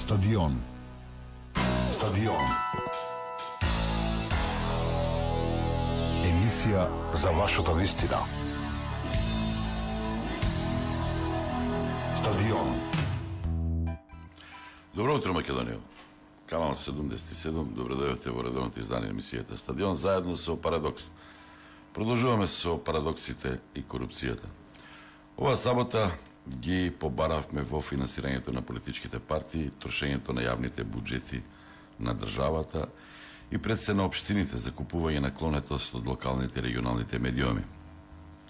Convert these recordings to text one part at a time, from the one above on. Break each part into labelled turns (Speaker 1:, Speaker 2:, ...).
Speaker 1: Стадион. Емисија за вашата вистина. Стадион.
Speaker 2: Добро утро, Македонија. Канал 77, добро дојдовте во редовното издание на емисијата Стадион, заедно со Парадокс. Продолжуваме со парадоксите и корупцијата. Ова сабота ги побаравме во финансирањето на политичките партии, трошењето на јавните буџети на државата и пред се на општините за купување на клонетост од локалните и регионалните медиуми.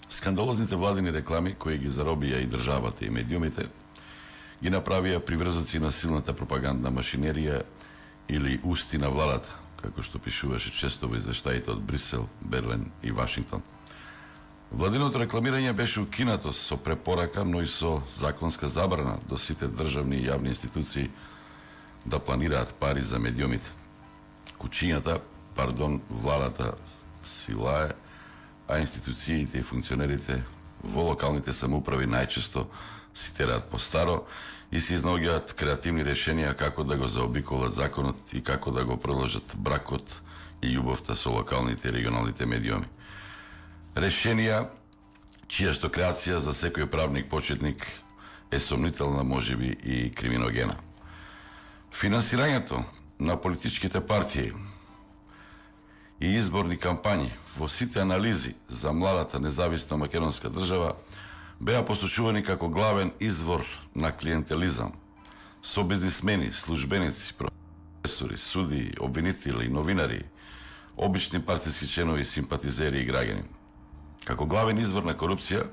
Speaker 2: Скандалозните владини реклами кои ги заробија и државата и медиумите ги направија приврзоци на силната пропагандна машинерија или усти на владата, како што пишуваше често во извештаите од Брисел, Берлин и Вашингтон. Владиното рекламирање беше укинато со препорака, но и со законска забрана до сите државни и јавни институции да планираат пари за медиумите. Владата си лае, а институциите и функционерите во локалните самоуправи најчесто си тераат по старо и се изнаоѓаат креативни решенија како да го заобиколат законот и како да го продолжат бракот и љубовта со локалните и регионалните медиуми. Решенија чијашто креација за секој правник почетник е сомнителна, можеби и криминогена. Финансирањето на политичките партии и изборни кампањи во сите анализи за младата независна македонска држава беа посочувани како главен извор на клиентелизам, со бизнисмени, службеници, професори, суди, обвинители, новинари, обични партиски членови, симпатизери и граѓани. Како главен извор на корупција,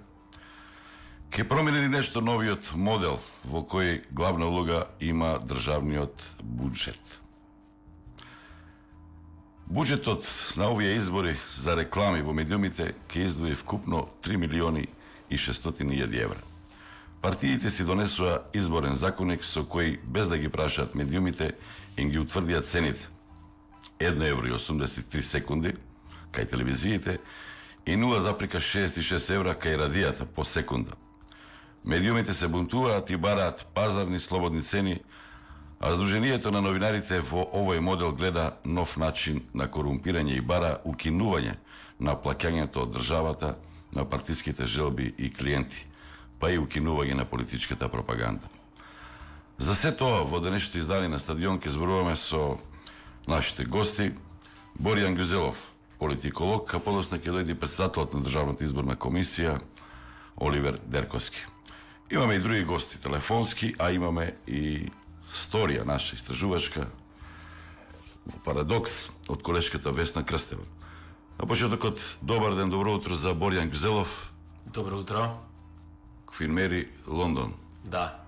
Speaker 2: ќе промени нешто новиот модел во кој главна улога има државниот буџет. Буџетот на овие избори за реклами во медиумите ќе издвои вкупно 3 милиони и 600.000 евра. Партиите си донесоа изборен законник со кој, без да ги прашаат медиумите, им ги утврдија цените. 1,83 секунди кај телевизиите и 0,66 евра кај радијата по секунда. Медиумите се бунтуваат и бараат пазарни слободни цени, а Сдруженијето на новинарите во овој модел гледа нов начин на корумпирање и бара укинување на плаќањето од државата на партиските желби и клиенти, па и укинување на политичката пропаганда. За се тоа во денешното издание на Стадион ќе зборуваме со нашите гости. Боријан Ѓузелов, политиколог, а подоцна ќе дојде претседателот на Државната изборна комисија Оливер Дерковски. Имаме и други гости телефонски, а имаме и сторија наша истражувачка во Парадокс од колешката Весна Крстева. На почетокот, добар ден, добро утро за Боријан Ѓузелов.
Speaker 3: Добро утро.
Speaker 2: Квинмери, Лондон.
Speaker 3: Да.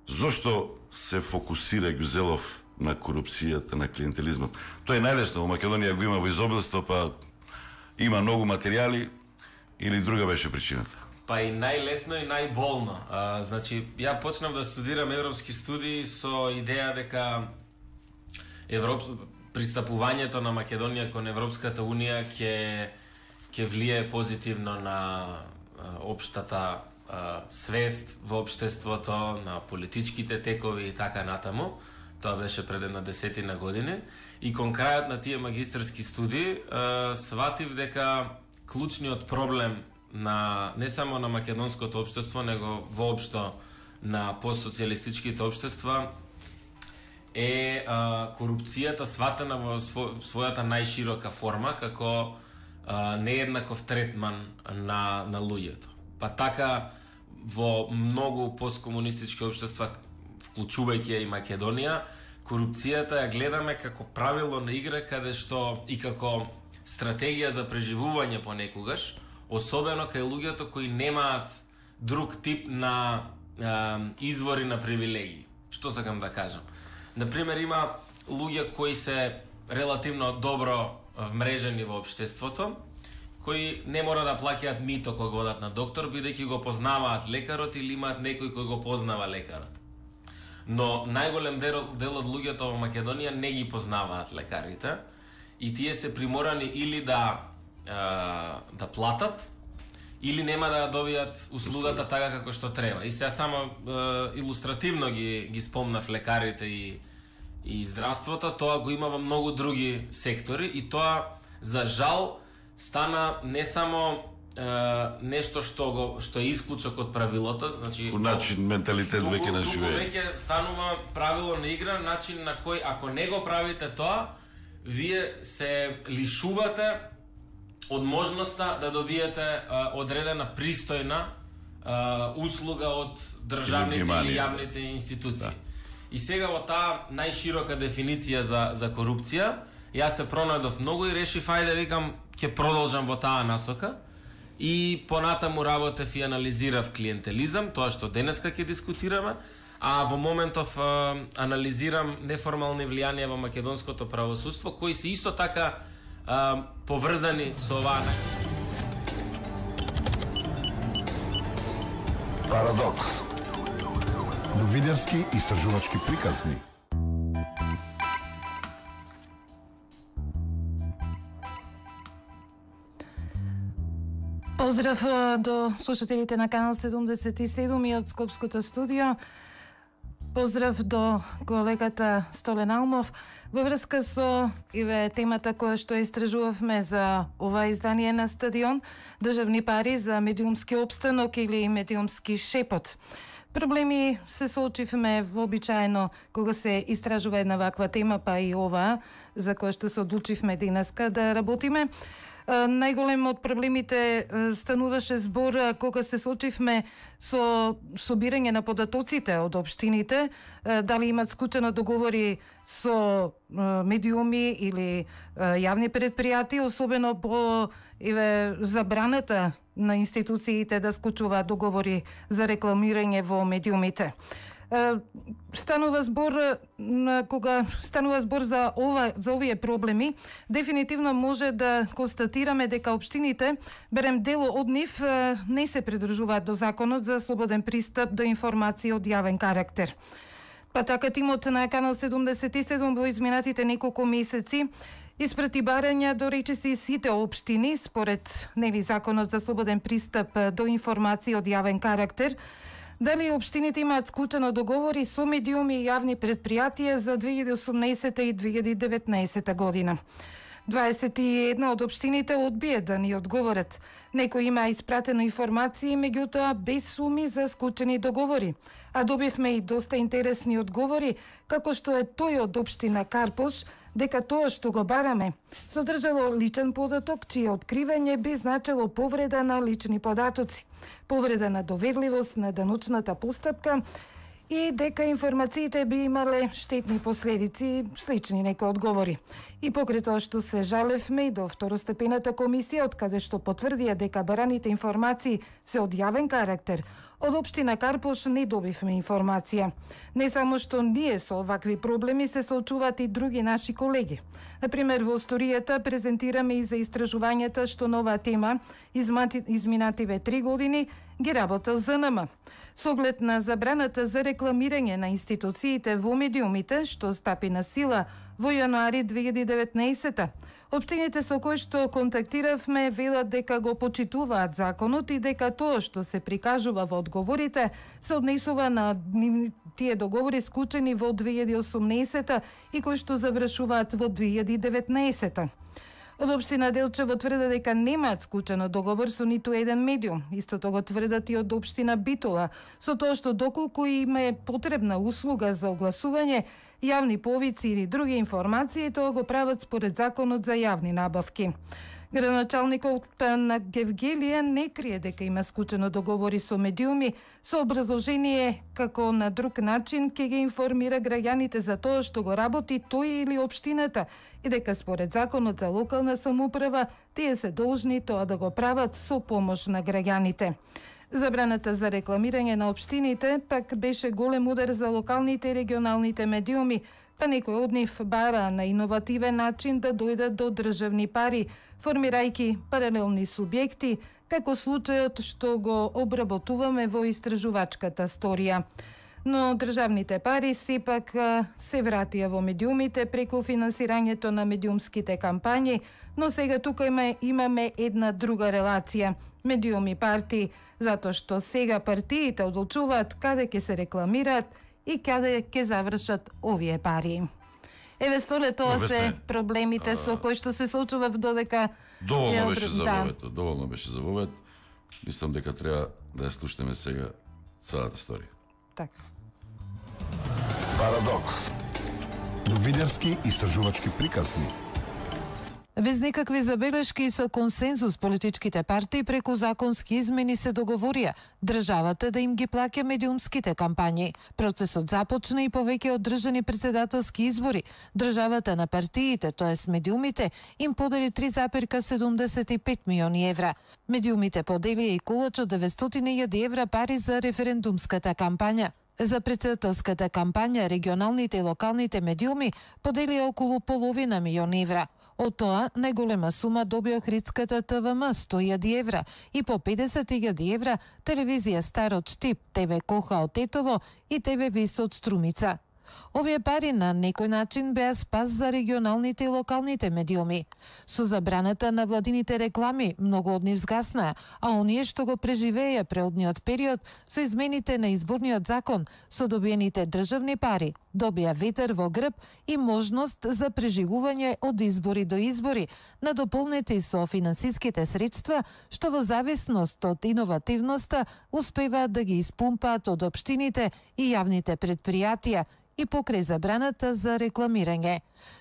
Speaker 2: Зошто се фокусира Ѓузелов на корупцијата, на клиентелизмот? Тоа е најлесно, во Македонија го има во изобилство, па има многу материјали, или друга беше причината?
Speaker 3: Па и најлесно и најболно. Значи, ја почнав да студирам европски студии со идеја дека пристапувањето на Македонија кон Европската Унија ќе влие позитивно на општата свест во општеството, на политичките текови и така натаму. Тоа беше пред една 10 години. И кон крајот на тие магистерски студии сватив дека клучниот проблем на не само на македонското општество, него воопшто на постсоцијалистичките општества е корупцијата сватена во својата најширока форма како нееднаков третман на луѓето. Па така во многу посткомунистички општества, вклучувајќи ја и Македонија, корупцијата ја гледаме како правило на игра каде што и како стратегија за преживување понекогаш, особено кај луѓето кои немаат друг тип на извори на привилегии. Што сакам да кажам? Например, има луѓе кои се релативно добро вмрежени во општеството, кои не мора да плаќаат мито кога одат на доктор, бидејќи го познаваат лекарот или имаат некој кој го познава лекарот. Но најголем дел од луѓето во Македонија не ги познаваат лекарите и тие се приморани или да платат, или нема да добијат услугата така како што треба. И сега само илустративно ги спомнав лекарите и здравството, тоа го има во многу други сектори и тоа за жал стана не само нешто што е исклучок од правилото, значи
Speaker 2: начин менталитет веќе на живее.
Speaker 3: Веќе станува правило на игра, начин на кој ако не го правите тоа, вие се лишувате од можноста да добиете одредена пристојна услуга од државните или јавните институции. Да. И сега во таа најширока дефиниција за корупција, јас се пронајдов многу и решив ајде викам ќе продолжам во таа насока. И понатаму работев и анализирав клиентелизам, тоа што денеска ќе дискутираме, а во моментов анализирам неформални влијанија во македонското правосудство, кои се исто така поврзани со оваа.
Speaker 1: Парадокс. Новинарски истражувачки приказни.
Speaker 4: Поздрав до слушателите на канал 77 и од Скопското студио. Поздрав до колегата Столен Алмов. Во врска со темата која што истражувавме за ова издание на Стадион, државни пари за медиумски опстанок или медиумски шепот. Проблеми се соочивме вообичаено кога се истражува една ваква тема, па и ова за која што се одлучивме денеска да работиме. Најголем од проблемите стануваше збор кога се соочивме со собирање на податоците од општините, дали имат склучено договори со медиуми или јавни предпријатија, особено по забраната на институциите да склучуваат договори за рекламирање во медиумите. Станува збор за овие проблеми, дефинитивно може да констатираме дека општините, берем дел од нив, не се придржуваат до законот за слободен пристап до информации од јавен карактер. Па така тимот на канал 77 во изминатите неколку месеци испрати барања до речиси сите општини според законот за слободен пристап до информации од јавен карактер. Дали општините имаат склучено договори со медиуми и јавни предпријатија за 2018 и 2019 година. 21 од општините одбие да ни одговорат. Некои има испратено информации, меѓутоа без суми за склучени договори. А добивме и доста интересни одговори, како што е тој од општина Карпош, дека тоа што го бараме содржало личен податок, чие откривање би значило повреда на лични податоци, повреда на доверливост на даночната постапка и дека информациите би имале штетни последици, слични некои одговори. И покрај тоа што се жалевме и до второстепената комисија, од каде што потврдија дека бараните информации се од јавен карактер, од општина Карпош не добивме информација. Не само што ние со овакви проблеми се соочуваат и други наши колеги. Например, во историјата презентираме и за истражувањата што на оваа тема изминативе 3 години ги работел ЗНМ. Со оглед на забраната за рекламирање на институциите во медиумите, што стапи на сила во јануари 2019. Општините со кои што контактиравме велат дека го почитуваат законот и дека тоа што се прикажува во одговорите се однесува на тие договори склучени во 2018 и кои што завршуваат во 2019. Од општина Делчево тврде дека немаат склучено договор со ниту еден медиум. Истото го тврдат и од општина Битола, со тоа што доколку им е потребна услуга за огласување, јавни повици или други информации, тоа го прават според законот за јавни набавки. Градоначалникот на Гевгелија не крие дека има склучено договори со медиуми, со образложение како на друг начин ќе ги информира граѓаните за тоа што го работи тој или општината и дека според законот за локална самоуправа тие се должни тоа да го прават со помош на граѓаните. Забраната за рекламирање на општините пак беше голем удар за локалните и регионалните медиуми, па некој од нив бара на иновативен начин да дојдат до државни пари, формирајќи паралелни субјекти, како случајот што го обработуваме во истражувачката сторија. но државните пари сепак се вратија во медиумите преку финансирањето на медиумските кампањи, но сега тука имаме една друга релација. Медиуми партии, затоа што сега партиите одлучуваат каде ќе се рекламираат и каде ќе завршат овие пари. Еве, Столе, тоа се проблемите со кои што се соочува додека...
Speaker 2: Доволно беше за вовето, доволно беше за вовет. Мислам дека треба да ја слушнеме сега целата историја.
Speaker 4: Така.
Speaker 1: Парадокс. Новинарски истражувачки приказни.
Speaker 5: Без никакви забелешки и со консензус политичките партии преку законски измени се договорија државата да им ги плаќа медиумските кампањи. Процесот започна и повеќе одржани председателски избори. Државата на партиите, тоест медиумите, им подели 3,75 милиони евра. Медиумите поделија и колач од 900.000 евра пари за референдумската кампања. За председателската кампања регионалните и локалните медиуми поделија околу половина милион евра. Од тоа, најголема сума доби Охридската ТВМ 100.000 евра и по 50.000 евра телевизија Старот Штип, ТВ Коха од Тетово и ТВ Вис од Струмица. Овие пари на некој начин беа спас за регионалните и локалните медиуми. Со забраната на владините реклами, многу од нив згаснаа, а оние што го преживееја преодниот период со измените на изборниот закон, со добиените државни пари, добија ветер во грб и можност за преживување од избори до избори, надополнети со финансиските средства, што во зависност од иновативноста успеваат да ги испумпаат од општините и јавните предпријатија и покрај забраната за рекламирање.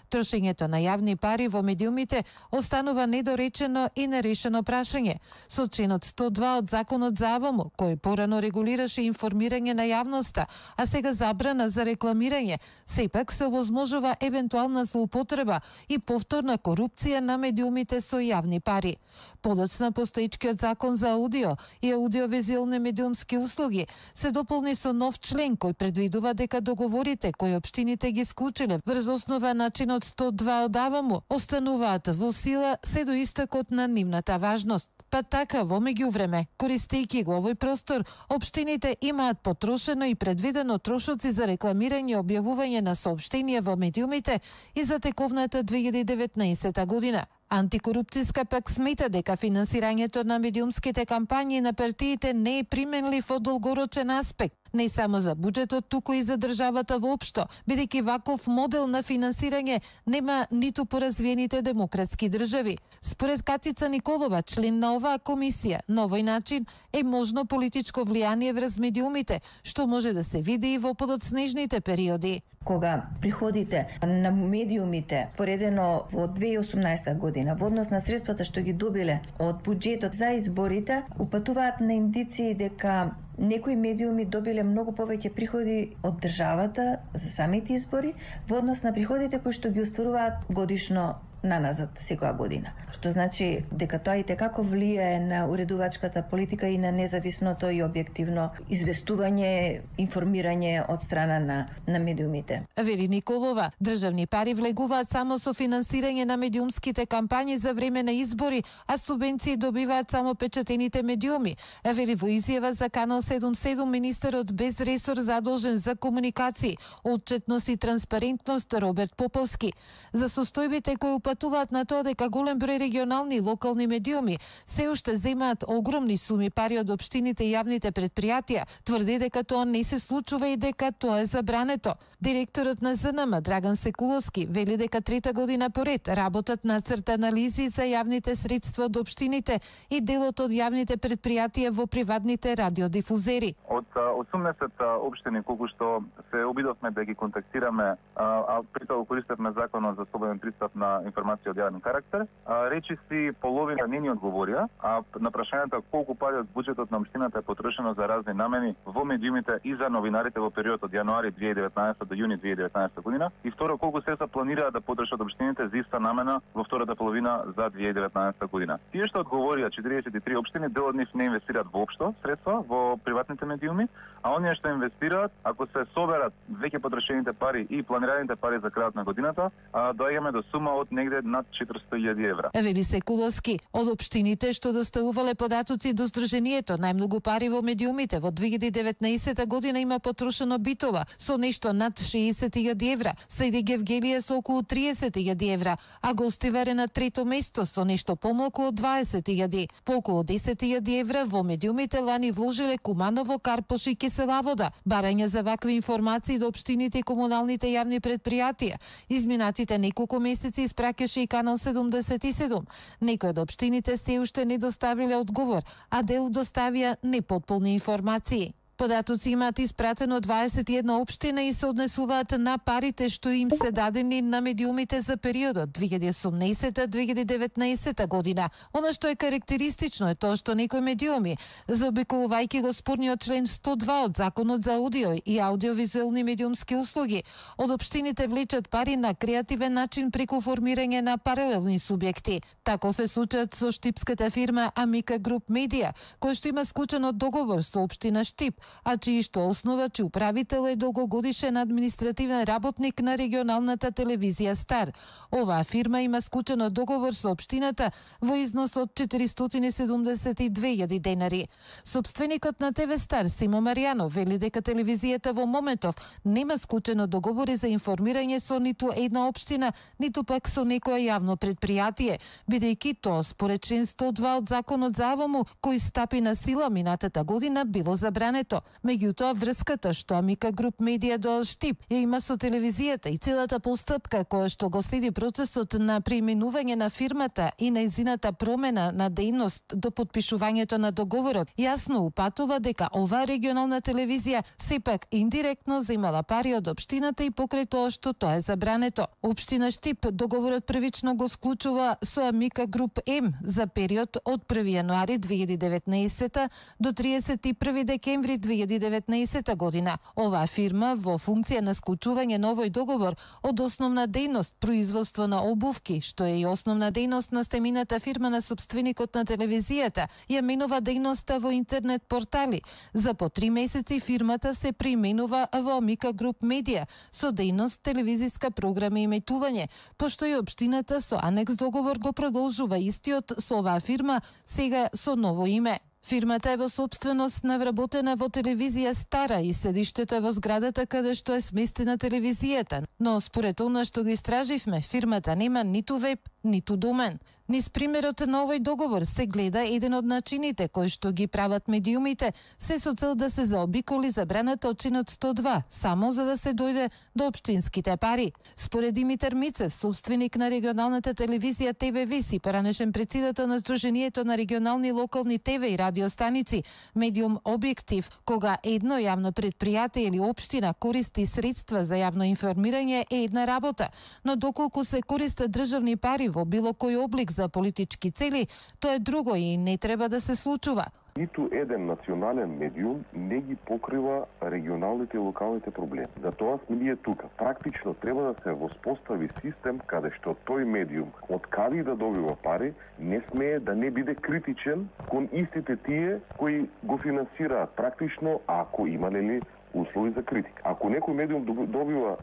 Speaker 5: Трошењето на јавни пари во медиумите останува недоречено и нерешено прашање. Со членот 102 од Законот за АВМ, кој порано регулираше информирање на јавноста, а сега забрана за рекламирање, сепак се овозможува евентуална злоупотреба и повторна корупција на медиумите со јавни пари. Подоцна постоечкиот Закон за аудио и аудиовизуелни медиумски услуги се дополни со нов член кој предвидува дека договорите кои општините ги склучиле врз основа на чинот 102 од АВМ остануваат во сила се до истекот на нивната важност. Па така, во меѓувреме, користејќи го овој простор, општините имаат потрошено и предвидено трошоци за рекламирање и објавување на соопштенија во медиумите и за тековната 2019 година. Антикорупцијска пак смета дека финансирањето на медиумските кампањи на партиите не е применлив од долгорочен аспект, не само за буџетот, туку и за државата воопшто, бидејќи ваков модел на финансирање нема ниту по развиените демократски држави. Според Катица Николова, член на оваа комисија, на овој начин е можно политичко влијание врз медиумите, што може да се види и во подоцнежните периоди.
Speaker 6: Кога приходите на медиумите поредено во 2018 година во однос на средствата што ги добиле од буџетот за изборите, упатуваат на индиции дека некои медиуми добиле многу повеќе приходи од државата за самите избори во однос на приходите кои што ги остваруваат годишно наназад секоја година. Што значи дека тоа и како влијае на уредувачката политика и на независното и објективно известување, информирање од страна на медиумите.
Speaker 5: Вели Николова, државни пари влегуваат само со финансирање на медиумските кампањи за време на избори, а субвенции добиваат само печатените медиуми. Вели во изјава за Канал 77 министерот без ресор задолжен за комуникации, отчетност и транспарентност Роберт Поповски. За состојбите кои упатуваат на тоа дека голем број регионални и локални медиуми се уште земаат огромни суми пари од општините и јавните предпријатија, тврди дека тоа не се случува и дека тоа е забрането. Директорот на ЗНМ Драган Секуловски вели дека трета година поред работат нацрт анализи за јавните средства од општините и делот од јавните предпријатија во приватните радиодифузери.
Speaker 7: Од 18 општини колку што се обидовме да ги контактираме, а при тоа користевме законот за слободен пристап на информација од јавен карактер, речиси половина не ни одговорија, а на прашањето колку пари од буџетот на општината е потрошено за разни намени во медиумите и за новинарите во период од јануари 2019 до јуни 2019 година, и второ колку средства планираат да потрошат општините за иста намена во втората половина за 2019 година. Тие што одговорија 43 општини, дел од нив не инвестираат воопшто средства во приватните медиуми, а оние што инвестираат, ако се соберат веќе потрошените пари и планираните пари за крајот на годината, доаѓаме до сума од негде негде над 400.000 евра.
Speaker 5: Вели Секуловски, од општините што доставувале податоци до Сдруженијето, најмногу пари во медиумите во 2019 година има потрошено Битола со нешто над 60.000 евра, следи Гевгелија со околу 30.000 евра, а Гостивар е на трето место со нешто помалку од 20.000. По околу 10.000 евра во медиумите лани вложиле Куманово, Карпош и Киселавода. Барање за вакви информации до општините и комуналните јавни предпријатија. Изминатите неколку месеци испраќаше и Канал 77. Некои од општините се уште не доставиле одговор, а дел доставија непотполни информации. Податоци имаат испратено 21 општина и се однесуваат на парите што им се дадени на медиумите за периодот 2018-2019 година. Она што е карактеристично е тоа што некои медиуми, заобиколувајќи го спорниот член 102 од Законот за аудио и аудиовизуелни медиумски услуги, од општините влечат пари на креативен начин преку формирање на паралелни субјекти. Таков е случајот со штипската фирма Амика Груп Медија, кој што има склучен договор со општина Штип, а чии што основач и управител е долгогодишен административен работник на регионалната телевизија Стар. Оваа фирма има склучен договор со општината во износ од 472.000 денари. Собственикот на ТВ Стар, Симо Маријанов, вели дека телевизијата во моментов нема склучено договори за информирање со ниту една општина, ниту пак со некое јавно предпријатие, бидејќи тоа според член 102 од Законот за АВМУ, кој стапи на сила минатата година, било забрането. Меѓутоа, врската што Амика Груп Медија до Штип ја има со телевизијата и целата постапка која што го следи процесот на преименување на фирмата и нејзината промена на дејност до потпишувањето на договорот, јасно упатува дека оваа регионална телевизија сепак индиректно земала пари од општината и покрај тоа што тоа е забрането. Општина Штип договорот првично го склучува со Амика Груп М за период од 1 јануари 2019 до 31 декември 2019 година. Оваа фирма во функција на склучување на овој договор од основна дејност производство на обувки, што е и основна дејност на стемината фирма на собственикот на телевизијата, ја менува дејноста во интернет портали. За по 3 месеци фирмата се преименува во Амика Груп Медија со дејност телевизиска програма и емитување, пошто и општината со анекс договор го продолжува истиот со оваа фирма, сега со ново име. Фирмата е во собственост на вработена во телевизија Стара и седиштето е во зградата каде што е сместена телевизијата, но според она што го истраживме, фирмата нема ниту веб, ниту домен. Низ примерот на овој договор се гледа еден од начините кои што ги прават медиумите, се со цел да се заобиколи забраната од членот 102, само за да се дојде до општинските пари. Според Димитар Мицев, собственик на регионалната телевизија ТВ Вис и поранешен председател на Сдруженијето на регионални локални ТВ и радиостаници, медиум Објектив, кога едно јавно предпријатие или општина користи средства за јавно информирање е една работа, но доколку се користат државни пари во било кој облик за политички цели, тоа е друго и не треба да се случува.
Speaker 8: Ниту еден национален медиум не ги покрива регионалните и локалните проблеми. Затоа сме ние тука. Практично треба да се воспостави систем каде што тој медиум од каде да добива пари, не смее да не биде критичен кон истите тие кои го финансираат практично, ако има нели услови за критика. Ако некој медиум добива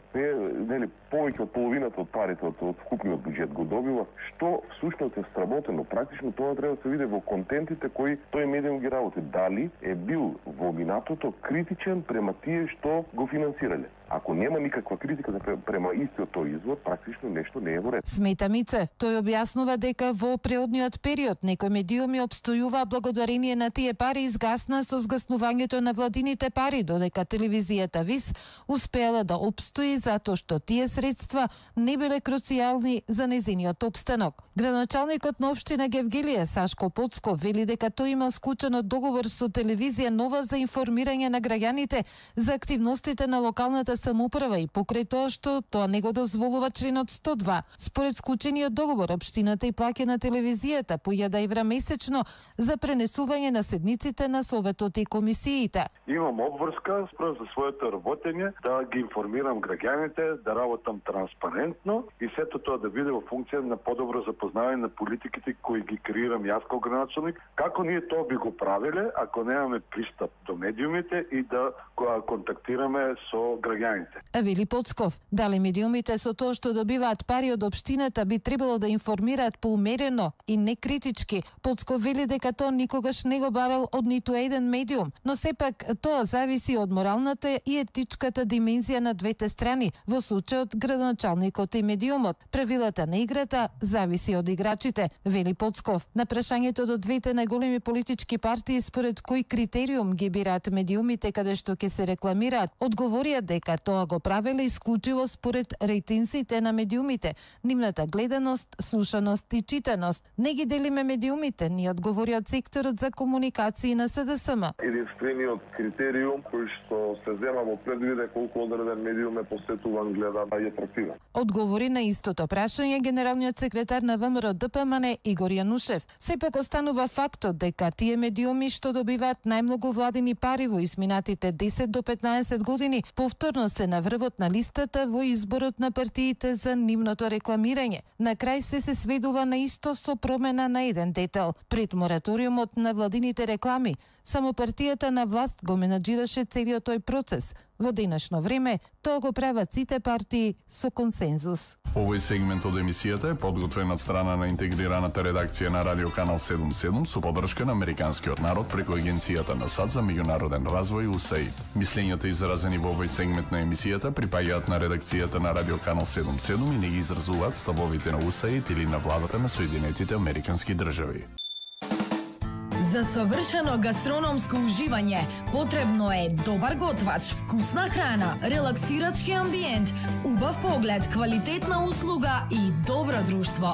Speaker 8: повеќе од половината од парите од вкупниот буџет го добива, што всушност е сработено, практично тоа треба да се види во контентите кои тој медиум ги работи. Дали е бил во минатото критичен према тие што го финансирале. Ако нема никаква критика према истиот тој извор, практично нешто не е во ред.
Speaker 5: Смета Мице, тој објаснува дека во преодниот период некои медиуми обстојува благодарение на тие пари изгасна со згаснувањето на владините пари, додека телевизијата ВИС успеала да обстои затоа што тие средства не биле круцијални за незиниот опстанок. Градоначалникот на општина Гевгелија Сашко Поцко вели дека тој имал склучен договор со телевизија Нова за информирање на граѓаните за активностите на локалната самоуправа и покрај тоа што тоа не го дозволува членот 102. Според склучениот договор, општината и плаќа на телевизијата по 1000 евра месечно за пренесување на седниците на советот и комисиите.
Speaker 9: Имам обврска спрем за своето работење, да ги информирам граѓаните, да работам транспарентно и сето тоа да биде во функција на подобро запознавање на политиките кои ги креирам јас како градоначалник. Како ние тоа би го правиле ако немаме пристап до медиумите и да контактираме со граѓаните граѓаните.
Speaker 5: Вели Поцков, дали медиумите со тоа што добиваат пари од општината би требало да информираат поумерено и не критички. Поцков вели дека тоа никогаш не го барал од ниту еден медиум, но сепак тоа зависи од моралната и етичката димензија на двете страни, во случајот градоначалникот и медиумот. Правилата на играта зависи од играчите, вели Поцков. На прашањето до двете најголеми политички партии според кој критериум ги бираат медиумите каде што ќе се рекламираат, одговорија дека тоа го правеле исклучиво според рейтинзите на медиумите, нивната гледаност, слушаност и читаност. Не ги делиме медиумите, ни одговори од секторот за комуникации на СДСМ.
Speaker 8: Единствениот критериум кој што се зема во предвид е колку одреден медиум е посетуван, гледан и атрактивен.
Speaker 5: Одговори на истото прашање генералниот секретар на ВМРО ДПМН Игор Јанушев. Сепак останува фактот дека тие медиуми што добиваат најмногу владини пари во изминатите 10 до 15 години повторно се на врвот на листата во изборот на партиите за нивното рекламирање. На крај се сведува на исто со промена на еден детал. Пред мораториумот на владините реклами, само партијата на власт го менаџираше целиот тој процес. Во денешно време, тоа го прават сите партии со консензус.
Speaker 1: Овој сегмент од емисијата е подготвен од страна на интегрираната редакција на Радио Канал 77 со поддршка на Американскиот народ преку Агенцијата на САД за меѓународен развој USAID. Мислењата изразени во овој сегмент на емисијата припаѓаат на редакцијата на Радио Канал 77 и не ги изразуваат ставовите на USAID или на владата на Соединетите Американски држави.
Speaker 10: За совршено гастрономско уживање потребно е добар готвач, вкусна храна, релаксирачки амбиент, убав поглед, квалитетна услуга и добро друштво.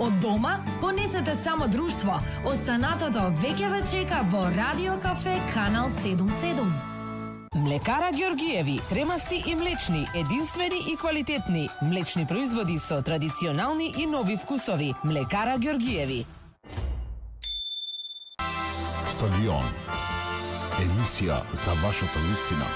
Speaker 10: Од дома понесете само друштво. Останатото веќе ве чека во Радио Кафе Канал 77.
Speaker 11: Млекара Ѓоргиеви, кремасти и млечни, единствени и квалитетни. Млечни производи со традиционални и нови вкусови. Млекара Ѓоргиеви.
Speaker 1: Стадион. Емисија за вашата вистина.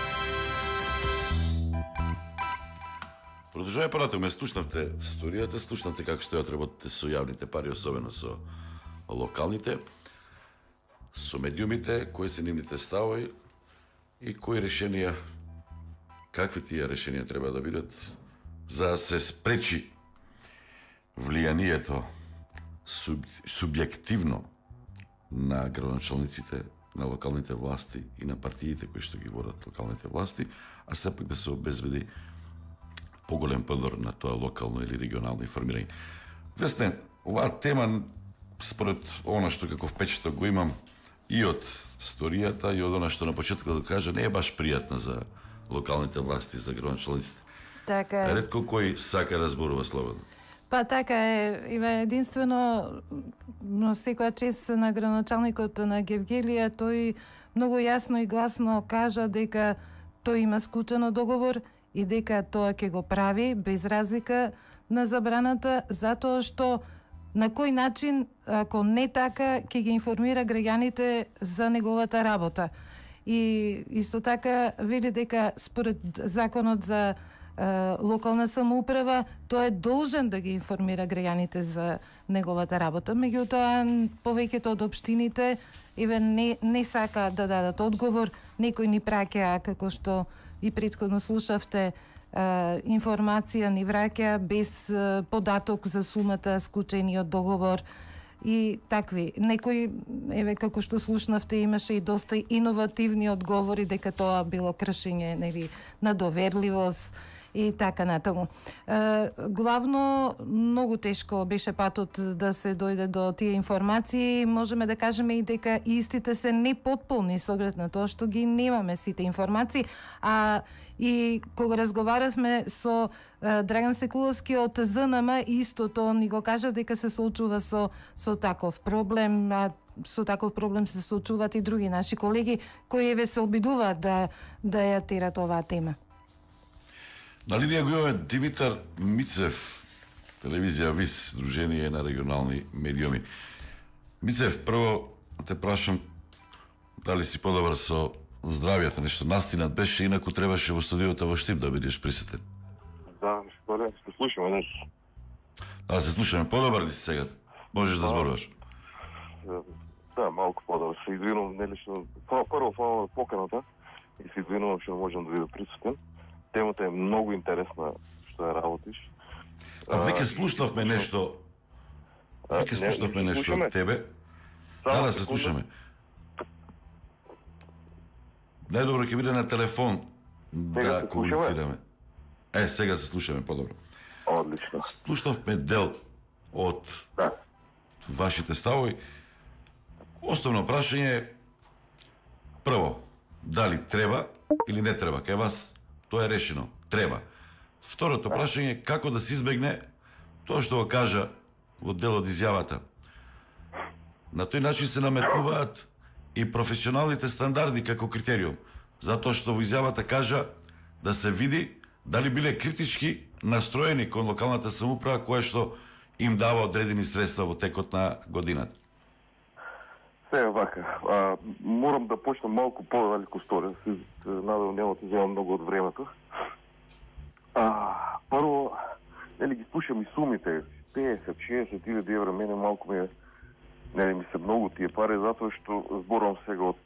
Speaker 2: Продолжувај понатаму, слушнавте историјата, слушнавте како стојат работите со јавните пари, особено со локалните, со медиумите, кои се нивните ставови и кои решенија, какви тие решенија треба да бидат за да се спречи влијанието субјективно на градоначалниците, на локалните власти и на партиите кои што ги водат локалните власти, а сепак да се обезбеди поголем подор на тоа локално или регионално информирање. Весне, оваа тема, според она што како впечаток го имам и од историјата и од она што на почетокот да кажа, не е баш пријатна за локалните власти, за градоначалниците.
Speaker 4: Така е.
Speaker 2: Ретко кој сака да зборува слободно.
Speaker 4: Па така е, единствено, но секоја чест на градоначалникот на Гевгелија, тој многу јасно и гласно кажа дека тој има склучено договор и дека тоа ќе го прави без разлика на забраната, затоа што на кој начин, ако не така, ќе ги информира граѓаните за неговата работа. И исто така вели дека според законот за локална самоуправа, тој е должен да ги информира граѓаните за неговата работа. Меѓутоа, повеќето од општините не сака да дадат одговор, некои ни праќаа, како што и претходно слушавте, информација ни враќа без податок за сумата склучениот договор и такви. Некои, како што слушнавте, имаше и доста иновативни одговори дека тоа било кршење, нели, на доверливост и така натаму. Главно, многу тешко беше патот да се дојде до тие информации. Можеме да кажеме и дека истите се непотполни со оглед на тоа што ги немаме сите информации, а и кога разговаравме со Драган Секуловски од ЗНМ, истото ни го кажа дека се соочува со таков проблем, а со таков проблем се соочуваат и други наши колеги кои се обидуваат да ја терат оваа тема.
Speaker 2: На линија го имаме Димитар Мицев, телевизија ВИС, Дружение на регионални медиуми. Мицев, прво те прашам дали си подобар со здравјето, нешто настинат беше, инаку требаше во студиото во Штип да бидеш присутен.
Speaker 8: Да, се слушаме днес.
Speaker 2: Да, се слушаме. Подобар ли си сега? Можеш да зборуваш?
Speaker 8: Да, малку подобар. Се извинувам, нелично. Прво фала поканата и се извинувам што можам да бидам присутен. темата е многу интересна што ја работиш.
Speaker 2: Веќе слушнавме нешто. Веќе слушнавме нешто од тебе. Да, се слушаме. Најдобро ќе биде на телефон да комуницираме. Сега се слушаме подобро.
Speaker 8: Одлично.
Speaker 2: Слушнавме дел од вашите ставови. Основно прашање е прво, дали треба или не треба. Кај вас тоа е решено. Треба. Второто прашање е како да се избегне тоа што го кажа во дел од изјавата. На тој начин се наметнуваат и професионалните стандарди како критериум, затоа што во изјавата кажа да се види дали биле критички настроени кон локалната самоуправа која што им дава одредени средства во текот на годината.
Speaker 8: Сега вака, морам да почнам малку по-далеко сторија, се надевам нема да земам многу од времето. Прво, ги слушам и сумите, 50-60 000 евра, мене малку ми се многу тие пари, затоа што зборувам сега од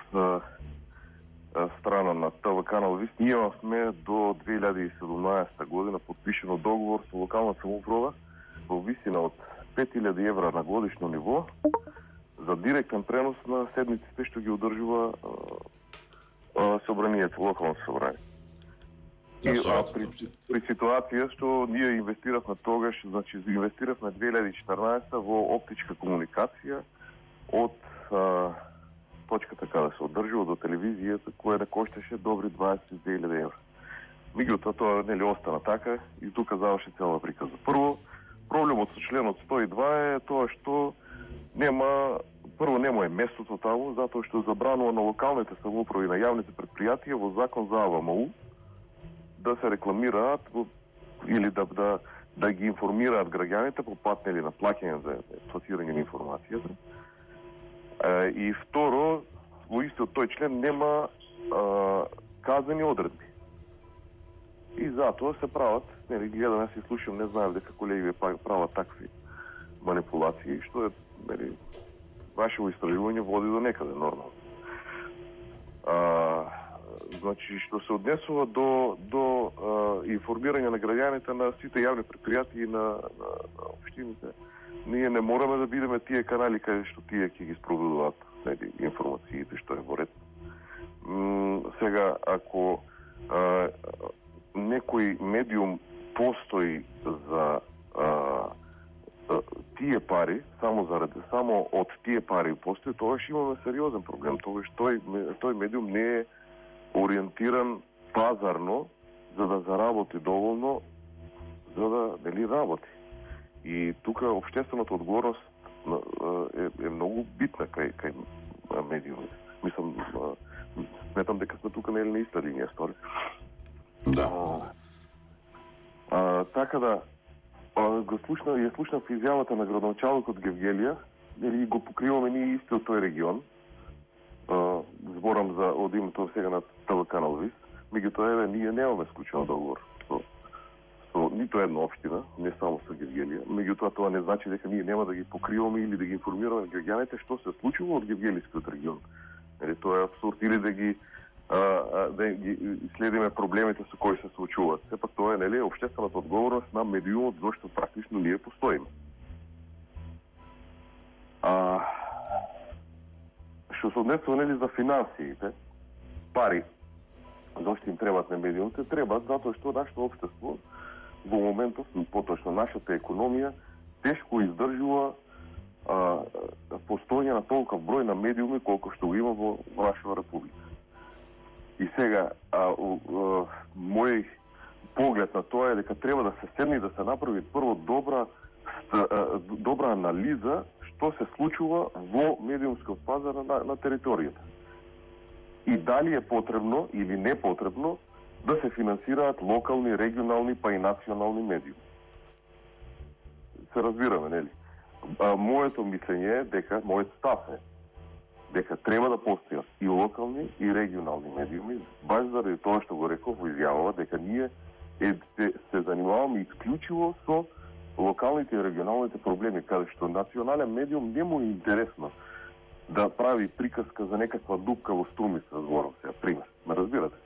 Speaker 8: страна на ТВ Канал Вис. Ние имавме до 2017 година подпишено договор со локална самоуправа во висина од 5000 евра на годишно ниво за директен пренос на седмиците што ги одржува собранието, локално собрание. И при ситуација што ние инвестиравме тогаш, значи инвестиравме 2014 во оптичка комуникација од точката каде се одржува до телевизијата, која да кошташе добри 22.000 евра. Меѓутоа тоа нели остана така и тука заврши цела приказа. Прво, проблемот со членот 102 е тоа што нема местото таму, затоа што забранува на локалните самоуправи на јавните предпријатија во закон за АВМУ да се рекламираат или да ги информираат граѓаните по пат на плаќање за пласирање на информацијата. И второ, во истиот тој член нема казани одредби. И затоа се прават, гледам, јас и слушам, не знаев дека колеги прават такви манипулации, што е, вашето истражување води до некаде нормално. Значи, што се однесува до информирање на граѓаните на сите јавни предпријатии и на општините, ние не мораме да бидеме тие канали каде што тие ќе ги спроведуваат информациите што е во ред. Сега, ако некој медиум постои за тие пари, само од тие пари постои, тогаш имаме сериозен проблем. Тогаш тој медиум не е ориентиран пазарно за да заработи доволно за да работи. И тука општествената одговорност е многу битна кај медиумите. Мислам, сметам дека сме тука на иста линија стори.
Speaker 2: Да.
Speaker 8: Така да, ја слушнав изјавата на градоначалникот Гевгелија, дали го покриваме ние истиот тој регион. Зборам за од името сега на ТВ Канал Вис. Меѓутоа, ние немаме склучен договор со нито една општина, не само со Гевгелија. Меѓутоа, тоа не значи дека ние нема да ги покриваме или да ги информираме граѓаните што се случува од Гевгелискиот регион. Тоа е абсурд. Или да ги следиме проблемите со кои се случуваат. Сепак тоа е општествената одговорност на медиумот зашто практично ние постоиме. Што се однесува за финансиите, пари, зашто им требат на медиумите, требат затоа што нашето општество во моментов, поточно нашата економија, тешко издржува постојање на толков број на медиуми колку што го има во нашата република. И сега, мој поглед на тоа е дека треба да се седне и да се направи прво добра анализа што се случува во медиумскиот пазар на територијата. И дали е потребно или не потребно да се финансираат локални, регионални, па и национални медиуми. Се разбираме, нели? Моето мислење е дека, мојот став е дека треба да постојат и локални и регионални медиуми, баш заради тоа што го реков во изјавава, дека ние се занимаваме исклучиво со локалните и регионалните проблеми, каде што национален медиум не му е интересно да прави приказка за некаква дупка во струмица, зборам сега, пример. Ме разбирате?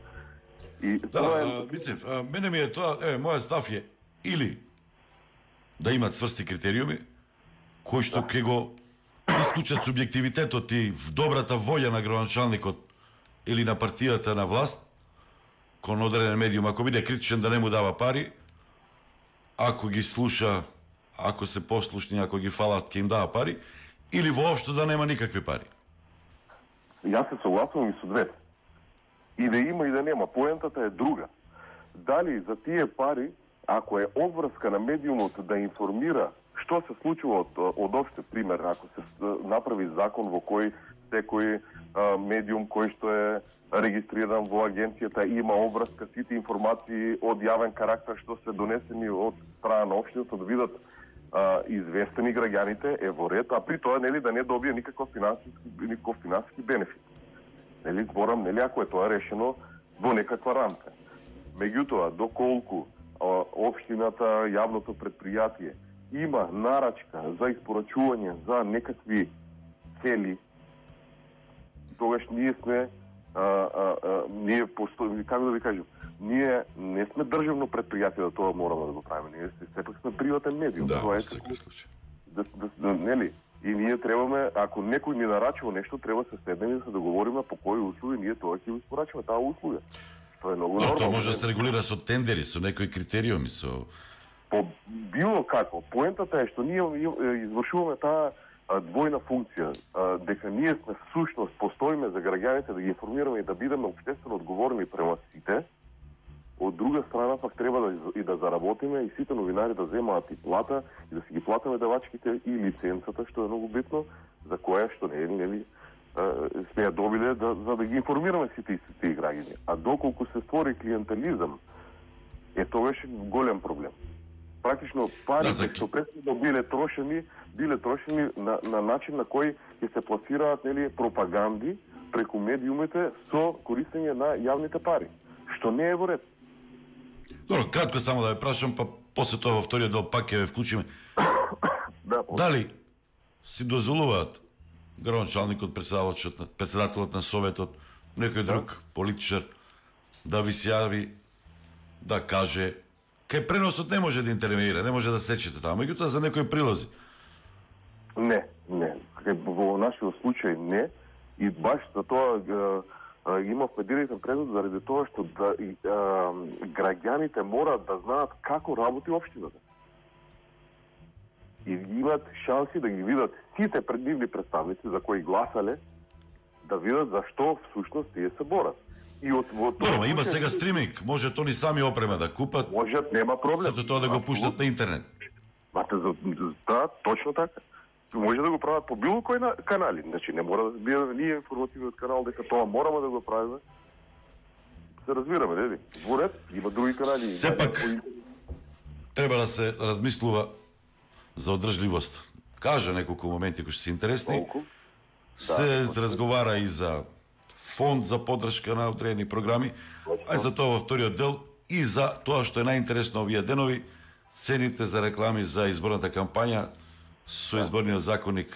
Speaker 8: И
Speaker 2: Мицев, мене ми е тоа, мојот став е или да имат цврсти критериуми кои што ќе го исклучат субјективитетот и в добрата волја на градоначалникот или на партијата на власт кон одреден медиум, ако биде критичен да не му дава пари, ако ги слуша, ако се послушни, ако ги фалат, ќе им дава пари, или воопшто да нема никакви пари.
Speaker 8: Јас се согласувам и со двете. И да има и да нема. Поентата е друга. Дали за тие пари, ако е обврска на медиумот да информира што се случува од опште пример, ако се направи закон во кој секој медиум кој што е регистриран во агенцијата има обврска, сите информации од јавен карактер што се донесени од страна на општината да бидат известени граѓаните, е во ред, а при тоа нели да не добие никаков финансиски бенефит. Нели зборам, нели ако е тоа решено во некаква рамка. Меѓутоа, доколку општината, јавното предпријатие има нарачка за испорачување за некакви цели, тогаш ние сме како да ви кажам, ние не сме државно предпријатие да тоа мораме да го правиме. Ние сепак сме приватен медиум.
Speaker 2: Да,
Speaker 8: тоа е
Speaker 2: секој случај.
Speaker 8: Нели? И ние требаме, ако некој ни нарачува нешто, треба да се седнеме и да се договориме по кои услуги ние тоа ќе го испорачуваме таа услуга. Тоа е многу нормално.
Speaker 2: Тоа може да се регулира со тендери, со некои критериуми, со
Speaker 8: По било како. Поентата е што ние извршуваме таа двојна функција, дека ние сме всушност постоиме за граѓаните да ги информираме и да бидеме општествено одговорни према сите. Од друга страна пак треба да заработиме и сите новинари да земаат и плата и да си ги платиме давачките и лиценцата, што е многу битно, за која што нели сме ја добиле за да ги информираме сите тие граѓани. А доколку се створи клиентелизам, тоа е голем проблем. Практично парите што претходно биле трошени на начин на кој ќе се пласираат нели пропаганди преку медиумите со користење на јавните пари, што не е во ред.
Speaker 2: Добро, кратко само да ве прашам, па после тоа во вториот дел пак ќе ве вклучиме. Дали си дозволуваат градоначалникот, председателот на советот, некој друг политичар да ви се јави да каже кај преносот не може да интервенира, не може да сечете таму, меѓутоа за некои прилози?
Speaker 8: Не. Во нашиот случај не. И баш за тоа имавме директен преглед заради тоа што граѓаните мораат да знаат како работи општината. И имат шанси да ги видат сите преднивни представници за кои гласале, да видат зашто всушност тие се борат. И
Speaker 2: Добро, има сега стриминг, може тони сами опрема да купат.
Speaker 8: Можат, нема проблем.
Speaker 2: Сето тоа да го пуштат на интернет.
Speaker 8: Да, точно така. Може да го прават по било кој канали. Значи не мора да биде ние информативниот канал дека тоа мораме да го правиме. Се разбираме, нели? Во ред, има други канали.
Speaker 2: Сепак треба да се размислува за одржливост. Кажа неколку моменти кои се интересни. Се разговара и за фонд за поддршка на одредени програми, а за тоа во вториот дел и за тоа што е најинтересно овие денови, цените за реклами за изборната кампања. Со изборниот законник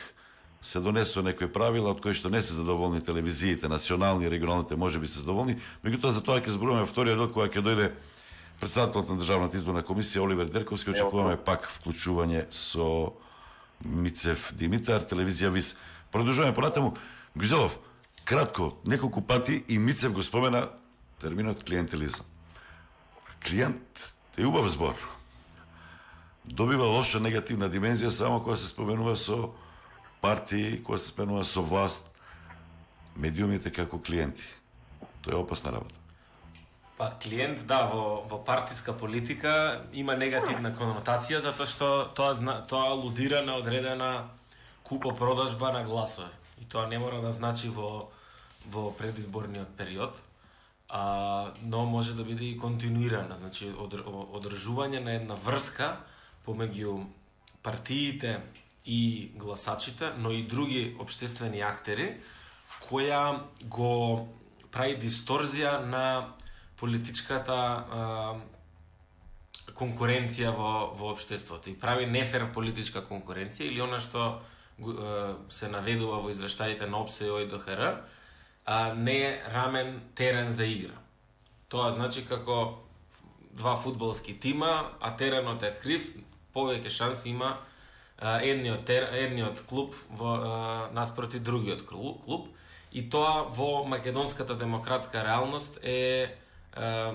Speaker 2: се донесува некои правила од кои што не се задоволни телевизиите, национални и регионалните можеби се задоволни, меѓутоа за тоа ќе зборуваме во вториот дел кога ќе дојде председателот на Државната изборна комисија Оливер Дерковски, очекуваме пак вклучување со Мицев Димитар, телевизија ВИС. Продолжуваме понатаму. Гузелов, кратко, неколку пати и Мицев го спомена терминот клиентелизам. Клиент е убав збор. Добива лоша негативна димензија само кога се споменува со партии, кога се споменува со власт, медиумите како клиенти. Тоа е опасна работа.
Speaker 3: Па клиент, да, во партиска политика има негативна конотација затоа што тоа алудира на одредена купо-продажба на гласови. И тоа не мора да значи во предизборниот период, но може да биде и континуирана, значи одржување на една врска помеѓу партиите и гласачите, но и други општествени актери, која го прави дисторзија на политичката конкуренција во општеството и прави нефер политичка конкуренција или она што се наведува во извештаите на ОПСЕ и ОИДХР, не е рамен терен за игра. Тоа значи како два фудбалски тима, а теренот е крив, повеќе шанси има едниот клуб наспроти другиот клуб. И тоа во македонската демократска реалност е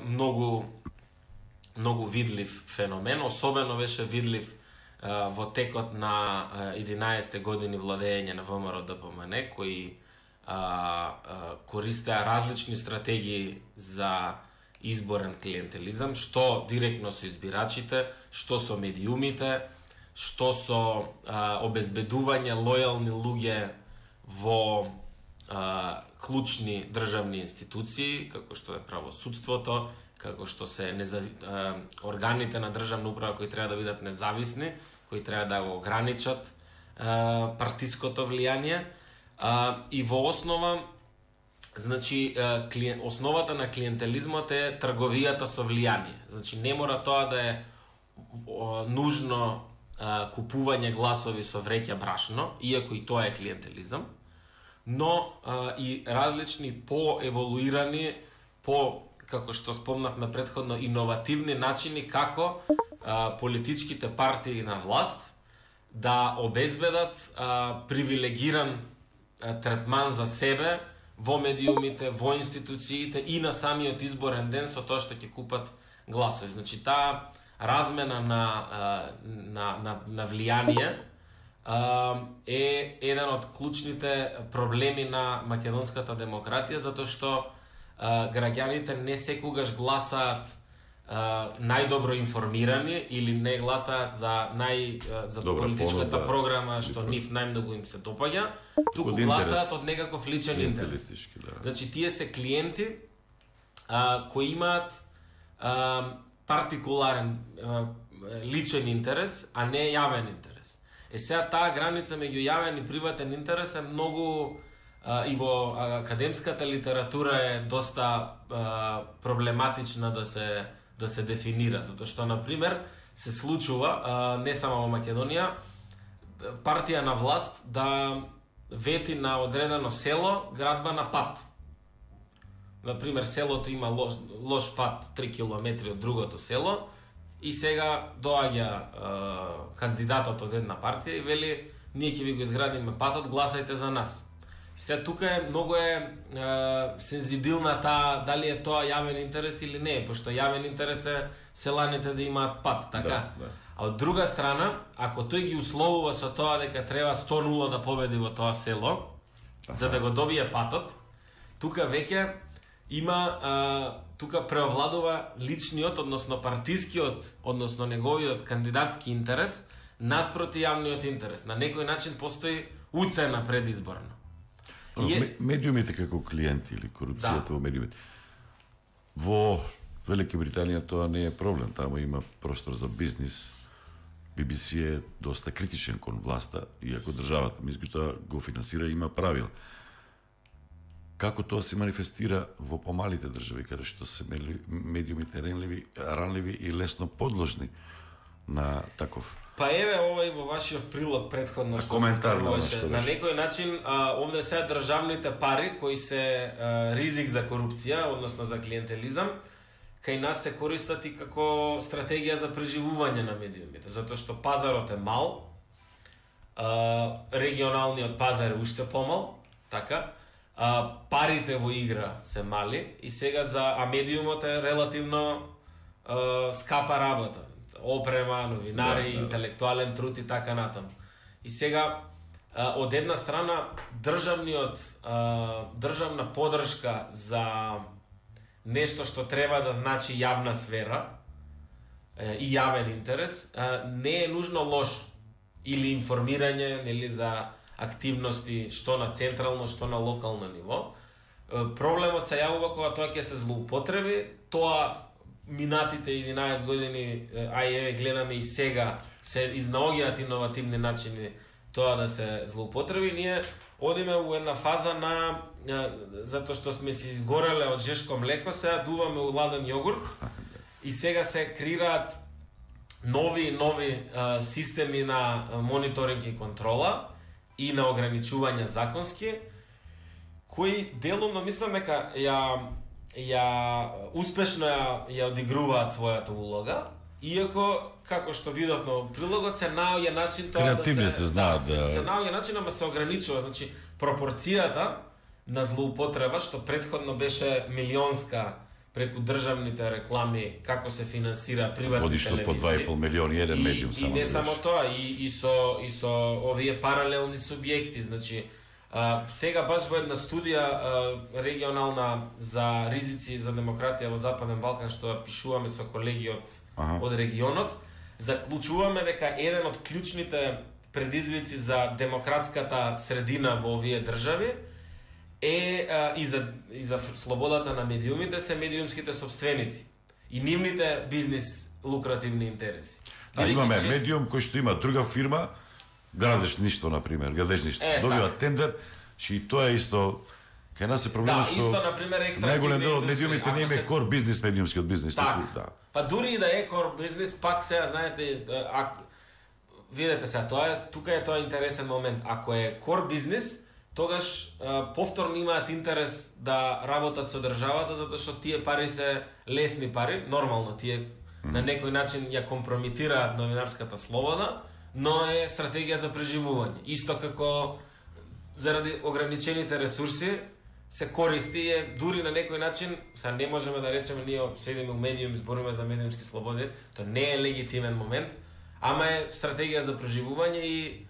Speaker 3: многу видлив феномен, особено беше видлив во текот на 11 години владење на ВМРО ДПМН, кои користеа различни стратегии за изборен клиентелизам, што директно со избирачите, што со медиумите, што со обезбедување лојални луѓе во клучни државни институции, како што е правосудството, како што се органите на државна управа кои треба да бидат независни, кои треба да го ограничат партиското влијание. И во основа, значи, основата на клиентелизмот е трговијата со влијание. Значи, не мора тоа да е нужно купување гласови со вреќа брашно, иако и тоа е клиентелизам, но и различни поеволуирани, како што спомнавме претходно, иновативни начини како политичките партии на власт да обезбедат привилегиран третман за себе во медиумите, во институциите и на самиот изборен ден со тоа што ќе купат гласови. Значи, таа размена на влијание е еден од клучните проблеми на македонската демократија, затоа што граѓаните не секогаш гласаат најдобро информирани или не гласаат за политичката програма што нив најмногу им се допаѓа, туку гласаат од некаков личен интерес. Значи, тие се клиенти кои имаат партикуларен личен интерес, а не јавен интерес. Сега таа граница меѓу јавен и приватен интерес е многу и во академската литература е доста проблематична да се дефинира, затоа што, например, се случува не само во Македонија, партија на власт да вети на одредено село градба на пат. Например, селото има лош пат 3 километри од другото село и сега доаѓа кандидатот од една партија и вели: ние ќе ви го изградиме патот, гласајте за нас. Сега тука многу сензибилна таа дали е тоа јавен интерес или не, пошто јавен интерес е селаните да имаат пат, така? Да. А од друга страна, ако тој ги условува со тоа дека треба 100-0 да победи во тоа село, за да го добие патот, тука веќе има, тука преовладува личниот, односно партискиот, односно неговиот кандидатски интерес наспроти јавниот интерес. На некој начин постои уцена предизборно.
Speaker 2: Медиумите како клиенти или корупцијата во медиумите. Во Велика Британија тоа не е проблем, таму има простор за бизнис. BBC е доста критичен кон власта, иако државата меѓутоа го финансира и има правила. Како тоа се манифестира во помалите држави, каде што се медиумите ранливи и лесно подложни на таков?
Speaker 3: Па еве ова и во вашиот прилог претходно што
Speaker 2: коментар
Speaker 3: на некој начин овде се државните пари кои се ризик за корупција, односно за клиентелизам, кај нас се користат и како стратегија за преживување на медиумите, затоа што пазарот е мал, регионалниот пазар е уште помал, така, парите во игра се мали и сега а медиумот е релативно скапа работа. Опрема, новинари, интелектуален труд и така натаму. И сега, од една страна, државна подршка за нешто што треба да значи јавна сфера и јавен интерес, не е нужно лошо. Или информирање, нели, за активности што на централно, што на локално ниво. Проблемот се јавува кога тоа ќе се злоупотреби, тоа минатите 11 години, еве гледаме и сега, се изнаоѓаат иновативни начини тоа да се злоупотреби. Ние одиме во една фаза на, затоа што сме се изгореле од жешко млеко, сега дуваме у ладен јогурт и сега се креираат нови системи на мониторинг и контрола и на ограничување законски, кои делумно мислам дека успешно ја одигруваат својата улога, иако како што видовме во прилогот се наоѓа начин тоа
Speaker 2: да се знаат
Speaker 3: се наоѓа начин, ама се ограничува, значи пропорцијата на злоупотреба што претходно беше милионска преку државните реклами, како се финансира приватни
Speaker 2: годишно
Speaker 3: телевизии.
Speaker 2: Годишно по 2,5 милиони еден медиум само.
Speaker 3: И не само тоа, и со овие паралелни субјекти, значи сега баш во една студија регионална за ризици за демократија во Западен Балкан што ја пишуваме со колеги од регионот, заклучуваме дека еден од клучните предизвици за демократската средина во овие држави и за слободата на медиумите се медиумските собственици и нивните бизнис лукративни интереси.
Speaker 2: Да, имаме медиум кој што има друга фирма, градеш ништо, например, добива тендер, че и тоа е исто, кај нас е проблемот што
Speaker 3: исто, например,
Speaker 2: најголем дел од медиумите не има кор бизнис, медиумскиот бизнис.
Speaker 3: Да. Па дури и да е кор бизнис, пак сега, знаете, видете се, тука е тоа интересен момент. Ако е кор бизнис, тогаш повторно имаат интерес да работат со државата, затоа што тие пари се лесни пари, нормално, тие на некој начин ја компромитираат новинарската слобода, но е стратегија за преживување. Исто како заради ограничените ресурси се користи дури на некој начин, сега не можеме да речеме ние седиме у медиум, збориме за медиумски слободи, тоа не е легитимен момент, ама е стратегија за преживување и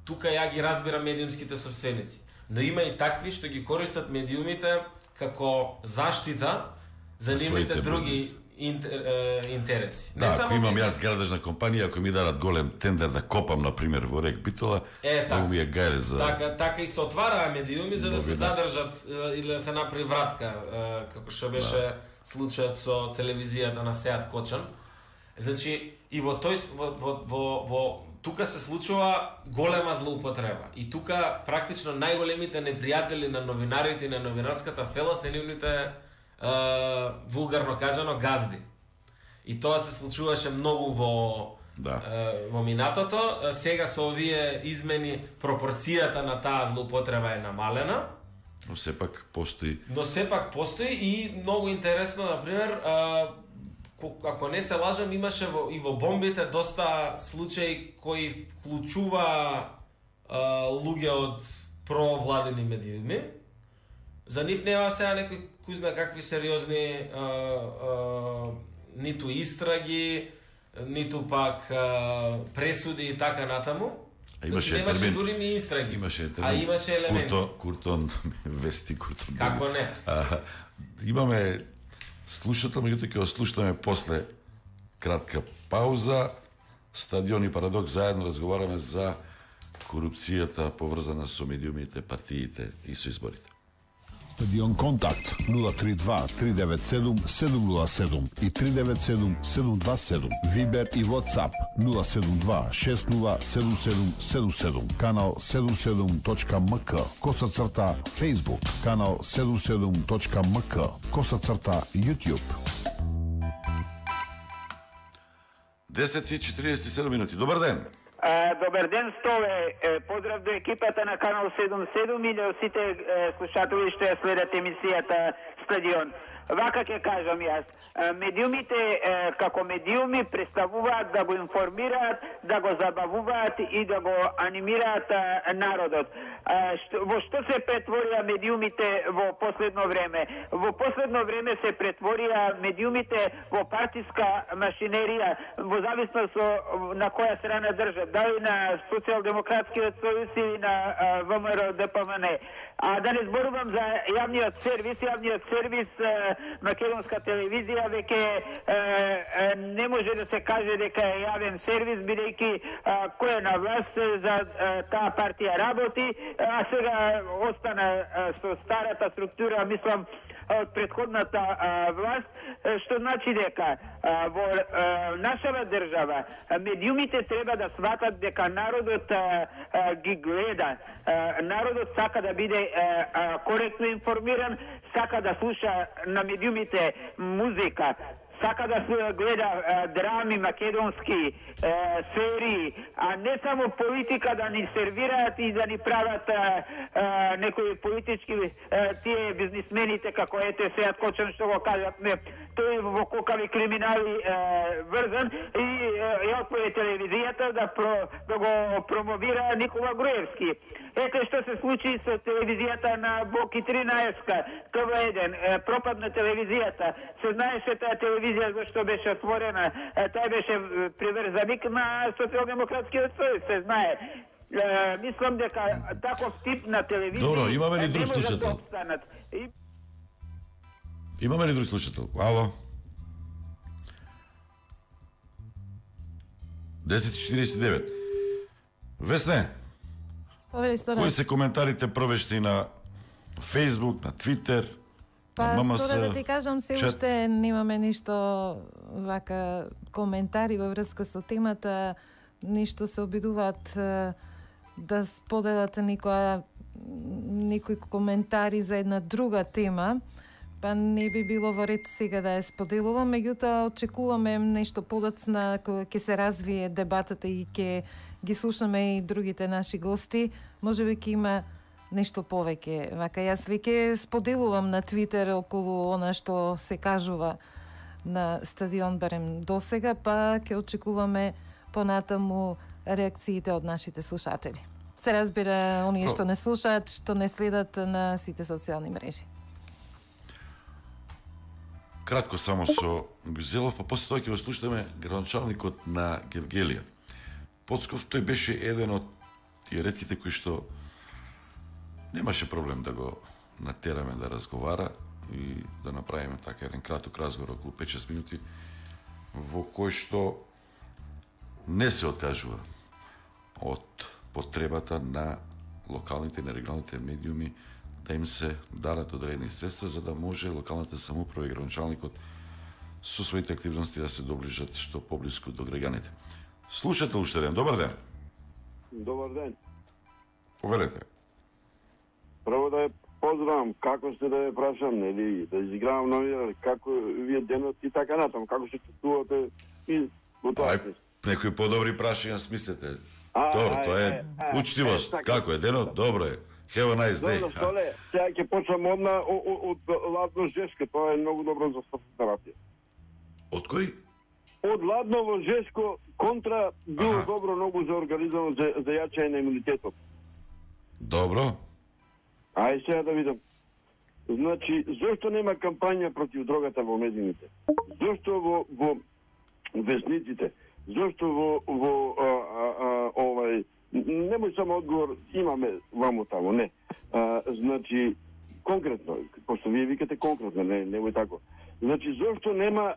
Speaker 3: тука ја ги разбира медиумските собственици. Но има и такви што ги користат медиумите како заштита за нивните други интереси.
Speaker 2: Да, ако имам јас градежна компанија, ако ми дадат голем тендер да копам, например, во рек Битола, многу ми е гајле за...
Speaker 3: Така и се отвараа медиуми за да се задржат или да се направи вратка, како што беше случајот со телевизијата на Сеат Кочан. Значи, и во тука се случува голема злоупотреба. И тука практично најголемите непријатели на новинарите и на новинарската фела се нивните вулгарно кажано газди. И тоа се случуваше многу во минатото. Сега со овие измени пропорцијата на таа злоупотреба е намалена.
Speaker 2: Но сепак постои.
Speaker 3: И многу интересно, например, ако не се лажам, имаше и во бомбите доста случаи кои вклучува луѓе од провладени медиуми. За нив нема сега некои кој знае какви сериозни ниту истраги, ниту пак пресуди и така натаму.
Speaker 2: Имаше
Speaker 3: дури ни истраги.
Speaker 2: Имаше
Speaker 3: елементи.
Speaker 2: Куртон вести, Куртон.
Speaker 3: Како не?
Speaker 2: Имаме слушател, меѓутоа ќе слушаме после кратка пауза. Стадион и Парадокс заедно разговараме за корупцијата поврзана со медиумите, партиите и со изборите.
Speaker 12: Стадион Контакт 032-397-707 и 397-727. Вибер и WhatsApp 072-607777. Канал 77.mk. _. Facebook. Канал 77.mk. _ YouTube.
Speaker 2: 10:47 минути. Добар ден.
Speaker 13: Добар ден, Столе. Поздрав до екипата на Канал 77 и до сите слушатели што ја следат емисијата Стадион. Вака ќе кажам јас. Медиумите како медиуми представуваат да го информираат, да го забавуваат и да го анимираат народот. Во што се претворија медиумите во последно време? Во последно време се претворија медиумите во партиска машинерија, во зависност на која страна држат, дали на Социјалдемократскиот сојуз или на ВМРО ДПМН. А да не зборувам за јавниот сервис, македонска телевизија веќе не може да се каже дека е јавен сервис, бидејќи кој е на власт за таа партија работи, а сега остана со старата структура, мислам, од предходната власт, што значи дека во нашава држава медиумите треба да сватат дека народот ги гледа. Народот сака да биде коректно информиран, сака да слуша на медиумите музика, сака да се гледа драми, македонски серии, а не само политика да ни сервираат и да ни прават некои политички тие бизнисмените како ете Сеат Кочан што го кажат тој во кокави криминали врзан и отпое телевизијата да го промовира Никола Груевски. Ете што се случи со телевизијата на Боки 13, ТВ1, пропадна телевизијата. Се знаеше таа телевизија зашто беше отворена, тај беше приврзаник на социјалдемократскиот сојуз, се знае. Мислам дека таков тип на телевизија...
Speaker 2: Добро, имаме ли друг слушател? Имаме ли друг слушател? Ало? 10:49. Весне, кои се коментарите првешти на Facebook, на Twitter, на ММС?
Speaker 5: Стора да ти кажам, се уште немаме ништо вака коментари во врска со темата, ништо се обидуваат да споделат никои коментари за една друга тема, па не би било во ред сега да ја споделувам, меѓутоа очекуваме нешто подоцна кога ќе се развие дебатата и ќе ги слушаме и другите наши гости, можеби ќе има нешто повеќе. Вака јас веќе споделувам на Твитер околу она што се кажува на стадион барем досега, па ќе очекуваме понатаму реакциите од нашите слушатели. Се разбира, оние што не слушаат, што не следат на сите социјални мрежи.
Speaker 2: Кратко само со Гузелов, па после тоа ќе го слушаме градоначалникот на Гевгелија. Поцков, тој беше еден од тие ретките кои што немаше проблем да го натераме да разговара и да направиме така еден краток разговор околу 5-6 минути во кој што не се откажува од потребата на локалните и на регионалните медиуми да им се дарат одредени средства за да може локалната самоуправа и градоначалникот со своите активности да се доближат што поблиску до граѓаните. Слушател уште ден, добар ден.
Speaker 14: Добар ден.
Speaker 2: Повелете.
Speaker 14: Прво да ја поздравам, како сте да ја прашам, нели, да изигравам новија, како вие денот и така натаму, како се чувствувате и во тоа.
Speaker 2: Некои подобри прашања смислете. Добро, тоа е учтивост. Како е денот? Добро е. Have a nice day.
Speaker 14: Добро, Столе, сега ќе почнам од Ладно Жешко, тоа е многу добро за терапија.
Speaker 2: Од кој?
Speaker 14: Од Ладново Жешко контра било добро многу за организам за јачање на имунитетот.
Speaker 2: Добро.
Speaker 14: Ај сега да видам. Значи, зошто нема кампања против дрогата во медиумите? Зошто во весниците? Зошто во немој само одговор, имаме ваму таму, не. Значи, конкретно, пошто вие викате конкретно, немој тако. Значи, зошто нема,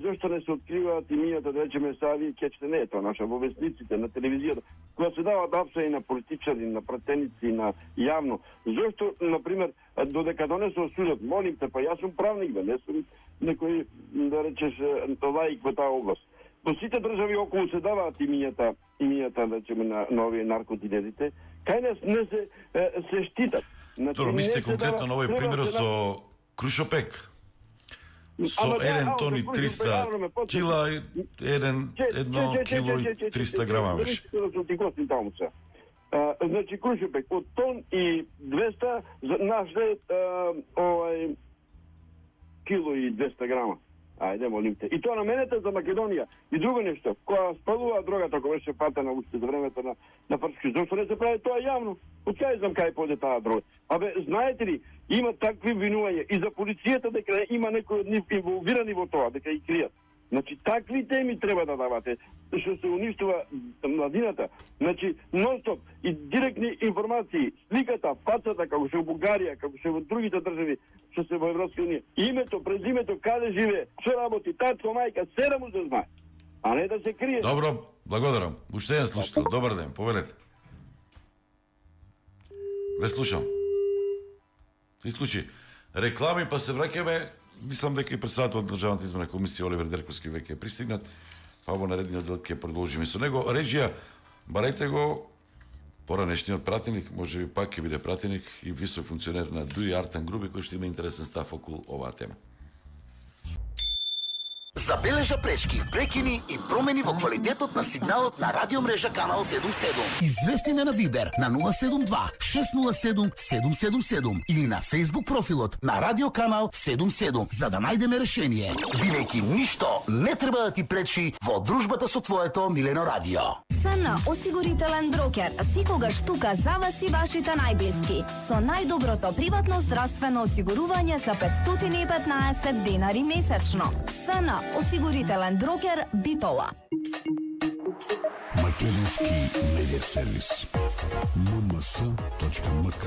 Speaker 14: зошто не се откриваат имињата, да речеме, Сави и Кечте, не е тоа наша, во весниците, на телевизијата, кога се дават апса и на политичари, на пратеници, на јавно. Зошто, например, додека донесо судот, молим те, па јас сум правник, не сум некој, да речеш, лаик во таа област. Во сите држави околу се даваат имињата, да речеме, на овие наркодилерите, кај нас не се штитат.
Speaker 2: Добро, мислите конкретно на овој пример со Крушопек? Со 1 тон и 300 кила, 1 кило и 300 грама беше.
Speaker 14: Значи, Крушопек, од тон и 200 нашли кило и 200 грама. Ајде, молим те. И тоа наменете за Македонија. И друго нешто, кога спалува дрогата, кога беше патена уште за времето на Фршки, зашто не се прави тоа јавно? Од кај знам кај поде таа дрога? Знаете ли, има такви обвинувања и за полицијата дека има некои од нив инволвирани во тоа, дека ги кријат. Значи, такви теми треба да давате, што се уништува младината. Значи, нон-стоп и директни информации, сликата, фацата, како се во Бугарија, како се во другите држави, што се во Европска унија, името, презимето, каде живее, што работи, татко, мајка, се да му се знае, а не да се крие.
Speaker 2: Добро, благодарам. Уште еден слушател, добар ден, повелете. Ве слушам. Се случи. Реклами, па се враќаме. Мислам дека и председател на Државната изборна комисија Оливер Дерковски веќе е пристигнат, па во наредниот дел ќе продолжиме со него. Режија, барајте го поранешниот пратеник, може би пак ќе биде пратеник и висок функционер на ДУИ Артан Груби, кој што има интересен став околу оваа тема.
Speaker 15: забележа пречки, прекини и промени во квалитетот на сигналот на радиомрежа Канал 77. Извести на Вибер на 072 607 777 или на Facebook профилот на Радио Канал 77 за да најдеме решение. Бидејќи ништо не треба да ти пречи во дружбата со твоето милено радио.
Speaker 16: СН осигурителен брокер секогаш тука за вас и вашите најблиски со најдоброто приватно здравствено осигурување за 515 денари месечно. СН осигурителен брокер Битола.
Speaker 12: Македонски медиа сервис. mms.mk.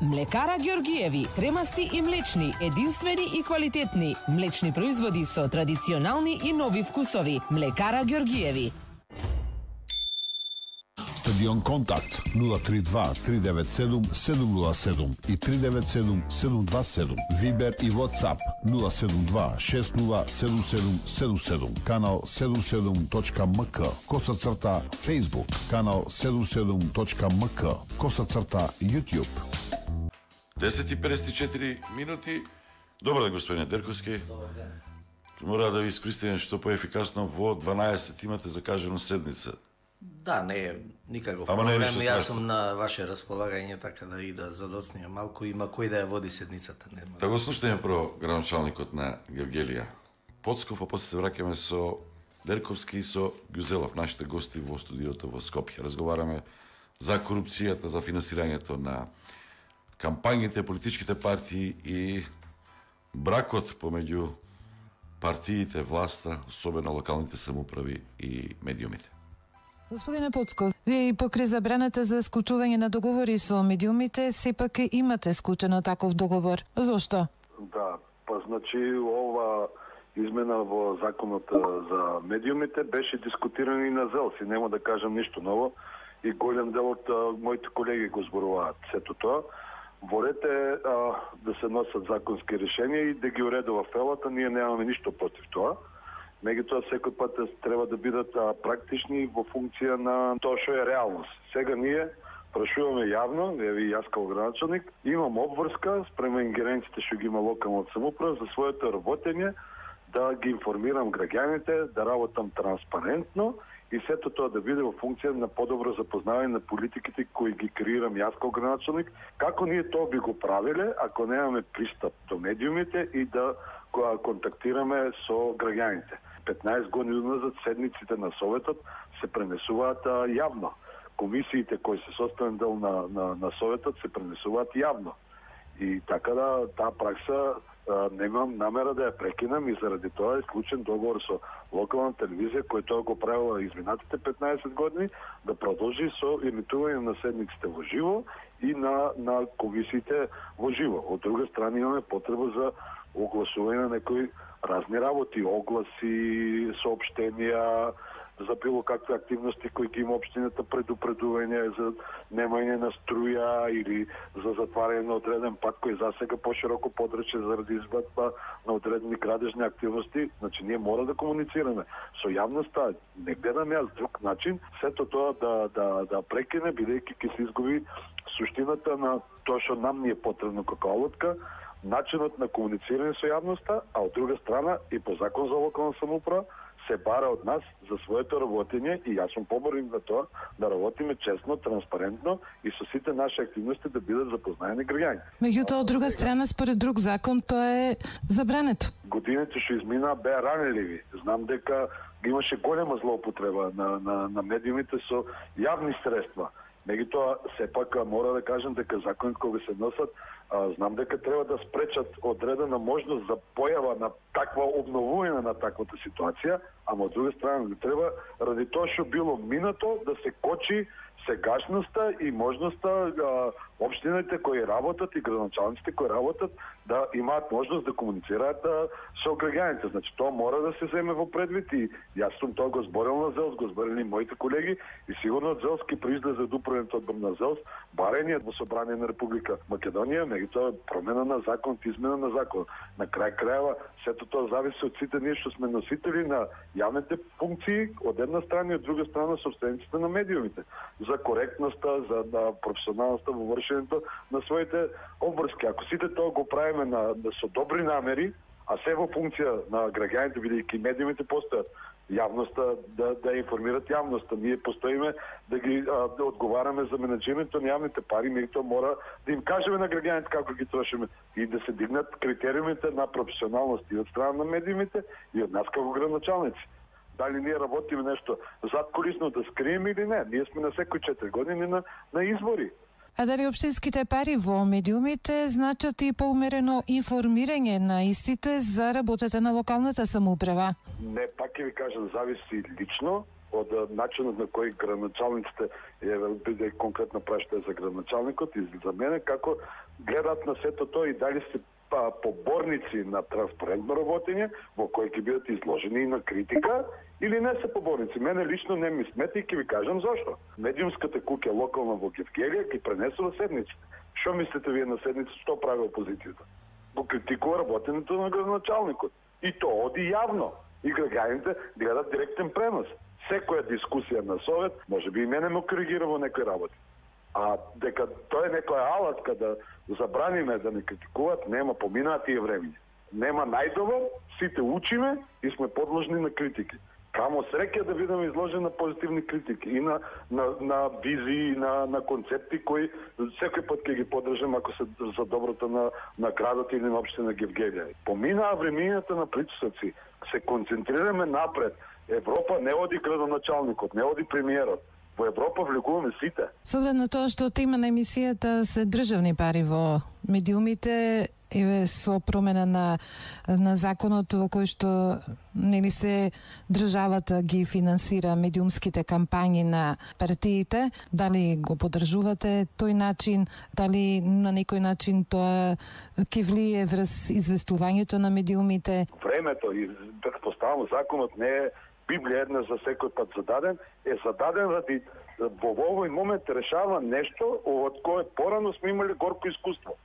Speaker 11: Млекара Ѓоргиеви, кремасти и млечни, единствени и квалитетни, млечни производи со традиционални и нови вкусови. Млекара Ѓоргиеви.
Speaker 12: Стадион Контакт 032-397-707 и 397-727. Вибер и WhatsApp 072-607777. Канал 77.mk. _, Facebook. Канал 77.mk. _ YouTube.
Speaker 2: 10:54 минути. Добар ден, господине Дерковски.
Speaker 17: Добар ден.
Speaker 2: Мора да ви искористиме што поефикасно во 12 имате закажено седница.
Speaker 17: Да, не е никаков
Speaker 2: проблем.
Speaker 17: Јас сум на ваше располагање, така да и да задоцнија малку, има кој да ја води седницата.
Speaker 2: Да го слушнеме про градоначалникот на Гевгелија Поцков, а после се враќаме со Дерковски и со Гюзелов, нашите гости во студиото во Скопје. Разговараме за корупцијата, за финансирањето на кампањите, политичките партии и бракот помеѓу партиите, власта, особено локалните самоуправи и медиумите.
Speaker 5: Господине Поцков, вие и покрај забраната за склучување на договори со медиумите, сепак имате склучено таков договор. Зошто?
Speaker 9: Да, па значи ова измена во законот за медиумите беше дискутирана и на ЗЕЛС и нема да кажам ништо ново и голем дел од моите колеги го зборуваат сето тоа. Ворете да се носат законски решенија и да ги уредува фелата, ние немаме ништо против тоа. Меѓутоа секој пат треба да бидат практични во функција на тоа што е реалност. Сега ние прашуваме јавно, еви јас како градоначалник, имам обврска спрема ингеренциите што ги има локалната самоуправа за своето работење, да ги информирам граѓаните, да работам транспарентно и сето тоа да биде во функција на подобро запознавање на политиките кои ги креирам јас како градоначалник, како ние тоа би го правиле ако немаме пристап до медиумите и да контактираме со граѓаните. 15 години назад седниците на Советот се пренесуваат јавно. Комисиите кои се составен дел на Советот се пренесуваат јавно. И така да таа пракса немам намера да ја прекинам и заради тоа е склучен договор со локална телевизија која тоа го правила изминатите 15 години да продолжи со емитување на седниците во живо и на комисиите во живо. Од друга страна имаме потреба за огласување на некои разни работи, огласи, соопштенија, за било какви активности кои ги има општината, предупредување за немање на струја или за затварање на одреден пат кој засега пошироко подрече заради извадба на одредени крадежни активности. Значи ние мора да комуницираме со јавноста, не гледам јас друг начин сето тоа да прекине, бидејќи ќе се изгуби суштината на тоа што нам ни е потребно како алотка, начинот на комуницирање со јавноста, а од друга страна и по закон за локална самоуправа се бара од нас за своето работење и јас сум поборник за тоа да работиме честно, транспарентно и со сите наши активности да бидат запознаени граѓани.
Speaker 5: Меѓутоа, од друга страна, според друг закон, тоа е забрането.
Speaker 9: Годините што измина беа ранеливи. Знам дека имаше голема злоупотреба на медиумите со јавни средства. Меѓутоа, сепак мора да кажам дека законите кога се носат, знам дека треба да спречат одредена можност за појава на таква обновување на таквата ситуација, ама од друга страна не треба ради тоа што било минато да се кочи сегашноста и можноста општините кои работат и градоначалниците кои работат да имаат можност да комуницираат со граѓаните. Значи тоа мора да се земе во предвид и јас сум тоа го зборил на ЗЕЛС, го зборили моите колеги и сигурно од ЗЕЛС ки произлезе од управниот одбор на ЗЕЛС барање во собрание на Република Македонија, меѓутоа промена на закон, измена на закон. На крај крајава сето тоа зависи од сите ние што сме носители на јавните функции од една страна и од друга страна собствениците на медиумите за коректноста, за професионалноста во вршењето на своите обврски. Ако сите тоа го правиме со добри намери, А се во функција на граѓаните, бидејќи медиумите постојат, јавноста да информират јавноста. Ние постоиме да ги да одговараме за менеджментот на јавните пари, меѓутоа мора да им кажеме на граѓаните како ги трошиме и да се дигнат критериумите на професионалност и од страна на медиумите и од нас како градоначалници. Дали ние работиме нешто задкулисно да скриеме или не? Ние сме на секои 4 години на избори.
Speaker 5: А дали општинските пари во медиумите значат и поумерено информирање на истите за работата на локалната самоуправа?
Speaker 9: Не, пак ќе ви кажам, зависи лично од начинот на кој градоначалниците биде конкретно прашање за градоначалникот и за мене како гледат на сето тоа и дали се поборници на транспарентно работење во кои ќе бидат изложени и на критика или не се поборници. Мене лично не ми смета и ќе ви кажам зашто. Медиумската куќа локална во Гевгелија ги пренесува седниците. Што мислите вие на седниците, што прави опозицијата? Го критикува работењето на градоначалникот. И тоа оди јавно. И граѓаните гледат директен пренос. Секоја дискусија на совет, може би и мене ме коригира во некои работи. А дека тоа е некоја алатка да забраниме да не критикуваат, нема, поминаат тие времиња. Нема најдобар, сите учиме и сме подложни на критики. Камо среќа да бидеме изложени на позитивни критики и на визии, на концепти кои секој пат ќе ги поддржам ако се за доброто на градот или на општина Гевгелија. Поминаа времињата на притисоци, се концентрираме напред. Европа не оди градоначалникот, не оди премиерот. Во Европа влегуваме сите.
Speaker 5: Со оглед на тоа што тема на емисијата се државни пари во медиумите, со промена на законот во кој што нели се државата ги финансира медиумските кампањи на партиите, дали го поддржувате тој начин, дали на некој начин тоа ќе влие врз известувањето на медиумите?
Speaker 9: Времето и предпоставам законот не е Библија една за секој пат зададен, е зададен ради во овој момент решава нешто од кое порано сме имали горко искуство.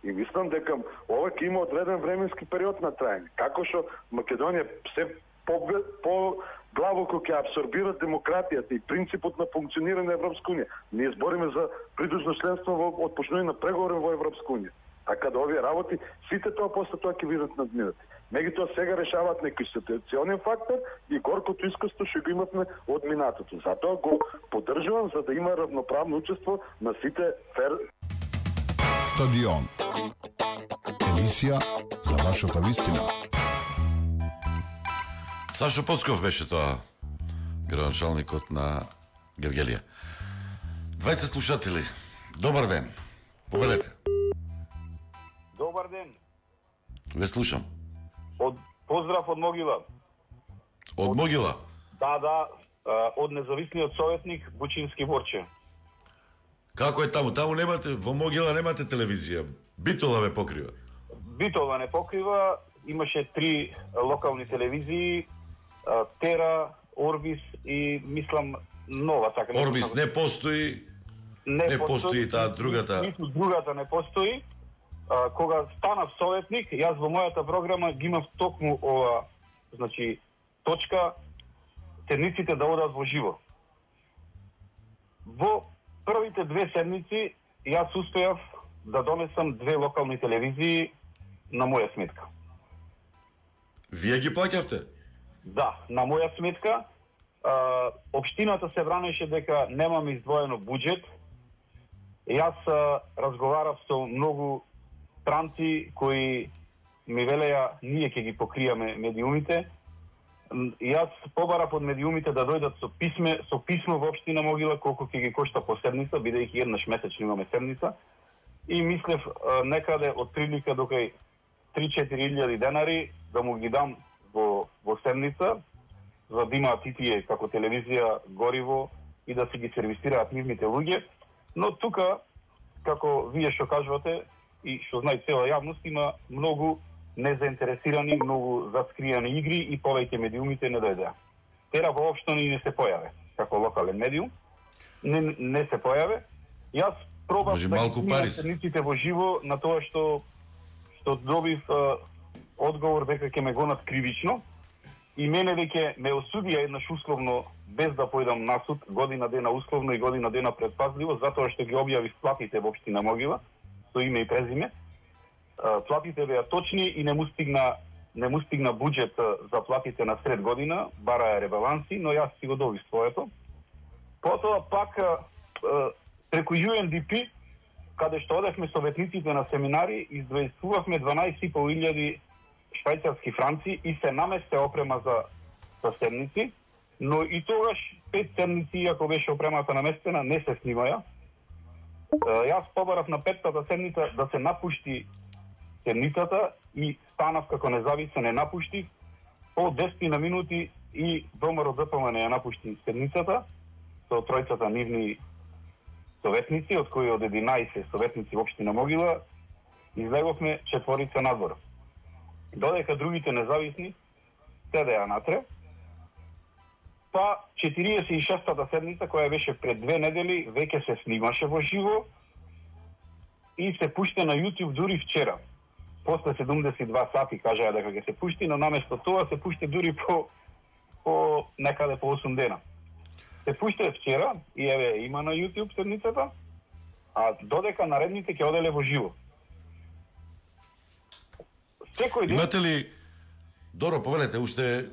Speaker 9: И мислам дека ова ќе има одреден временски период на траење. Како што Македонија се по-главоко ќе абсорбира демократијата и принципот на функционирање на Европска унија. Ние збориме за придружно членство во отпочнување на преговори во Европска унија. Така да овие работи, сите тоа после тоа ќе бидат надминати. Меѓутоа сега решаваат некој ситуационен фактор и горкото искуство што го имавме од минатото. Затоа го поддржувам за да има равноправно учество на сите
Speaker 12: Стадион. Емисија за вашата вистина.
Speaker 2: Сашо Поцков беше тоа, градоначалникот на Гевгелија. 20 слушатели, добар ден. Повелете.
Speaker 18: Добар ден.
Speaker 2: Ве слушам.
Speaker 18: Поздрав од Могила.
Speaker 2: Од Могила?
Speaker 18: Да, од независниот советник Бучински Борче.
Speaker 2: Како е таму? Таму немате, во Могила немате телевизија. Битола ве покрива.
Speaker 18: Битола не покрива, имаше 3 локални телевизии, Тера, Орбис и мислам нова така.
Speaker 2: Орбис не постои. Не постои таа другата.
Speaker 18: Ниту другата не постои. Кога станав советник, јас во мојата програма ги имав токму ова, значи, точка, седниците да одат во живо. Во првите 2 седмици, јас успеав да донесам 2 локални телевизии на моја сметка.
Speaker 2: Вие ги плаќавте?
Speaker 18: Да, на моја сметка. Општината се бранеше дека немаме издвоено буџет. Јас разговарав со многу странци кои ми велеа ние ќе ги покријаме медиумите. Јас побарав од медиумите да дојдат со писмо во општина Могила колку ќе ги кошта по седница, бидејќи еднаш месечно имаме седница. И мислев некаде од прилика до кај 3-4 илјади денари да му ги дам во седница, за да имаат и тие како телевизија гориво и да се ги сервисираат нивните луѓе. Но тука, како вие што кажувате и што знае цела јавност, има многу незаинтересирани, многу заскриени игри и повеќе медиумите не дојдеа. Тера воопшто не се појаве како локален медиум. Не се појаве. Јас пробав да ги седниците во живо на тоа што добив одговор дека ќе ме гонат кривично и мене веќе ме осудија еднаш условно без да појдам на суд, година дена условно и година дена предпазливо, затоа што ги објавив платите во општина Могила со име и презиме. Платите беа точни и не му стигна не му стигна буџет за платите на сред година, бара ребаланси, но јас си го добив своето. Потоа пак преку UNDP, каде што одевме советниците на семинари, издвојствувавме 12.500 швајцарски франци и се наместе опрема за седници, но и тогаш 5 седници, иако беше опремата наместена, не се снимаја. Јас побарав на 5-тата седница да се напушти седницата и станав како независен, не напуштих. По 10 на минути и ВМРО ДПМН ја напушти седницата со тројцата нивни советници, од кои од 11 советници во општина Могила, излеговме 4 надвор. Додека другите независни седеа натре, па 46-та седница, која беше пред 2 недели, веќе се снимаше во живо и се пушти на YouTube дури вчера. После 72 сати кажаа дека ќе се пушти, но наместо тоа се пушти дури по некаде по 8 дена. Се пушти вчера и еве има на YouTube седницата, а додека наредните ќе оделе во живо. Секој ден...
Speaker 2: Имате ли, Доро, повелете, уште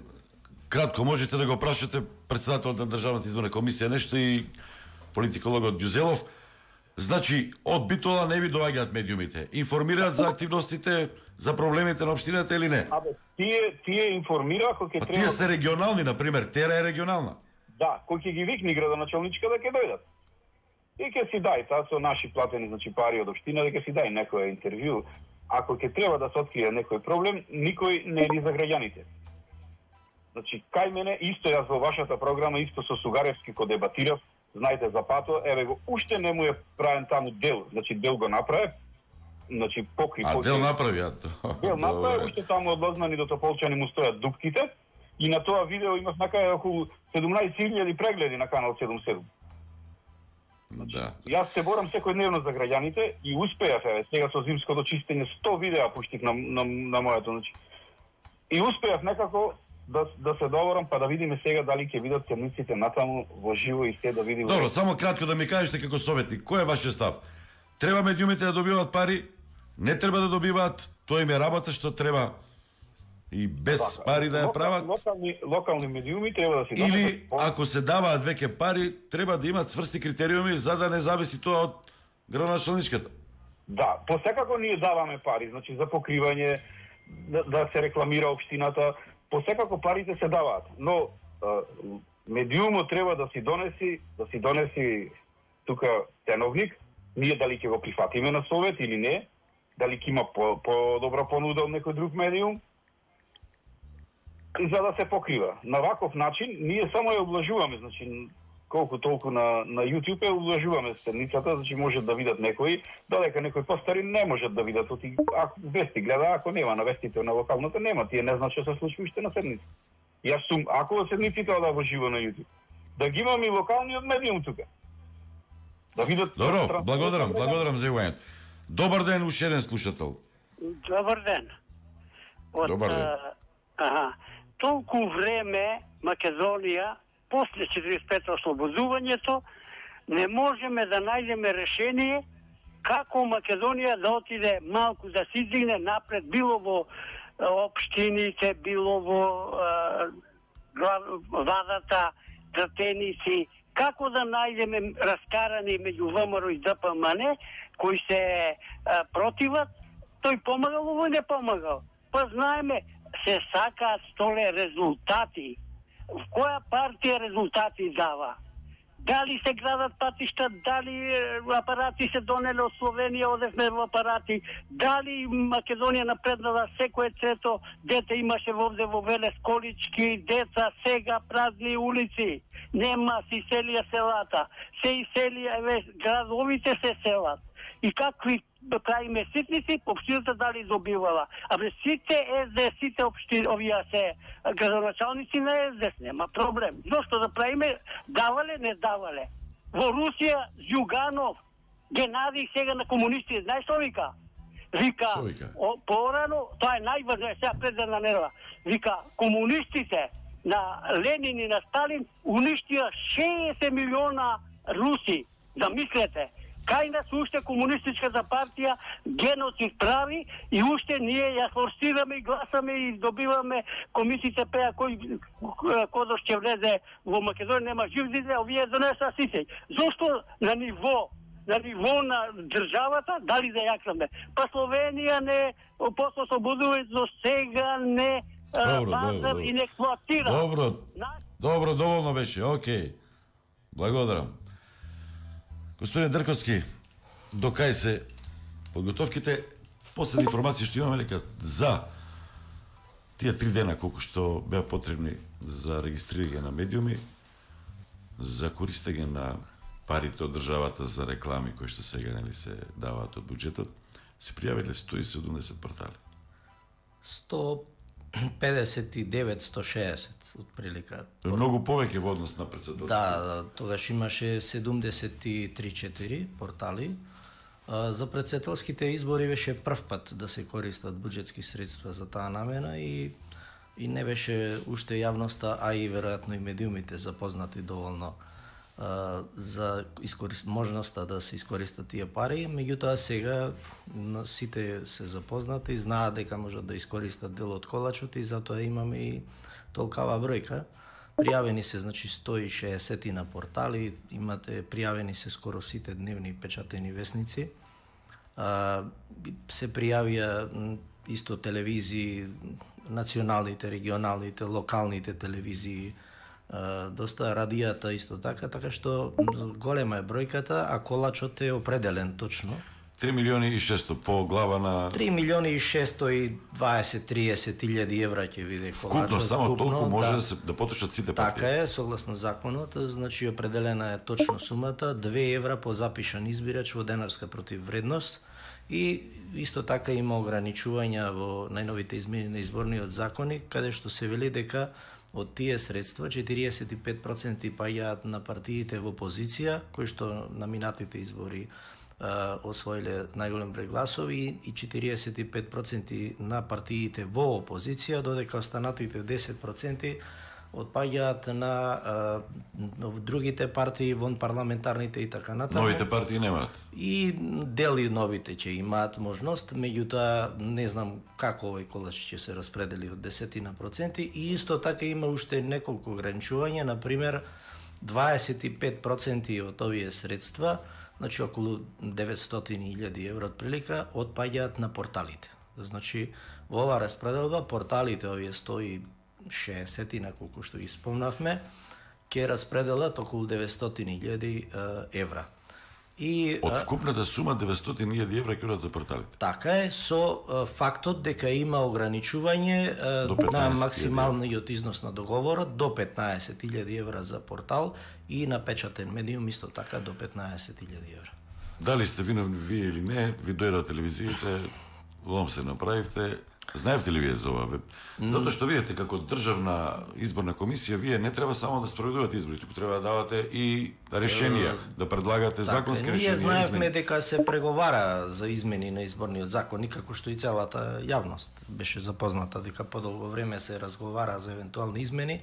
Speaker 2: кратко можете да го прашате председателот на Државната изборна комисија нешто и политикологот Ѓузелов. Значи, од Битола не ви доаѓаат медиумите. Информираат за активностите, за проблемите на општината или не?
Speaker 18: Абе, тие информираат кој ќе треба...
Speaker 2: Тие се регионални, например, Тера е регионална.
Speaker 18: Да, кој ќе ги викни градоначалничка да ќе дојдат. И ќе си дај, таа со наши платени, значи пари од општина, да ќе си дај некој интервју. Ако ќе треба да се открие некој проблем, никој не е за граѓаните. Значи, кај мене, исто јас во вашата програма, исто со Сугаревски ко дебатирав, знаете за пато, еве го, уште не му е правен таму дел, значи дел го направи, значи покри.
Speaker 2: Дел направи,
Speaker 18: Дел направи, уште таму од Лозман и до Тополчани му стојат дупките, и на тоа видео имав накаде околу 17.000 прегледи на канал 77.
Speaker 2: Да.
Speaker 18: Јас се борам секојдневно за граѓаните и успеав, еве, сега со зимското чистење 100 видеа пуштив на моето, значи. И успеав некако да се договорам, па да видиме сега дали ќе видат седниците натаму во живо и се да видиме.
Speaker 2: Добро, само кратко да ми кажете како советник, кој е вашиот став? Треба медиумите да добиваат пари? Не треба да добиваат? Тоа им е работа што треба и без пари да ја прават?
Speaker 18: Локални медиуми треба да си дадат.
Speaker 2: Или ако се даваат веќе пари, треба да имаат цврсти критериуми за да не зависи тоа од градоначалничката.
Speaker 18: Да, посекако ние даваме пари, значи за покривање, да се рекламира општината, посекако парите се даваат, но медиумот треба да си донеси тука ценовник, ние дали ќе го прифатиме на совет или не, дали ќе има по-добра понуда од некој друг медиум, за да се покрива. На ваков начин ние само ја облажуваме, значи колку толку на YouTube ја облажуваме седницата, значи можат да видат некои, додека некои постари не можат да видат, ако вести гледа, ако нема на вестите на локалната нема, тие не знаат што се случи уште на седница. Јас сум, ако седниците ода во живо на YouTube, да ги имам и локалниот медиум тука. Да видат.
Speaker 2: Добро, благодарам за јавувањето. Добар ден, уште еден слушател.
Speaker 19: Добар ден.
Speaker 2: Добар ден.
Speaker 19: Толку време Македонија, после 45 ослободувањето, не можеме да најдеме решение како Македонија да отиде малку да се издигне напред, било во општините, било во владата, Тратеници, како да најдеме раскарани меѓу ВМРО и ДПМН, кои се противат, тој помагал, овој не помагал. Па знаеме, се сакаат столе резултати. В која партија резултати дава? Дали се градат патишта, дали апарати се донеле од Словенија, одевме во апарати, дали Македонија напреднала, секое трето дете имаше вовде во Велес колички, деца, сега празни улици, нема, се иселија селата, се иселија, градовите се селат. И какви правиме ситници, општината дали добивала. Абе сите СДС, сите општини, овие се градоначалници на СДС, нема проблем. Зошто да правиме, давале, не давале. Во Русија, Зюганов, Генадий сега на комунисти, знаеш што вика? Вика, порано, тоа е најважно, сега пред една недела, вика, комунистите на Ленин и на Сталин уништија 60 милиона руси. Да мислете, Кај нас уште комунистичката партија геноцид прави и уште ние ја форсираме и гласаме и добиваме комисиите пеа кој кодош ќе влезе во Македонија, нема жив зиде, овие донеса сите. Зошто на ниво на државата, дали да јакнаме? Па Словенија не после ослободувањето сега не базар и не експлоатира.
Speaker 2: Добро, доволно беше, окей. Благодарам. Господин Дрковски, до кај се подготовките? Последни информации што имаме дека за тие 3 дена колку што беа потребни за регистрирање на медиуми, за користење на парите од државата за реклами кои што сега нели се даваат од буџетот, се пријавиле 170 портали.
Speaker 17: 159-160 отприлика.
Speaker 2: Многу повеќе во однос на председателството.
Speaker 17: Да, тогаш имаше 73-4 портали. За председателските избори беше прв пат да се користат буџетски средства за таа намена и не беше уште јавноста, а и веројатно и медиумите запознати доволно за можноста да се искористат тие пари, меѓутоа сега сите се запознати, знаат дека можат да искористат дел од колачот и затоа имаме и толкава бројка. Пријавени се, значи, 160 на портали, имате пријавени се скоро сите дневни печатени весници. Се пријавија исто телевизии, националните, регионалните, локалните телевизии, доста радијата исто така што голема е бројката, а колачот е определен точно.
Speaker 2: 3 милиони и 600 по глава на
Speaker 17: 3 милиони и 620-30 илјади евра ќе биде колачот.
Speaker 2: Вкупно само толку може да потрошат сите партии.
Speaker 17: Така е, согласно законот, значи определена е точно сумата, 2 евра по запишан избирач во денарска противвредност и исто така има ограничувања во најновите измени на изборниот законник, каде што се вели дека од тие средства 45% паѓаат на партиите во опозиција, кои што на минатите избори освоиле најголем број гласови и 45% на партиите во опозиција, додека останатите 10% отпаѓаат на другите партии, вон парламентарните и така натаму.
Speaker 2: Новите партии немаат.
Speaker 17: И дели новите ќе имаат можност, меѓутоа не знам како овој колач ќе се распредели од 10% и исто така има уште неколку ограничувања, например 25% од овие средства, значи околу 900.000 евро отприлика, отпаѓаат на порталите. Значи во ова распределба порталите, овие 160 на колку што ги спомнавме, ќе распределат околу 900.000 евра. И
Speaker 2: од вкупната сума 900.000 евра ќе одат за порталите.
Speaker 17: Така е, со фактот дека има ограничување на максималниот износ на договорот до 15.000 евра за портал и на печатен медиум исто така до 15.000 евра.
Speaker 2: Дали сте виновни вие или не, ви дојдат телевизиите, лом се направивте. Знаевте ли вие за ова? Затоа што видите како државна изборна комисија, вие не треба само да спроведувате избори, туку треба да давате и решенија, да предлагате законски решенија.
Speaker 17: Ние знаевме дека се преговара за измени на изборниот закон, како што и целата јавност беше запозната дека подолго време се разговара за евентуални измени.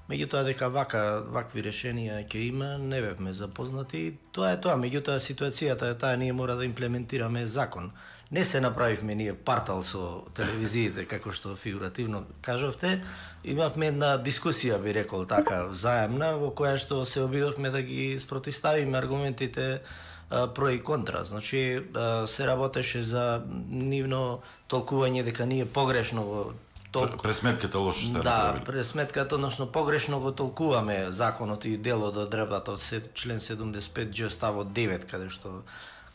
Speaker 17: Меѓутоа дека вакви решенија ќе има, не бевме запознати. Тоа е тоа, меѓутоа ситуацијата е таа, ние мора да имплементираме закон. Не се направивме ние партал со телевизиите, како што фигуративно кажавте. Имавме една дискусија, би рекол така, взаемна, во која што се обидовме да ги спротивставиме аргументите про и контра. Значи, се работеше за нивно толкување дека ние погрешно го
Speaker 2: пресметката лошо сте направили.
Speaker 17: Да, пресметката, односно погрешно го толкуваме законот и дел од одредбата од член 75Џ ставот 9, каде што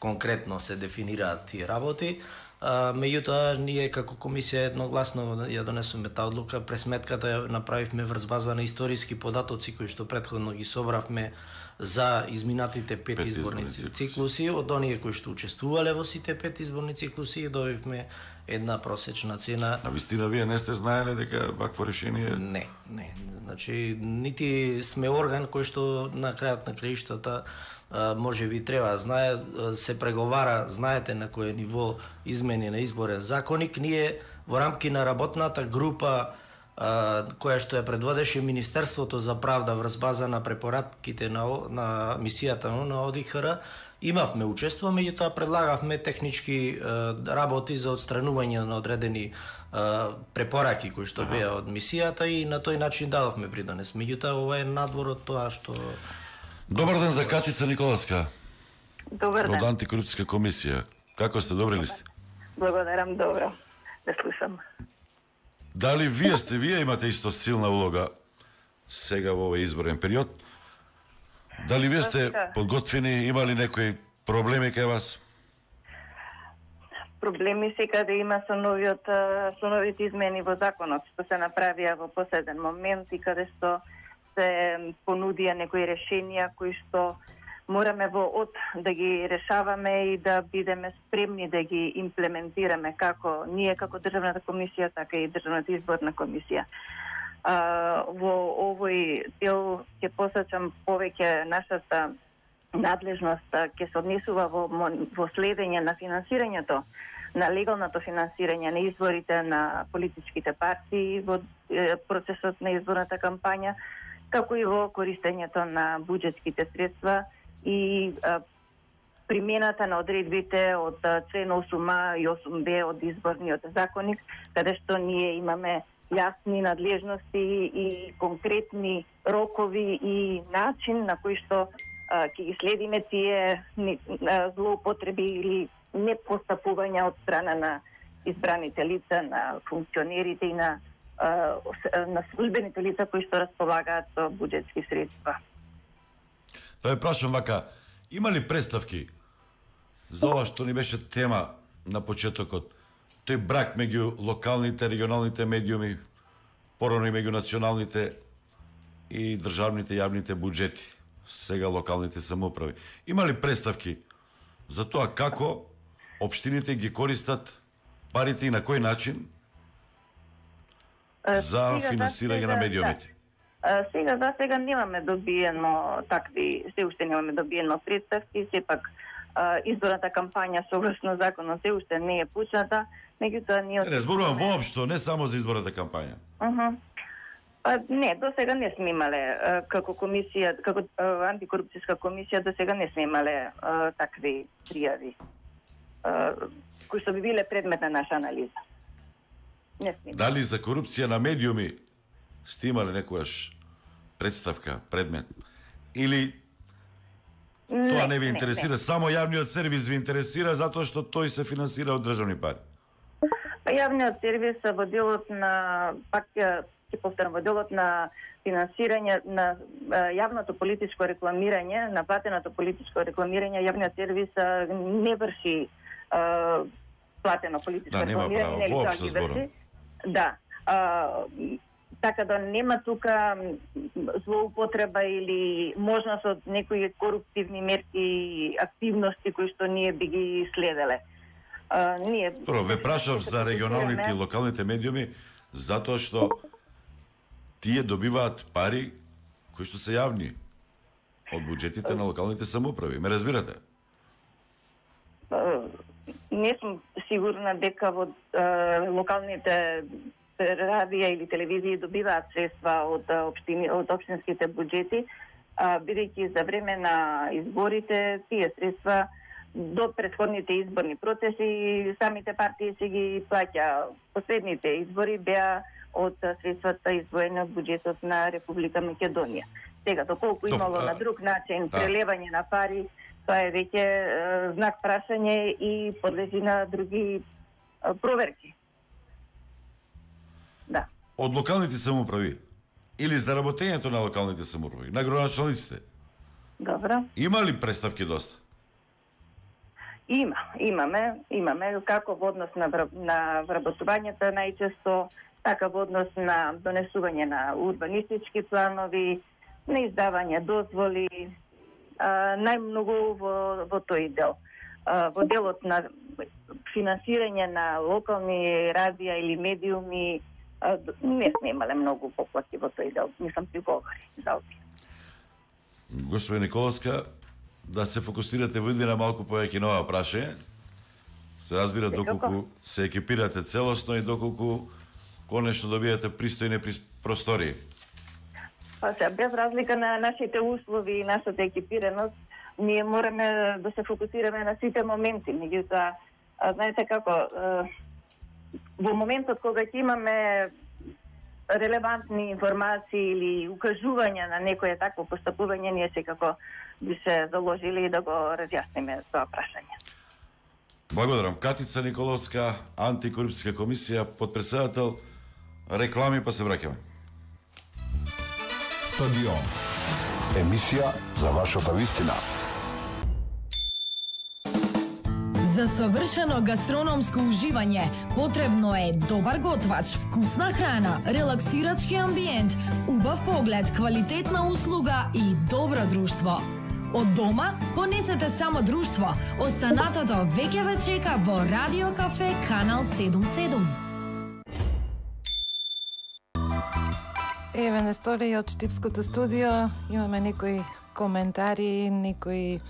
Speaker 17: конкретно се дефинираат тие работи. Меѓутоа, ние како комисија едногласно ја донесоме таа одлука. Пресметката ја направивме врз база на историски податоци кои што претходно ги собравме за изминатите 5 изборни циклуси. Од оние кои што учествувале во сите 5 изборни циклуси добивме една просечна цена.
Speaker 2: А вистина вие не сте знаеле дека вакво решение?
Speaker 17: Не. Значи, нити сме орган кој што на крајот на краиштата може би треба, се преговара, знаете на кој ниво измени на изборен законник. Ние во рамки на работната група која што ја предводеше Министерството за правда врз база на препораките на мисијата на ОДИХР, имавме учество, меѓутоа предлагавме технички работи за отстранување на одредени препораки кои што беа од мисијата и на тој начин дадовме придонес. Меѓутоа ова е надвор од тоа што...
Speaker 2: Добар ден за Катица Николовска.
Speaker 20: Добар ден.
Speaker 2: Од Антикорупцијска комисија. Како сте, добри ли сте?
Speaker 20: Благодарам, добро. Да слушам.
Speaker 2: Дали вие имате исто силна улога сега во овој изборен период? Дали вие сте подготвени, имали некои проблеми кај вас?
Speaker 20: Проблеми секаде има со новите измени во законот, што се направија во последен момент и каде што се понудија некои решенија кои што мораме да ги решаваме и да бидеме спремни да ги имплементираме како ние како Државната комисија, така и Државната изборна комисија. Во овој дел ќе посачам повеќе нашата надлежност ќе се однесува во следење на финансирањето, на легалното финансирање на изборите на политичките партии во процесот на изборната кампања, како и во користењето на буџетските средства и примената на одредбите од член 8а и 8б од изборниот законник, каде што ние имаме јасни надлежности и конкретни рокови и начин на кој што ќе ги следиме тие злоупотреби или непостапувања од страна на избраните лица, на функционерите и на службените лица кои што располагаат со буџетски средства.
Speaker 2: Да ве прашам вака, има ли представки за ова што ни беше тема на почетокот? Тој брак меѓу локалните, регионалните медиуми, порано и меѓу националните и државните јавните буџети, сега локалните самоуправи. Има ли представки за тоа како општините ги користат парите и на кој начин за финансирање на медиумите?
Speaker 20: За сега немаме добиено такви, се уште немаме добиено представки, сепак изборната кампања согласно законот се уште не е почната, меѓутоа ние...
Speaker 2: Не зборувам воопшто, не само за изборната кампања.
Speaker 20: Не, до сега не сме имале како комисија, како антикорупцијска комисија, до сега не сме имале такви пријави кои што би биле предмет на наша анализа. Не сме.
Speaker 2: Дали за корупција на медиуми сте имале некојаш представка, предмет? Или тоа не ви интересира, само јавниот сервис ви интересира затоа што тој се финансира од државни пари?
Speaker 20: Јавниот сервис во делот на, пак ќе повторам, во делот на финансирање на јавното политичко рекламирање, на платеното политичко рекламирање, јавниот сервис не врши платено политичко рекламирање, нели тоа ги врши? Да. Така да нема тука злоупотреба или можност од некои коруптивни мерки и активности кои што ние би ги следеле.
Speaker 2: Прво, ве прашав за регионалните и локалните медиуми, затоа што тие добиваат пари кои што се јавни од буџетите на локалните самоуправи. Ме разбирате?
Speaker 20: Не сум сигурна дека во локалните радија или телевизии добиваат средства од општинските буџети, бидејќи за време на изборите тие средства до претходните изборни процеси самите партии се ги плаќа. Последните избори беа од средствата издвоени од буџетот на Република Македонија. Сега, доколку имало на друг начин прелевање на пари, тоа е веќе знак прашање и подлежи на други проверки. Да.
Speaker 2: Од локалните самоуправи или за работењето на локалните самоуправи, на градоначалниците?
Speaker 20: Добро.
Speaker 2: Има ли представки доста?
Speaker 20: Имаме како во однос на вработувањето најчесто, така во однос на донесување на урбанистички планови, на издавање дозволи, најмногу во тој дел. Во делот на финансирање на локални радија или медиуми, не сме имале многу поплати во тој дел, не сум приговори за овие.
Speaker 2: Господи Николовска, да се фокусирате во на малку повеќе на ова прашање. Се разбира доколку се екипирате целосно и доколку конечно добијате пристојни простории.
Speaker 20: Па се, без разлика на нашите услови и нашата екипираност, ние мораме да се фокусираме на сите моменти. Меѓутоа, знаете како, во моментот кога ќе имаме релевантни информации или укажувања на некое такво постапување, ние секако би се заложили да го разјасниме тоа прашање.
Speaker 2: Благодарам. Катица Николовска, антикорупцијска комисија, подпредседател. Реклами па се враќаме.
Speaker 12: Стадион. Емисија за вашата вистина.
Speaker 10: За совршено гастрономско уживање потребно е добар готвач, вкусна храна, релаксирачки амбиент, убав поглед, квалитетна услуга и добро друштво. Од дома понесете само друштво. Останатото веќе ве чека во Радио Кафе Канал 77.
Speaker 4: Еве на стори од Штипското студио имаме некои коментари, некои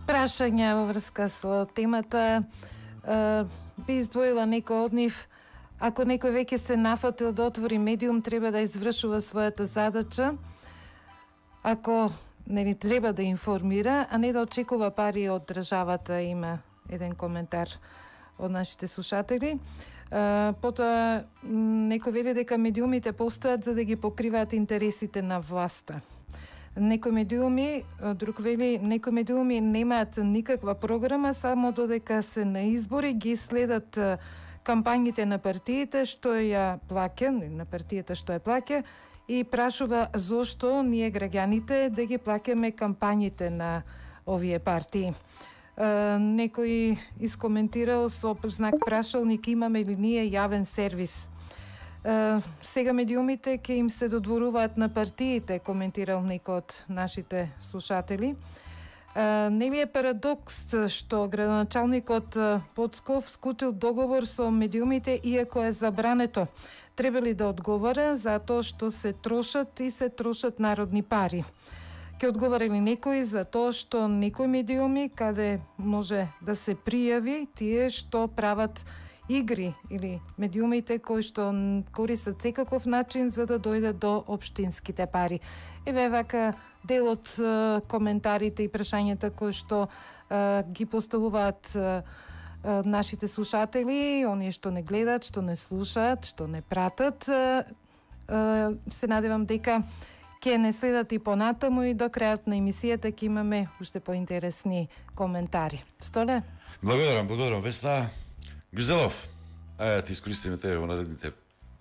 Speaker 4: прашања во врска со темата. Би издвоила некој од нив. Ако некој веќе се нафатил да отвори медиум, треба да извршува својата задача. Ако нели треба да информира, а не да очекува пари од државата, има еден коментар од нашите слушатели. Потоа некој вели дека медиумите постојат за да ги покриваат интересите на власта. Некои медиуми, друг вели, некои медиуми немаат никаква програма, само додека се на избори ги следат кампањите на партиите што ја плаќа, на партијата што ја плаќа, и прашува зошто ние граѓаните да ги плаќаме кампањите на овие партии. Некој искоментирал со знак прашалник, имаме ли ние јавен сервис. Сега медиумите ќе им се додворуваат на партиите, коментирал некој од нашите слушатели. Нели е парадокс што градоначалникот Поцков склучил договор со медиумите иако е забрането? Треба ли да одговара затоа што се трошат народни пари? Ќе одговара ли некој за тоа што некои медиуми каде може да се пријави тие што прават игри или медиумите кои што користат секаков начин за да дојдат до општинските пари? Еве вака дел од коментарите и прашањата кои што ги поставуваат нашите слушатели, оние што не гледат, што не слушаат, што не пратат. Се надевам дека ќе не следат и понатаму и до крајот на емисијата ќе имаме уште поинтересни коментари. Столе?
Speaker 2: Благодарам, Весна. Гюзелов, ти искористиме тебе во наредните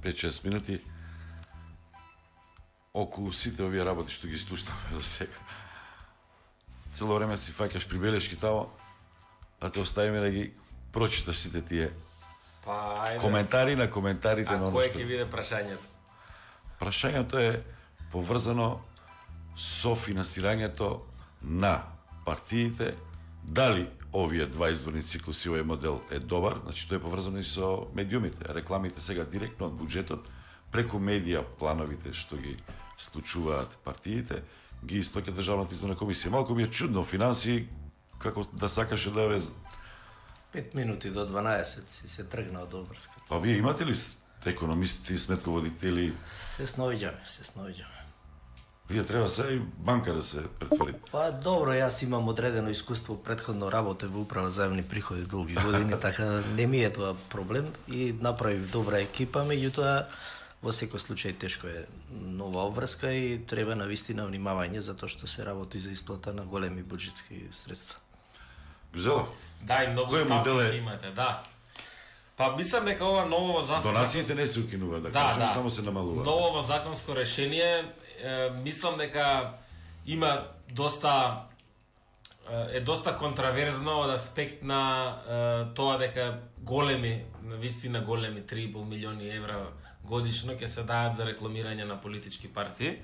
Speaker 2: 5-6 минути околу сите овие работи што ги слушнавме до сега. Цело време си фаќаш прибелешки тамо, да те оставиме да ги прочиташ сите тие коментари на коментарите на
Speaker 3: оно што... А кој ќе биде прашањето?
Speaker 2: Прашањето е поврзано со финансирањето на партиите, дали овие два изборни циклуси, овој модел е добар, значи тоа е поврзано и со медиумите. Рекламите сега директно од буџетот, преку медија, плановите што ги случуваат партиите, ги исплаќа Државната изборна комисија. Малку ми е чудно, финансии, како да сакаше да ве...
Speaker 17: 5 минути до 12 си се тргна од обврската.
Speaker 2: Па вие имате ли економисти, сметководители?
Speaker 17: Се сноиѓаме.
Speaker 2: Вие треба се и банка да се претвори.
Speaker 17: Па добро, јас имам одредено искуство, претходно работев во управа за јавни приходи долги години, така не ми е тоа проблем и направив добра екипа, меѓутоа во секој случај тешко е нова обврска и треба навистина внимавање затоа што се работи за исплата на големи буџетски средства.
Speaker 2: Гюзелов?
Speaker 3: Да, и многу ставки имате, да. Па мислам дека ова ново
Speaker 2: донациите не се укинуваат, да кажем, само се намалуваат.
Speaker 3: Ново законско решение, мислам дека има доста контраверзно од аспект на тоа дека големи, навистина големи 3,5 милиони евра годишно ќе се даат за рекламирање на политички партии.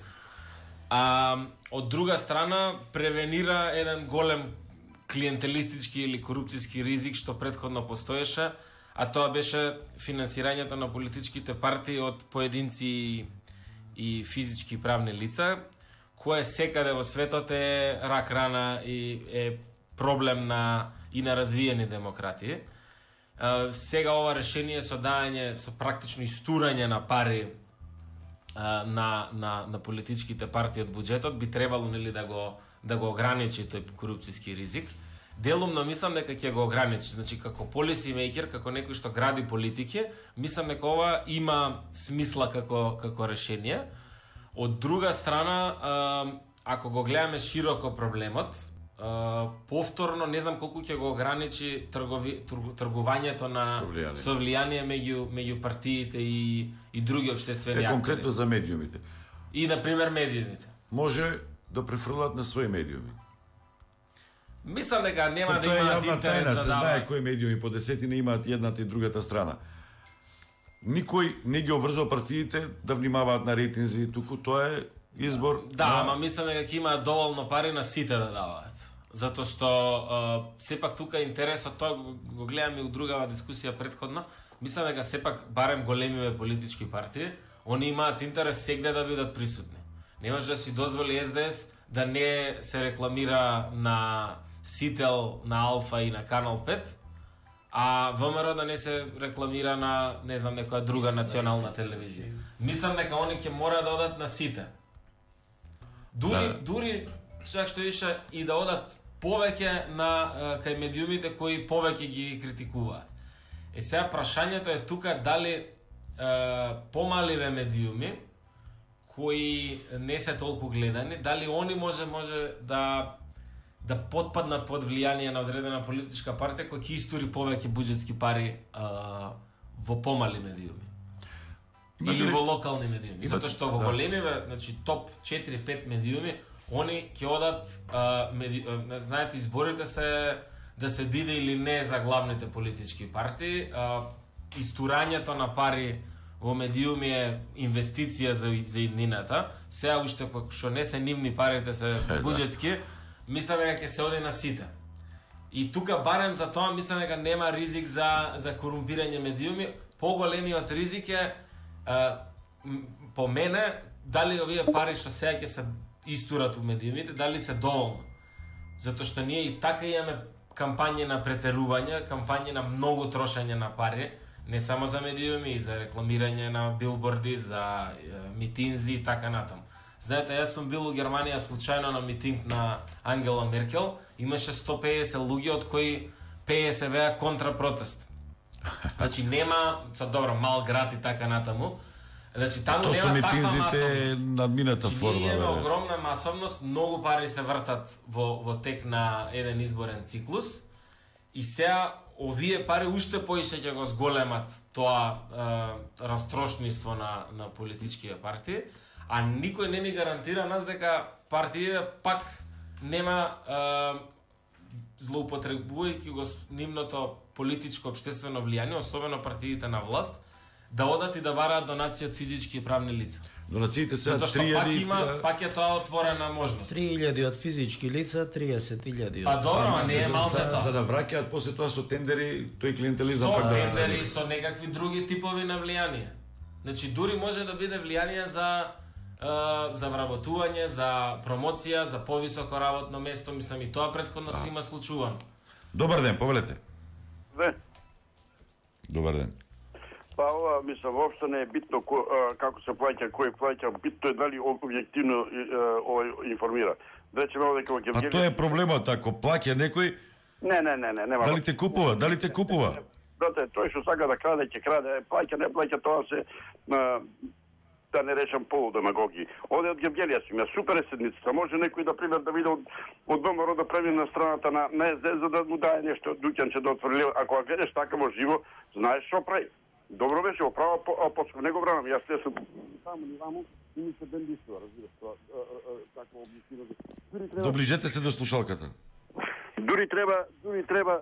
Speaker 3: Од друга страна превенира еден голем клиентелистички или корупцијски ризик што претходно постоеше, а тоа беше финансирањето на политичките партии од поединци и физички и правни лица, кое секаде во светот е рак рана и е проблем и на развиени демократии. сега ова решение со дајање, со практично истурање на пари на политичките партии од буџетот би требало нели да го ограничи тој корупцијски ризик. Делумно мислам дека ќе го ограничи, значи како policy maker, како некој што гради политики, мислам дека ова има смисла како решение. Од друга страна, ако го гледаме широко проблемот, повторно не знам колку ќе го ограничи тргувањето на со влијание меѓу партиите и други општествени актери.
Speaker 21: Конкретно за медиумите.
Speaker 3: И на пример медиумите.
Speaker 21: Може да префрлат на своји медиуми.
Speaker 3: Мислам дека нема да имаат интерес да
Speaker 21: се знае кои медиуми по десетина имаат едната и другата страна. Никој не ги обврзува партиите да внимаваат на рейтинзи, туку тоа е избор.
Speaker 3: Да, ама мислам дека ќе имаат доволно пари на сите да даваат. Затоа што сепак тука интересот, тоа го гледаме у другава дискусија претходно, мислам дека сепак барем големиве политички партии, они имаат интерес сегде да бидат присутни. Не може да си дозволи СДС да не се рекламира на Сител, на Алфа и на Канал 5, а ВМРО да не се рекламира на, не знам, некоја друга национална телевизија. Мислам дека они ќе мора да одат на сите. Дури чак што ише и да одат повеќе на кај медиумите кои повеќе ги критикуваат. Сега прашањето е тука дали помаливе медиуми кои не се толку гледани, дали они може да потпаднат под влијание на одредена политичка партија која ќе истури повеќе буџетски пари во помали медиуми. Или во локални медиуми. Затоа што во големиве, значи топ 4-5 медиуми, они ќе одат, знаете, изборите се да се биде или не за главните политички партии. Истурањето на пари во медиуми е инвестиција за иднината. Сега уште што не се нивни парите се буџетски, мислам дека ќе се оди на сите. И тука барем за тоа мислам дека нема ризик за корумпирање медиуми. Поголемиот ризик е по мене дали овие пари што сега ќе се истурат у медиумите, дали се доволно. Затоа што ние и така имаме кампањи на претерување, кампањи на многу трошење на пари, не само за медиуми, и за рекламирање на билборди, за митинзи и така натаму. Знаете, јас сум бил у Германија случајно на митинг на Ангела Меркел, имаше 150 луѓе од кои 50 беа контра протест. Значи нема, добро, мал град и така натаму. Значи таму нема таква масовност.
Speaker 21: Тоа со митинзите надмината форма.
Speaker 3: Ние имаме огромна масовност, многу пари се вртат во тек на еден изборен циклус и сега овие пари уште поише ќе го зголемат тоа растрошниство на политичките партии, а никој не ни гарантира нас дека партиите пак нема злоупотребувајќи го нивното политичко општествено влијание, особено партиите на власт, да одат и да бараат донации од физички и правни лица.
Speaker 21: Донациите се 3000.
Speaker 3: Затоа што пак е тоа отворена можност.
Speaker 17: 3000 од физички лица, 30.000 од...
Speaker 3: Па добро, не е малце тоа.
Speaker 21: За да враќаат после тоа со тендери, тој клиентелизам пак
Speaker 3: да...
Speaker 21: Со
Speaker 3: тендери, со некакви други типови на влијание. Значи, дури може да биде влијание за вработување, за промоција, за повисоко работно место, мислам и тоа претходно се има случувано.
Speaker 21: Добар ден, повелете. Добар ден.
Speaker 14: Па ова, мислам, воопшто не е битно како се плаќа, кој плаќа, битно е дали објективно информира. Речеме дека во Гевгелија...
Speaker 21: А тоа е проблемот, ако плаќа некој...
Speaker 14: Не, нема.
Speaker 21: Дали те купува?
Speaker 14: Брате, тој што сака да краде, ќе краде, плаќа, не плаќа, тоа се... да не речам полудемагоги. Оде од Гевгелија си, супер е седницата. Може некој да пример да биде од ВМРО да прави на страната на СДС за да му дае нешто дуќанче да отвори. Ако гледаш така во живо, знаеш што прави. Добро беше, оправа по него време. Јас сум таму ни ваму и ми се бендисува, разбираш тоа. Такво објективно.
Speaker 21: Доближете се до слушалката.
Speaker 14: Дури треба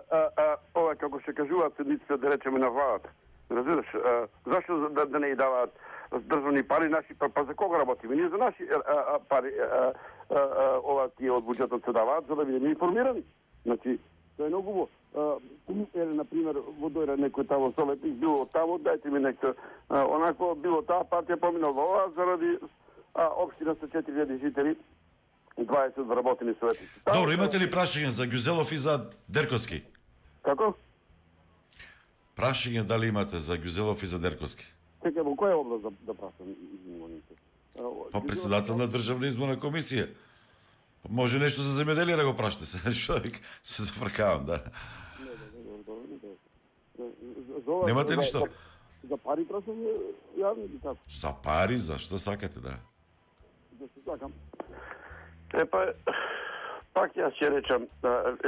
Speaker 14: ова како се кажуваат седниците да речеме на владата. Разбираш, зашто да не ја даваат државни пари наши, па за кога работиме? Ние за наши пари ова тие од буџетот се даваат за да бидеме информирани. Значи, тоа е многу убаво. Например, во дојде некој тамо советник, било тамо, дајте ми некој, онако било таа партија поминала ова, заради општина со 4000 жители, 20 вработени советници.
Speaker 21: Добро, имате ли прашање за Гюзелов и за Дерковски?
Speaker 14: Како?
Speaker 21: Прашање дали имате за Ѓузелов и за Дерковски?
Speaker 14: Чекај, во која област да прашам?
Speaker 21: Па председател на Државна изборна комисија. Може нешто за земјоделие да го прашате се, човек се зафркавам, да. Немате ништо?
Speaker 14: За пари прашам јавни или како?
Speaker 21: За пари, зашто сакате, да?
Speaker 14: Зашто сакам? Пак јас ќе речам,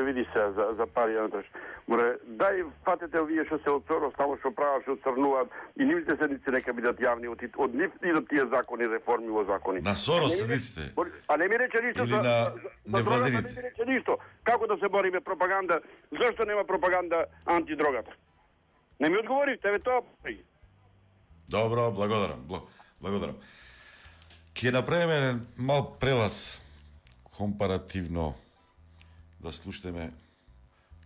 Speaker 14: види се за пари, Андреш. Море, дај фатете овие што се оцрнуваат, само што прават, што оцрнуваат, и нивните седници нека бидат јавни, од нив идат тие закони, реформи во закони.
Speaker 21: На Сорос седниците?
Speaker 14: А не ми рече ништо
Speaker 21: или на невладините?
Speaker 14: Не ми рече ништо. Како да се бориме пропаганда? Зашто нема пропаганда антидрогата? Не ми одговоривте, тоа.
Speaker 21: Добро, благодарам. Ќе направиме мал прелаз компаративно да слушаме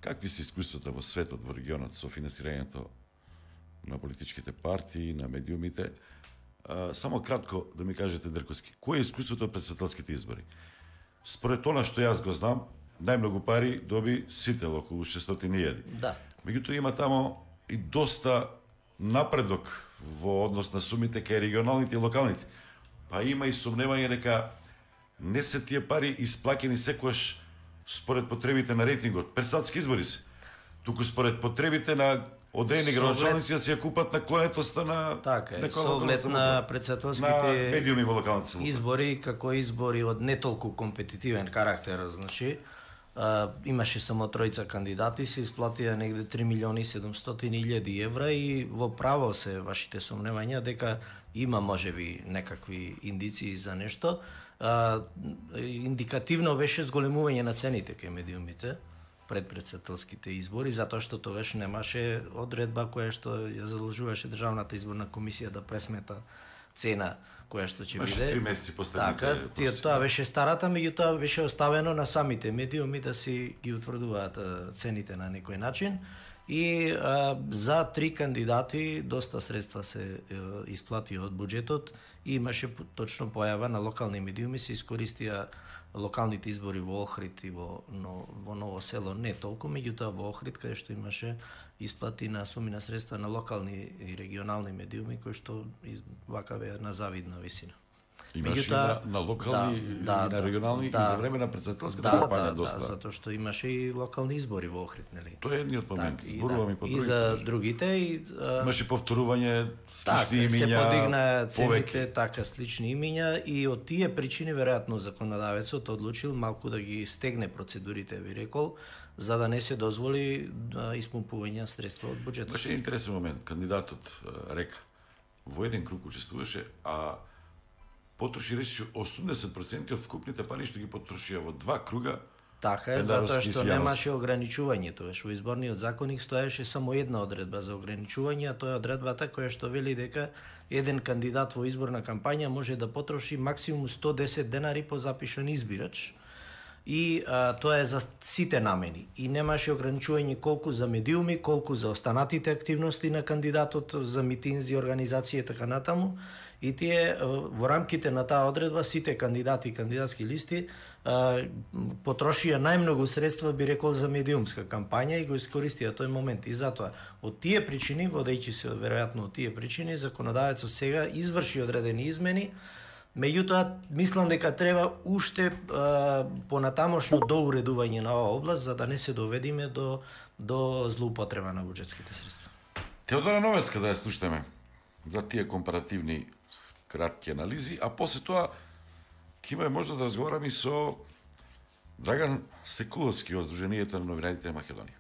Speaker 21: какви се искуствата во светот, во регионот со финансирањето на политичките партии, на медиумите. Само кратко да ми кажете, Дрковски, кој е искуството од претседателските избори? Според она што јас го знам, најмногу пари доби Сител, околу 600.000.
Speaker 17: Да.
Speaker 21: Меѓутоа има тамо и доста напредок во однос на сумите кај регионалните и локалните. Па има и сомневање дека не се тие пари исплаќени секогаш според потребите на рейтингот. Председателски избори се. Туку според потребите на одредени градоначалници да се ја купат наклонетоста на
Speaker 17: со оглед на председателските
Speaker 21: медиуми во локалната самоуправа.
Speaker 17: Избори како избори од не толку компетитивен карактер, значи имаше само тројца кандидати, се исплатија негде 3.700.000 евра и во право се вашите сомневања дека има можеби некакви индиции за нешто. Индикативно беше зголемување на цените кај медиумите пред председателските избори, затоа што тогаш немаше одредба која што ја задолжуваше Државната изборна комисија да пресмета цена која што ќе биде.
Speaker 21: 3 месеци последните.
Speaker 17: Така, тоа беше старата, меѓутоа беше оставено на самите медиуми да си ги утврдуваат цените на некој начин. И за 3 кандидати доста средства се исплати од буџетот и имаше точно појава на локални медиуми, се искористија локалните избори во Охрид и во Ново село, не толку, меѓутоа во Охрид каде што имаше исплати на суми на средства на локални и регионални медиуми кои што вака беа на завидна висина.
Speaker 21: Имаше на локални и на регионални и за време на председателската кампања доста.
Speaker 17: Да, затоа што имаше и локални избори во Охрид, нели?
Speaker 21: Тоа е едниот момент. Зборуваме по другите.
Speaker 17: И за другите
Speaker 21: имаше повторување слични имиња.
Speaker 17: Се подигна цените, така слични имиња и од тие причини веројатно законодавецот одлучил малку да ги стегне процедурите, би рекол, за да не се дозволи испумпување средства од буџетот.
Speaker 21: Беше интересен момент. Кандидатот река во еден круг учествуваше, а потроши рече 80% од вкупните пари што ги потрошија во 2 круга.
Speaker 17: Така е, затоа што немаше ограничување тогаш. Во изборниот законник стоеше само една одредба за ограничување, а тоа е одредбата која што вели дека еден кандидат во изборна кампања може да потроши максимум 110 денари по запишан избирач. И тоа е за сите намени. И немаше ограничување колку за медиуми, колку за останатите активности на кандидатот, за митинзи, организации и така натаму. И тие во рамките на таа одредба сите кандидати и кандидатски листи потрошија најмногу средства, би рекол, за медиумска кампања и го искористија тој момент. И затоа, од тие причини, водејќи се веројатно од тие причини, законодавецот сега изврши одредени измени. Меѓутоа, мислам дека треба уште понатамошно доуредување на оваа област, за да не се доведиме до злоупотреба на буџетските средства.
Speaker 21: Теодора Новецка да ја слушаме за тие компаративни кратки анализи, а после тоа ќе имаме можност да разговараме и со Драган Секуловски од Сдруженијето на новинарите на Македонија.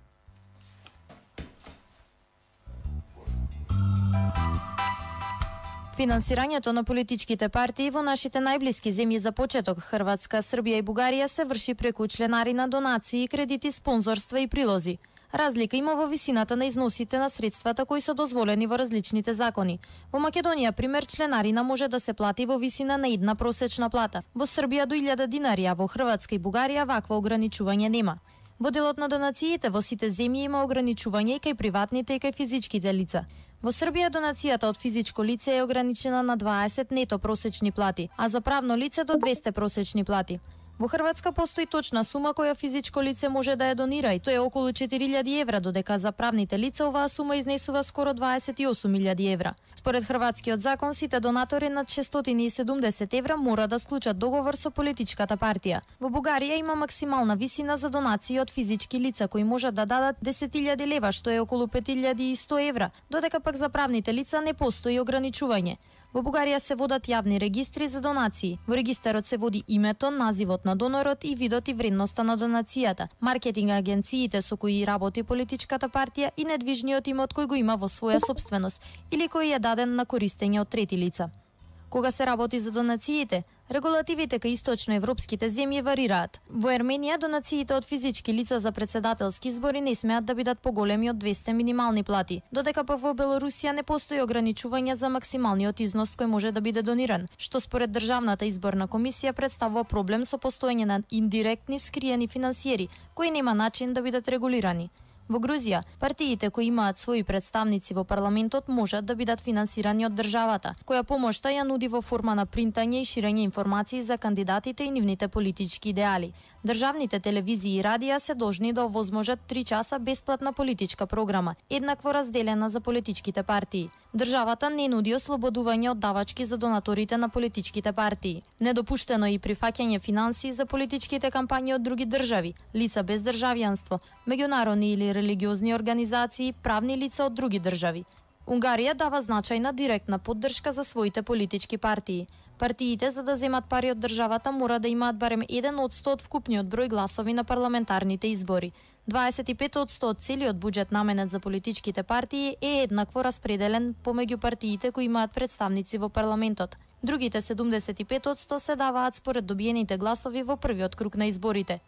Speaker 6: Финансирањето на политичките партии во нашите најблиски земји за почеток, Хрватска, Србија и Бугарија, се врши преку членарина, донации, кредити, спонзорства и прилози. Разлика има во висината на износите на средствата кои се дозволени во различните закони. Во Македонија, пример, членарина може да се плати во висина на една просечна плата. Во Србија до 1000 динари, а во Хрватска и Бугарија вакво ограничување нема. Во делот на донациите во сите земји има ограничување и кај приватните и кај физичките лица. Во Србија донацијата од физичко лице е ограничена на 20 нето просечни плати, а за правно лице до 200 просечни плати. Во Хрватска постои точна сума која физичко лице може да ја донира и тоа е околу 4000 евра, додека за правните лица оваа сума изнесува скоро 28.000 евра. Според хрватскиот закон, сите донатори над 670 евра мора да склучат договор со политичката партија. Во Бугарија има максимална висина за донации од физички лица кои можат да дадат 10.000 лева, што е околу 5100 евра, додека пак за правните лица не постои ограничување. Во Бугарија се водат јавни регистри за донации. Во регистарот се води името, називот на донорот и видот и вредноста на донацијата, маркетинг агенциите со кои работи политичката партија и недвижниот имот кој го има во своја сопственост или кој е даден на користење од трети лица. Кога се работи за донациите, регулативите кај источноевропските земји варираат. Во Ерменија донациите од физички лица за председателски избори не смеат да бидат поголеми од 200 минимални плати, додека пак во Белорусија не постои ограничување за максималниот износ кој може да биде дониран, што според Државната изборна комисија представува проблем со постоење на индиректни скриени финансиери, кои нема начин да бидат регулирани. Во Грузија, партиите кои имаат своји представници во парламентот можат да бидат финансирани од државата, која помошта ја нуди во форма на принтање и ширење информации за кандидатите и нивните политички идеали. Државните телевизии и радија се должни да овозможат 3 часа бесплатна политичка програма, еднакво разделена за политичките партии. Државата не нуди ослободување од давачки за донаторите на политичките партии. Недопуштено е и прифаќање финансии за политичките кампањи од други држави, лица без државјанство, меѓународни или религиозни организации, правни лица од други држави. Унгарија дава значајна директна поддршка за своите политички партии. Партиите, за да земат пари од државата, мора да имаат барем 1% од вкупниот број гласови на парламентарните избори. 25% од целиот буџет наменет за политичките партии е еднакво распределен помеѓу партиите кои имаат представници во парламентот. Другите 75% се даваат според добиените гласови во првиот круг на изборите.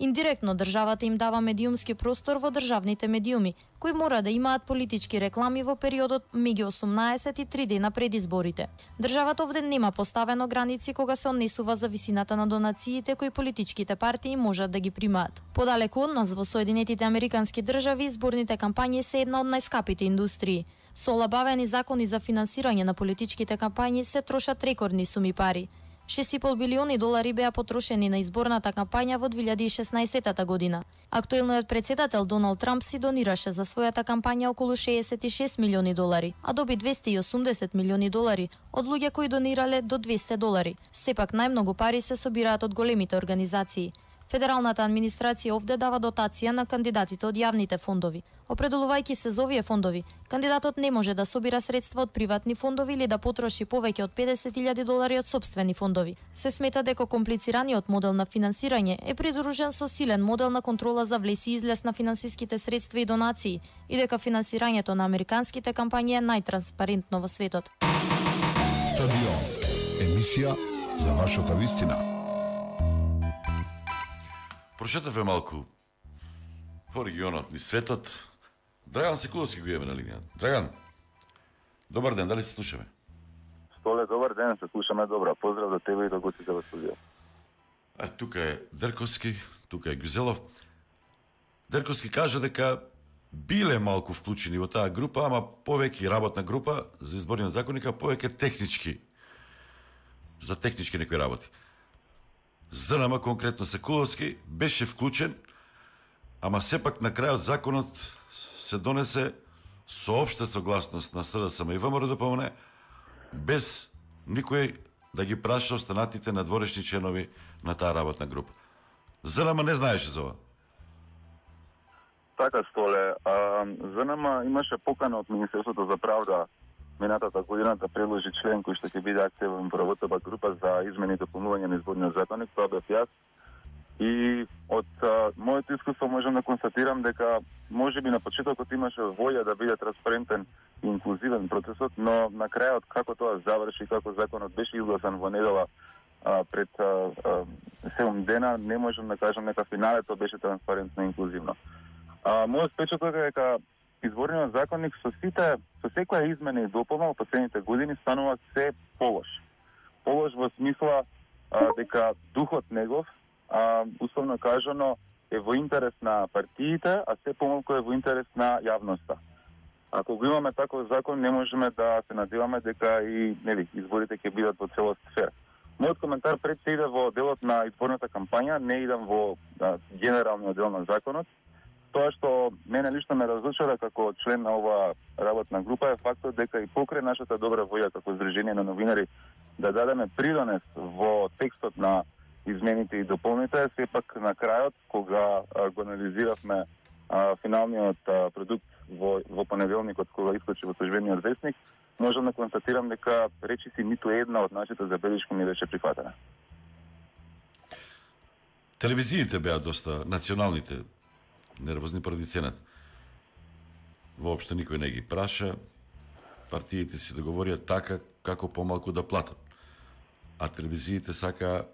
Speaker 6: Индиректно државата им дава медиумски простор во државните медиуми, кои мора да имаат политички реклами во периодот меѓу 18 и 3 дена пред изборите. Државата овде нема поставено граници кога се однесува за висината на донациите кои политичките партии можат да ги примаат. Подалеку од нас во Соединетите Американски држави изборните кампањи се една од најскапите индустрии. Со олабавени закони за финансирање на политичките кампањи се трошат рекордни суми пари. $6,5 билиони беа потрошени на изборната кампања во 2016 година. Актуелниот председател Доналд Трамп си донираше за својата кампања околу $66 милиони, а доби $280 милиони од луѓе кои донирале до $200. Сепак најмногу пари се собираат од големите организации. Федералната администрација овде дава дотација на кандидатите од јавните фондови. Определувајќи се за овие фондови, кандидатот не може да собира средства од приватни фондови или да потроши повеќе од $50,000 од сопствени фондови. Се смета дека комплицираниот модел на финансирање е придружен со силен модел на контрола за влез и излез на финансиските средства и донации и дека финансирањето на американските кампањи е најтранспарентно во светот.
Speaker 12: Стадион. Емисија за вашата вистина.
Speaker 2: Прошетавме малку по регионот и светот. Драган Секуловски го имаме на линија. Драган, добар ден, дали се слушаме?
Speaker 7: Столе, добар ден, се слушаме добра. Поздрав до тебе и до гостите во студио.
Speaker 2: Тука е Дрковски, тука е Гюзелов. Дрковски кажа дека биле малку вклучени во таа група, ама повеќе работна група за изборниот законник, повеќе технички, за технички некои работи. ЗНМ, конкретно Секуловски, беше вклучен, ама сепак на крајот законот се донесе со општа согласност на СДСМ и ВМРО ДПМН, без никој да ги праша останатите надворешни членови на таа работна група. ЗНМ не знаеше за ова.
Speaker 7: Така, Столе, ЗНМ имаше покана од Министерството за правда минатата година да предложи член кој што ќе биде активен во работната група за измени и дополнување на изборниот законник, тоа бев јас. И од моето искуство можам да констатирам дека можеби на почетокот имаше волја да биде транспарентен и инклузивен процесот, но на крајот како тоа заврши, како законот беше изгласан во недела пред 7 дена, не можам да кажам дека финалето беше транспарентно и инклузивно. Мојот впечаток е дека изборниот законник со секоја измена и дополна во последните години станува се полош. Полош во смисла дека духот негов, условно кажано, е во интерес на партиите, а се помалку е во интерес на јавноста. Ако го имаме таков закон, не можеме да се надеваме дека и изборите ќе бидат во целост фер. Мојот коментар пред се иде во делот на изборната кампања, не идам во генералниот дел на законот. Тоа што мене лично ме разочара како член на оваа работна група е фактот дека и покрај нашата добра воја како Сдружение на новинари да дадеме придонес во текстот на измените и дополните, сепак на крајот, кога го анализиравме финалниот продукт во понеделникот, кога искочи во службениот весник, можам да констатирам дека речиси ниту една од нашите забелешки не беше прифатена.
Speaker 21: Телевизиите беа доста, националните, нервозни поради цената. Воопшто никој не ги праша, партиите си договорија така како помалку да платат. А телевизиите сака,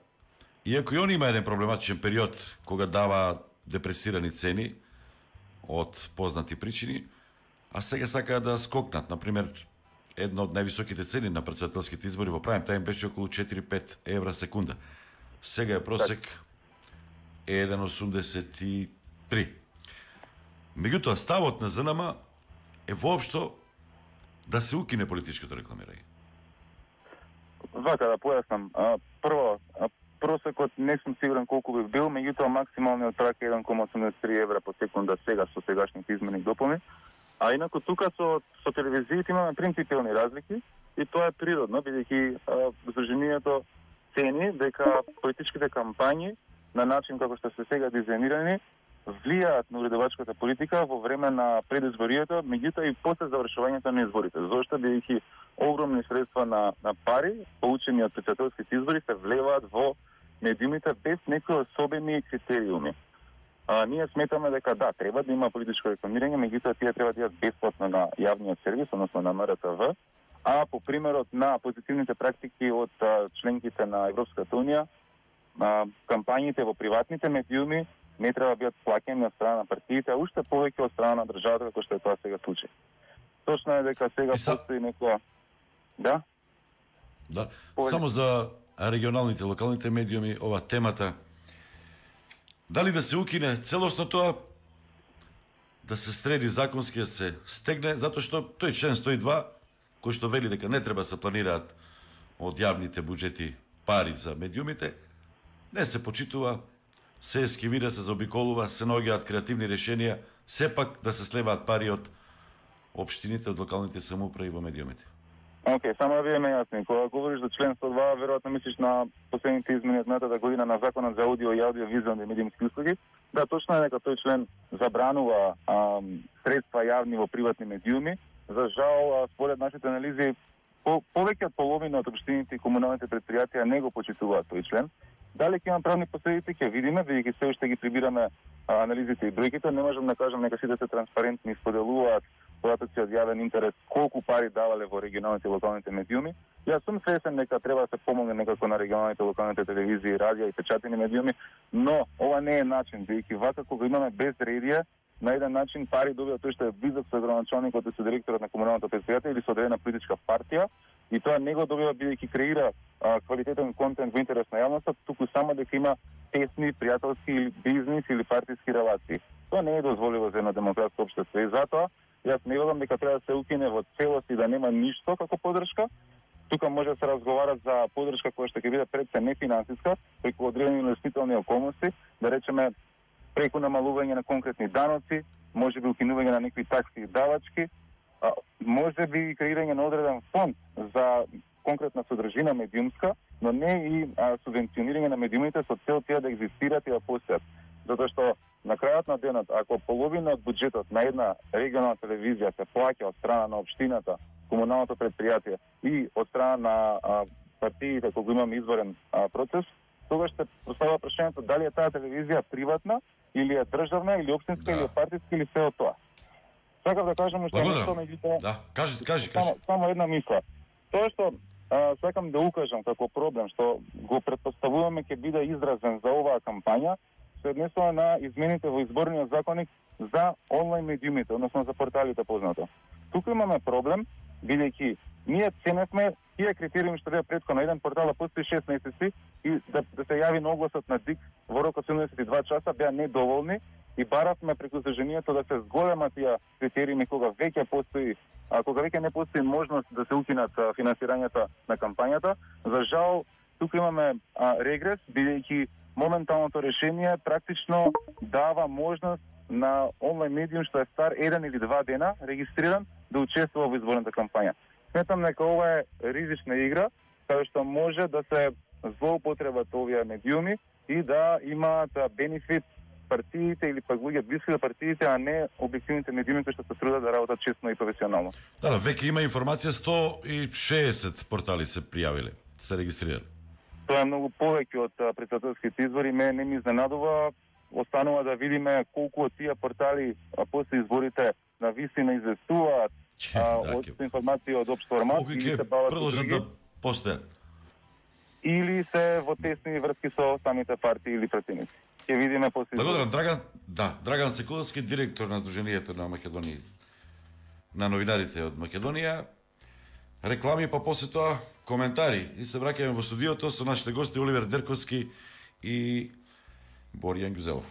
Speaker 21: иако и они има еден проблематичен период кога дава депресирани цени од познати причини, а сега сакаат да скокнат. Например, една од највисоките цени на претседателските избори во прајм тајм беше околу 4-5 евра секунда. Сега е просек 1,83. Меѓутоа, ставот на ЗНМ е воопшто да се укине политичкото рекламирање.
Speaker 7: Вака да појаснам. Прво, просекот не сум сигурен колку би бил, меѓутоа максималниот прак е 1,83 евра по секунда сега со сегашните измени и дополни. А инаку тука со телевизиите имаме принципиални разлики и тоа е природно, бидејќи Сдруженијето цени дека политичките кампањи на начин како што се сега дизајнирани влијаат на уредувачката политика во време на предизборието, меѓутоа и после завршувањето на изборите. Зошто бидејќи огромни средства на пари получени од претседателските избори се влеваат во медиумите без некои особени критериуми. Ние сметаме дека да, треба да има политичко рекламирање, меѓутоа тие треба да бидат бесплатно на јавниот сервис, односно на МРТВ, а по примерот на позитивните практики од членките на Европската унија, кампањите во приватните медиуми не треба да бидат плаќани од страна на партиите, а уште повеќе од страна на државата, како што е тоа сега случај. Точно е дека сега постои некоја... Да?
Speaker 21: Да. Само за регионалните, локалните медиуми, ова темата, дали да се укине целосно тоа, да се среди законски, да се стегне, затоа што тој член 102, кој што вели дека не треба се планираат од јавните буџети пари за медиумите, не се почитува, се ескивира, се заобиколува, се наоѓаат креативни решенија, сепак да се слеваат пари од општините, од локалните самоуправи во медиумите.
Speaker 7: Океј, само да бидеме јасни. Кога говориш за член 102, веројатно мислиш на последните измени од минатата година на Законот за аудио и аудиовизуални медиумски услуги. Да, точно е дека тој член забранува средства јавни во приватни медиуми. За жал, според нашите анализи, повеќе од половина од општините и комуналните предпријатија не го почитуваат тој член. Дали ќе има правни последици, ќе видиме, бидејќи се уште ги прибираме анализите и бројките. Не можам да кажам нека сите се транспарентни и споделуваат податоци од јавен интерес колку пари давале во регионалните и локалните медиуми. Јас сум свесен дека треба да се помогне некако на регионалните и локалните телевизии, радиа и печатени медиуми, но ова не е начин, бидејќи вака кога имаме безредие, на еден начин пари добива тој што е близок со градоначалникот и со директорот на комуналното предпријатие или со одредена политичка партија, и тоа не го добива бидејќи креира квалитетен контент во интерес на јавноста, туку само дека има тесни пријателски бизнис или партиски релации. Тоа не е дозволиво за едно демократско општество и затоа јас не велам дека треба да се укине во целост и да нема ништо како поддршка. Тука може да се разговара за поддршка која што ќе биде пред се нефинансиска, преку одредени инвестителни околности, да речеме преку намалување на конкретни даноци, може би укинување на некои такси и давачки, може би и креирање на одреден фонд за конкретна содржина медиумска, но не и субвенционирање на медиумите со цел тие да екзистираат и да постојат. Затоа што на крајот на денот, ако половина од буџетот на една регионална телевизија се плаќа од страна на општината, комуналното предпријатие и од страна на партиите кога имаме изборен процес, тогаш се поставува прашањето дали е таа телевизија приватна или е државна или општинска или партиска или се од тоа. Сакав да кажам уште нешто, меѓутоа.
Speaker 21: Да, кажи.
Speaker 7: Само една мисла. Тоа што сакам да укажам како проблем што го претпоставуваме ќе биде изразен за оваа кампања, се однесува на измените во изборниот законник за онлайн медиумите, односно за порталите познато. Тука имаме проблем, бидејќи ние ценевме тие критериуми што беа претходно еден портал да постои 6 месеци и да се јави на огласот на ДИК во рок од 72 часа беа недоволни и баравме преку Сдруженијето да се зголема тие критериуми кога веќе постои, кога веќе не постои можност да се укинат финансирањето на кампањата. За жал, тука имаме регрес, бидејќи моменталното решение практично дава можност на онлайн медиум што е стар 1 или 2 дена регистриран да учествува во изборната кампања. Сметам дека ова е ризична игра, каде што може да се злоупотребат овие медиуми и да имаат бенефит партиите или пак луѓе блиски до партиите, а не објективните медиуми кои што се трудат да работат честно и професионално.
Speaker 21: Да, веќе има информација 160 портали се пријавиле, се регистрирали.
Speaker 7: Тоа е многу повеќе од претседателските избори, мене не ми изненадува. Останува да видиме колку од тие портали после изборите на вистина известуваат од информација од општ формат или се бават со други,
Speaker 21: да постојат
Speaker 7: или се во тесни врски со самите партии или пратеници. Ќе видиме после.
Speaker 21: Благодарам, Драган Секуловски, директор на Сдруженијето на Македонија, на новинарите од Македонија. Реклами, па после тоа коментари и се враќаме во студиото со нашите гости Оливер Дерковски и Боријан Гюзелов.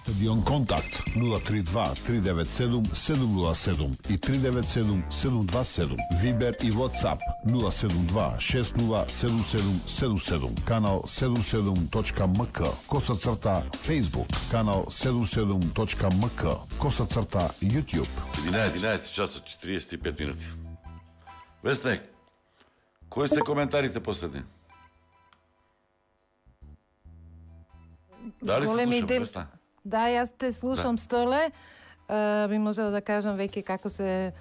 Speaker 12: Стадион Контакт 032-397-707 и 397-727. Вибер и WhatsApp 072-607777. Канал 77.mk. _. Facebook. Канал 77.mk. _ YouTube.
Speaker 21: 11 часот 45 минути. Вестник, кои се коментарите последни? Дали се слушам, Весна?
Speaker 4: Да, јас те слушам, Столе. Би можела да кажам веќе како се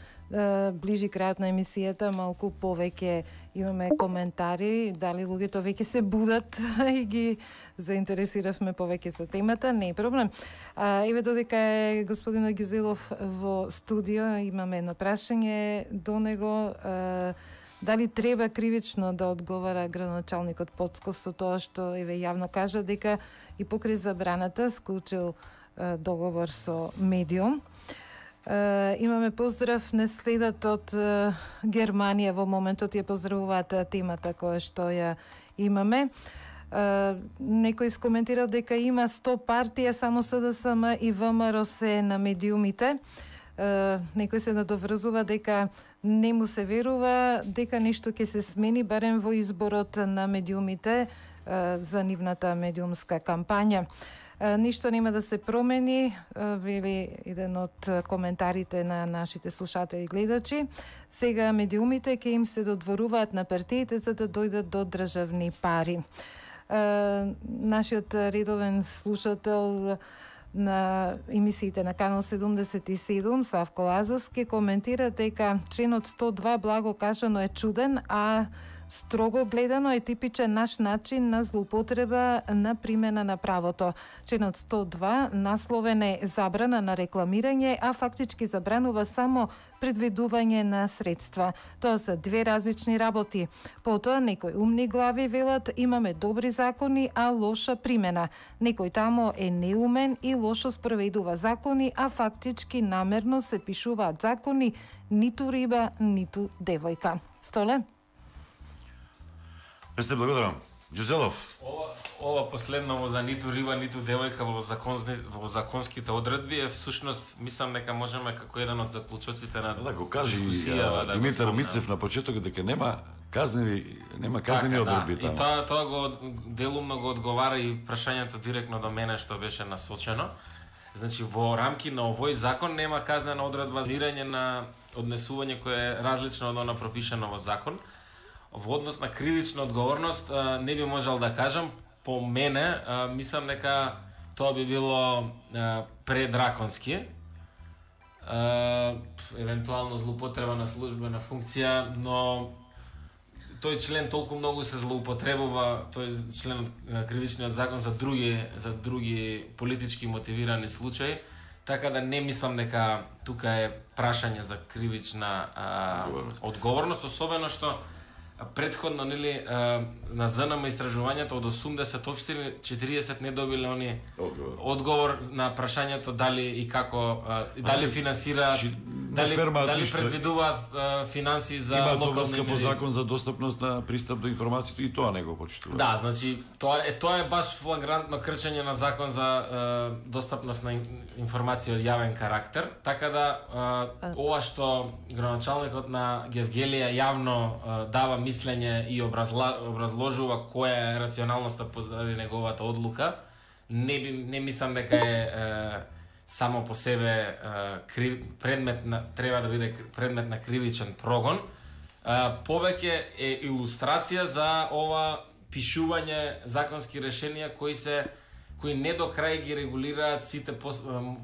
Speaker 4: ближи крајот на емисијата, малку повеќе имаме коментари, дали луѓето веќе се будат и ги заинтересиравме повеќе за темата, не е проблем. Еве додека е господин Гюзелов во студио, имаме едно прашање до него. Дали треба кривично да одговара градоначалникот Поцков со тоа што еве јавно кажа дека и покрај забраната склучил договор со медиум. Имаме поздрав, не следат од Германија во моментот, ја поздравуваат темата која што ја имаме. Некој скоментирал дека има 100 партија, само СДСМ и ВМРО се на медиумите. Некој се надоврзува дека не му се верува дека нешто ќе се смени барем во изборот на медиумите за нивната медиумска кампања. Ништо нема да се промени, вели еден од коментарите на нашите слушатели и гледачи. Сега медиумите ќе им се додворуваат на партиите за да дојдат до државни пари. Нашиот редовен слушател на емисиите на Канал 77, Славко Лазовски, коментира дека членот 102 благо кажано е чуден, а строго гледано е типичен наш начин на злоупотреба на примена на правото. Членот 102 насловен е забрана на рекламирање, а фактички забранува само предвидување на средства. Тоа се две различни работи. Потоа некои умни глави велат имаме добри закони, а лоша примена. Некој тамо е неумен и лошо спроведува закони, а фактички намерно се пишуваат закони, ниту риба, ниту девојка. Столе?
Speaker 21: Сте благодарам. Ѓузелов.
Speaker 3: Ова последно за ниту риба, ниту девојка во законските одредби е всушност, мислам дека можеме како еден од заклучоците на
Speaker 21: да го кажи Димитар Мицев на почеток дека нема казнени одредби
Speaker 3: таму. И тоа го делумно го одговара и прашањето директно до мене што беше насочено. Значи во рамки на овој закон нема казнена одредба за мирање на однесување кое е различно од она пропишано во закон. Во однос на кривична одговорност не би можел да кажам, по мене мислам дека тоа би било предраконски. Евентуално злоупотреба на службена функција, но тој член толку многу се злоупотребува, тој член од кривичниот закон за други политички мотивирани случаи, така да не мислам дека тука е прашање за кривична одговорност, особено што предходно нели на ЗНМ истражувањето од 80 општини 40 не добиле они одговор на прашањето дали и како дали финансираат дали предвидуваат финансии за
Speaker 21: локални
Speaker 3: медии?
Speaker 21: Има врска по закон за достапност на пристап до информациите и тоа не го почитува.
Speaker 3: Да, значи тоа е баш флагрантно кршење на закон за достапност на информација од јавен карактер, така да ова што градоначалникот на Гевгелија јавно дава мислење и образложува која е рационалноста позади неговата одлука, не мислам дека е само по себе треба да биде предмет на кривичен прогон. Повеќе е илустрација за ова пишување законски решенија кои не до крај ги регулираат сите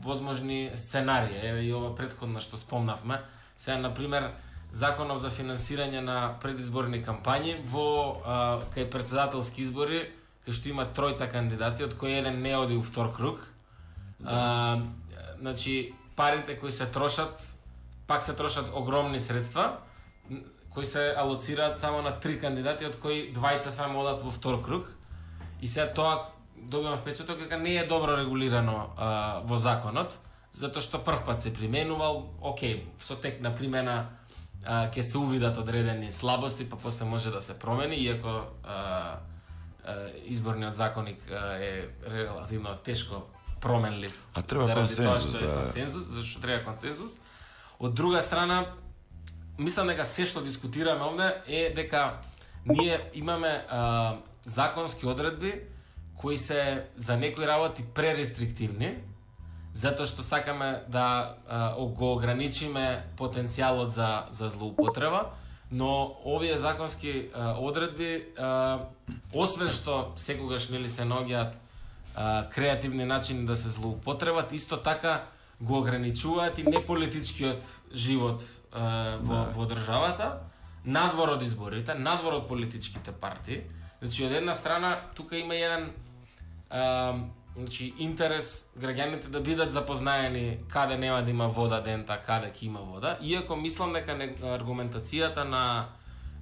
Speaker 3: возможни сценарии. Еве и ова претходно што спомнавме. Сега, например, законов за финансирање на предизборни кампањи во кај председателски избори, кај што има тројца кандидати, од кои еден не оди у втор круг. Значи, парите кои се трошат, пак се трошат огромни средства, кои се алоцираат само на 3 кандидати, од кои двајца само одат во втор круг. И сега тоа добивам впечаток дека не е добро регулирано во законот, затоа што првпат се применувал, со тек на примена ќе се увидат одредени слабости, па после може да се промени, иако изборниот законник е релативно тешко променлив.
Speaker 21: А треба консензус,
Speaker 3: зашто треба консензус. Од друга страна, мислам дека се што дискутираме овде е дека ние имаме законски одредби кои се за некои работи пререстриктивни, затоа што сакаме да го ограничиме потенцијалот за злоупотреба, но овие законски одредби, освен што секогаш се наоѓаат креативни начини да се злоупотребат, исто така го ограничуваат и неполитичкиот живот во државата, надвор од изборите, надвор од политичките партии. Значи, од една страна, тука има еден интерес граѓаните да бидат запознаени каде нема да има вода дента, каде ќе има вода, иако мислам дека аргументацијата на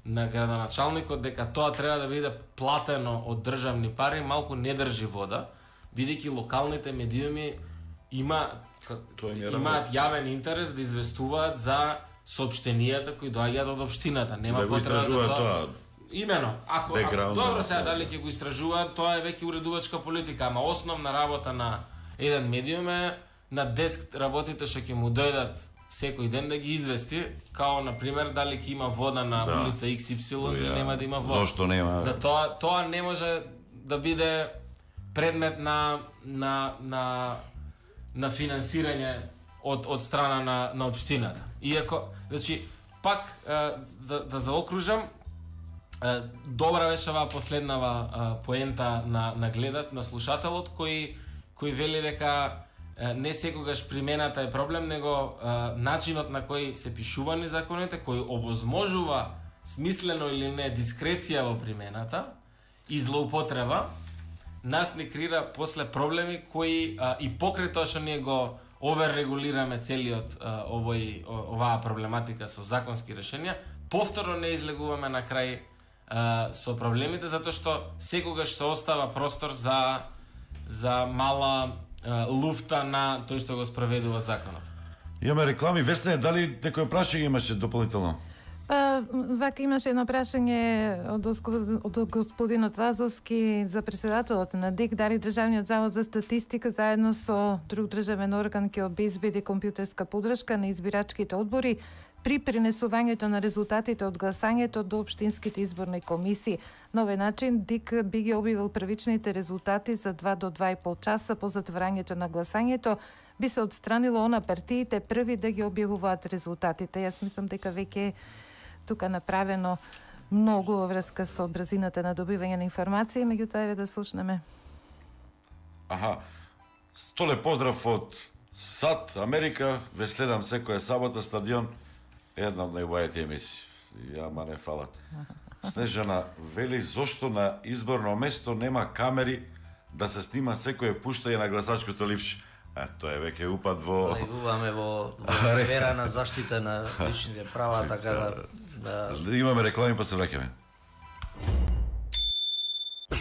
Speaker 3: градоначалникот дека тоа треба да биде платено од државни пари малку не држи вода, бидејќи локалните медиуми имаат јавен интерес да известуваат за соопштенијата кои доаѓаат од општината. Нема потреба за тоа. Имено, ако добро сега дали ќе го истражуваат, тоа е веќе уредувачка политика, ама основна работа на еден медиум е на деск работите што ќе му дојдат секој ден да ги извести, као например дали ќе има вода на улица XY или нема да има вода.
Speaker 21: Зошто нема?
Speaker 3: Затоа тоа не може да биде предмет на финансирање од страна на општината. Иако, значи, пак да заокружам, добра беше оваа последнава поента на гледат, на слушателот, кој вели дека не секогаш примената е проблем, него начинот на кој се пишувани законите, кој овозможува смислено или не дискреција во примената и злоупотреба, нас не крира после проблеми кои и покрај тоа што ние го оверрегулираме целиот оваа проблематика со законски решенија, повторно не излегуваме на крај со проблемите, затоа што секогаш се остава простор за мала луфта на тој што го спроведува законот.
Speaker 21: Имаме реклами. Весне, дали некој прашање имаше дополнително?
Speaker 4: Вака имаше едно прашање од господинот Вазовски за председателот на ДИК, дали Државниот завод за статистика заедно со друг државен орган ќе обезбеди компјутерска подршка на избирачките одбори при пренесувањето на резултатите од гласањето до општинските изборни комисии. На овој начин ДИК би ги објавил првичните резултати за 2 до 2,5 часа по затворањето на гласањето, би се отстранило она партиите први да ги објавуваат резултатите. Јас мислам дека веќе тука направено многу во врска со брзината на добивање на информации, меѓутоа еве да слушнеме.
Speaker 21: Столе поздрав од САД, Америка, ве следам секоја сабота стадион, една од најубавите емисии. Јама не фалат. Снежана вели зошто на изборно место нема камери да се снима секое пуштање на гласачкото ливче. Тоа е веќе упад во...
Speaker 17: Влегуваме во сфера на заштита на личните права, така да...
Speaker 21: Имаме реклами, па се враќаме.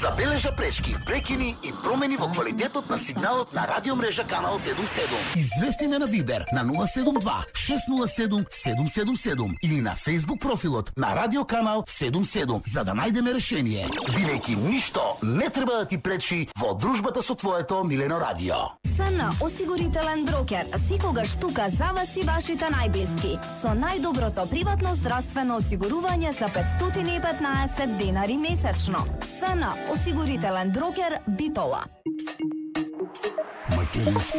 Speaker 15: Забележа пречки, прекини и промени во квалитетот на сигналот на радиомрежа Канал 77. Извести на Вибер на 072 607 777 или на Facebook профилот на Радио Канал 77 за да најдеме решение. Бидејќи ништо не треба да ти пречи во дружбата со твоето милено радио.
Speaker 16: СН осигурителен брокер секогаш тука за вас и вашите најблиски со најдоброто приватно здравствено осигурување за 515 денари месечно. СН осигурителен брокер Битола.
Speaker 12: Македонски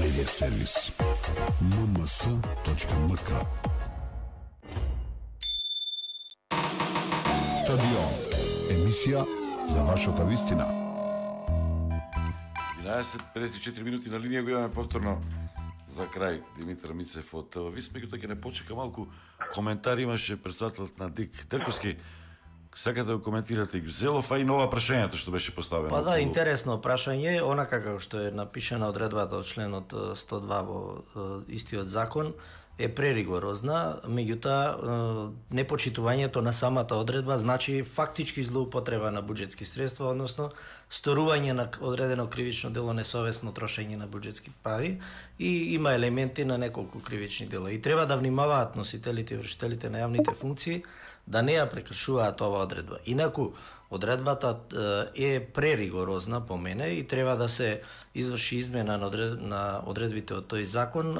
Speaker 12: медиа сервис mms.mk. Стадион. Емисија за вашата вистина.
Speaker 21: 11:54 минути на линија го имаме повторно за крај Димитар Мицев од ТВ. Меѓутоа ќе не почека малку коментар имаше председателот на ДИК Терковски. Сакате да го коментирате Гюзелов, а и нова прашањето што беше поставено.
Speaker 17: Па да, интересно прашање, онака како што е напишана одредбата од членот 102 во истиот закон, е преригорозна, меѓутоа непочитувањето на самата одредба значи фактички злоупотреба на буџетски средства, односно сторување на одредено кривично дело, несовесно трошење на буџетски пари и има елементи на неколку кривични дела. И треба да внимаваат носителите и вршителите на јавните функции да не ја прекршуваат ова одредба. Инаку, одредбата е преригорозна по мене и треба да се изврши измена на одредбите од тој закон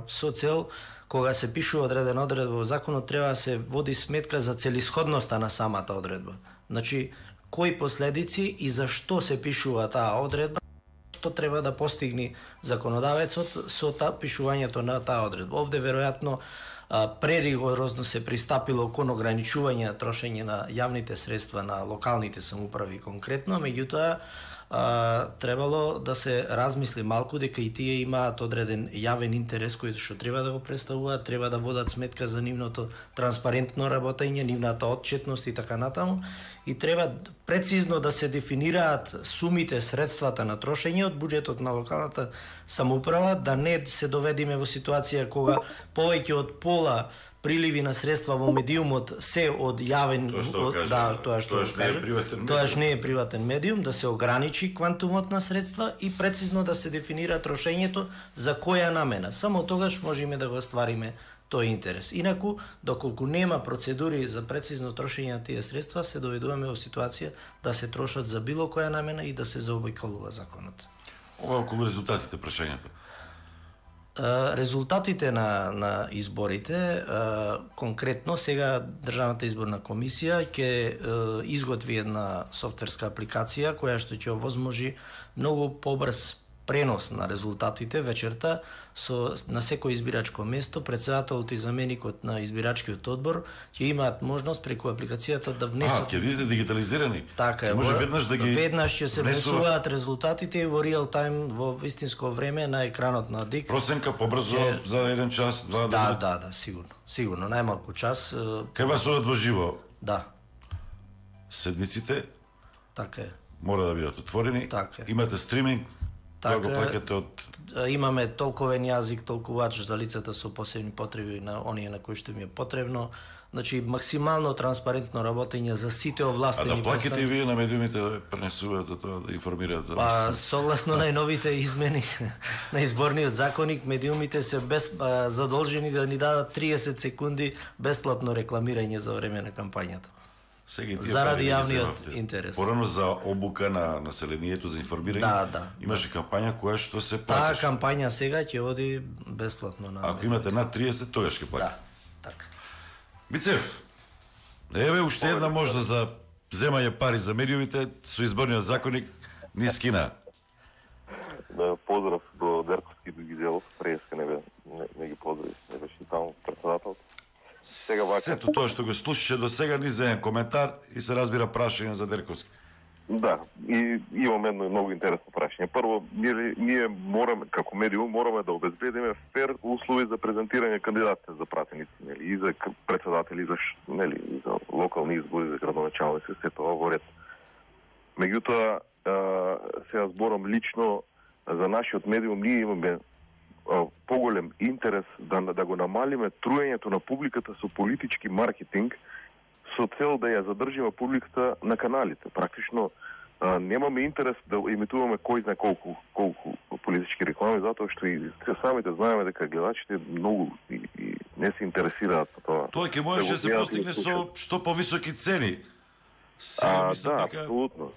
Speaker 17: со цел кога се пишува одредена одредба во законот треба да се води сметка за целисходноста на самата одредба. Значи, кои последици и зашто се пишува таа одредба, што треба да постигне законодавецот со пишувањето на таа одредба. Овде веројатно преригорозно се пристапило кон ограничување на трошење на јавните средства на локалните самоуправи конкретно, меѓутоа требало да се размисли малку дека и тие имаат одреден јавен интерес кој што треба да го представуваат, треба да водат сметка за нивното транспарентно работење, нивната отчетност и така натаму, и треба прецизно да се дефинираат сумите, средствата на трошење од буџетот на локалната самоуправа, да не се доведеме во ситуација кога повеќе од пола приливи на средства во медиумот се од јавен, тоаш не е приватен медиум, да се ограничи квантумот на средства и прецизно да се дефинира трошењето за која намена. Само тогаш можеме да го оствариме тој интерес. Инаку, доколку нема процедури за прецизно трошење на тие средства, се доведуваме во ситуација да се трошат за било која намена и да се заобиколува законот.
Speaker 21: Ова околу резултатите прашањето.
Speaker 17: Резултатите на изборите, конкретно сега Државната изборна комисија ќе изготви една софтверска апликација која што ќе овозможи многу побрз пренос на резултатите вечерта на секој избирачко место. Председателот и заменикот на избирачкиот одбор ќе имаат можност преку апликацијата да внесат.
Speaker 21: Ќе видите дигитализирани.
Speaker 17: Така е.
Speaker 21: Може веднаш да ги
Speaker 17: ќе се внесуваат резултатите и во реал тајм во вистинско време на екранот на ДИК.
Speaker 21: Проценка побрзо за 1 час, 2.
Speaker 17: Да, сигурно, најмалку час.
Speaker 21: Кај вас одат во живо?
Speaker 17: Да.
Speaker 21: Седниците?
Speaker 17: Така е.
Speaker 21: Мора да бидат отворени.
Speaker 17: Така е.
Speaker 21: Имате стриминг?
Speaker 17: Така, имаме толковен јазик, толкувач за лицата со посебни потреби на оние на кои што им е потребно. Значи, максимално транспарентно работење за сите овластени.
Speaker 21: А да плаките и вие на медиумите да пренесуваат за тоа, да информираат за
Speaker 17: вас? Согласно најновите измени на изборниот законник, медиумите се задолжени да ни дадат 30 секунди бесплатно рекламирање за време на кампањата. Заради јавниот интерес.
Speaker 21: Порано за обука на населението, за информирање.
Speaker 17: Да.
Speaker 21: Имаше кампања која што се
Speaker 17: Таа
Speaker 21: платеше.
Speaker 17: кампања сега ќе оди бесплатно на.
Speaker 21: Ако имате над 30, тогаш ќе платите.
Speaker 17: Да, така.
Speaker 21: Бицев, еве уште една можност за земање пари за медиумите со изборниот законник низ Кина.
Speaker 7: Поздрав до Дерковски и до Гизелов, преска не ги поздрави, не беше таму председател.
Speaker 21: Сега вака. Сето тоа што го слушаше до сега ни за коментар и се разбира прашање за Дерковски.
Speaker 7: Да, и имам едно многу интересно прашање. Прво, ние мораме, како медиум, мораме да обезбедиме фер услови за презентирање кандидатите за пратеници, нели, и за председатели, и за локални избори, за градоначалници, се тоа во ред. Меѓутоа, сега зборам лично за нашиот медиум, ние имаме поголем интерес да го намалиме труењето на публиката со политички маркетинг со цел да ја задржиме публиката на каналите. Практично
Speaker 8: Немаме интерес да имитуваме кој знае колку политички реклами, затоа што и самите знаеме дека гледачите многу и не се интересираат по тоа.
Speaker 21: Тоа ќе можеше да се постигне со што повисоки цени.
Speaker 8: Да, апсолутно.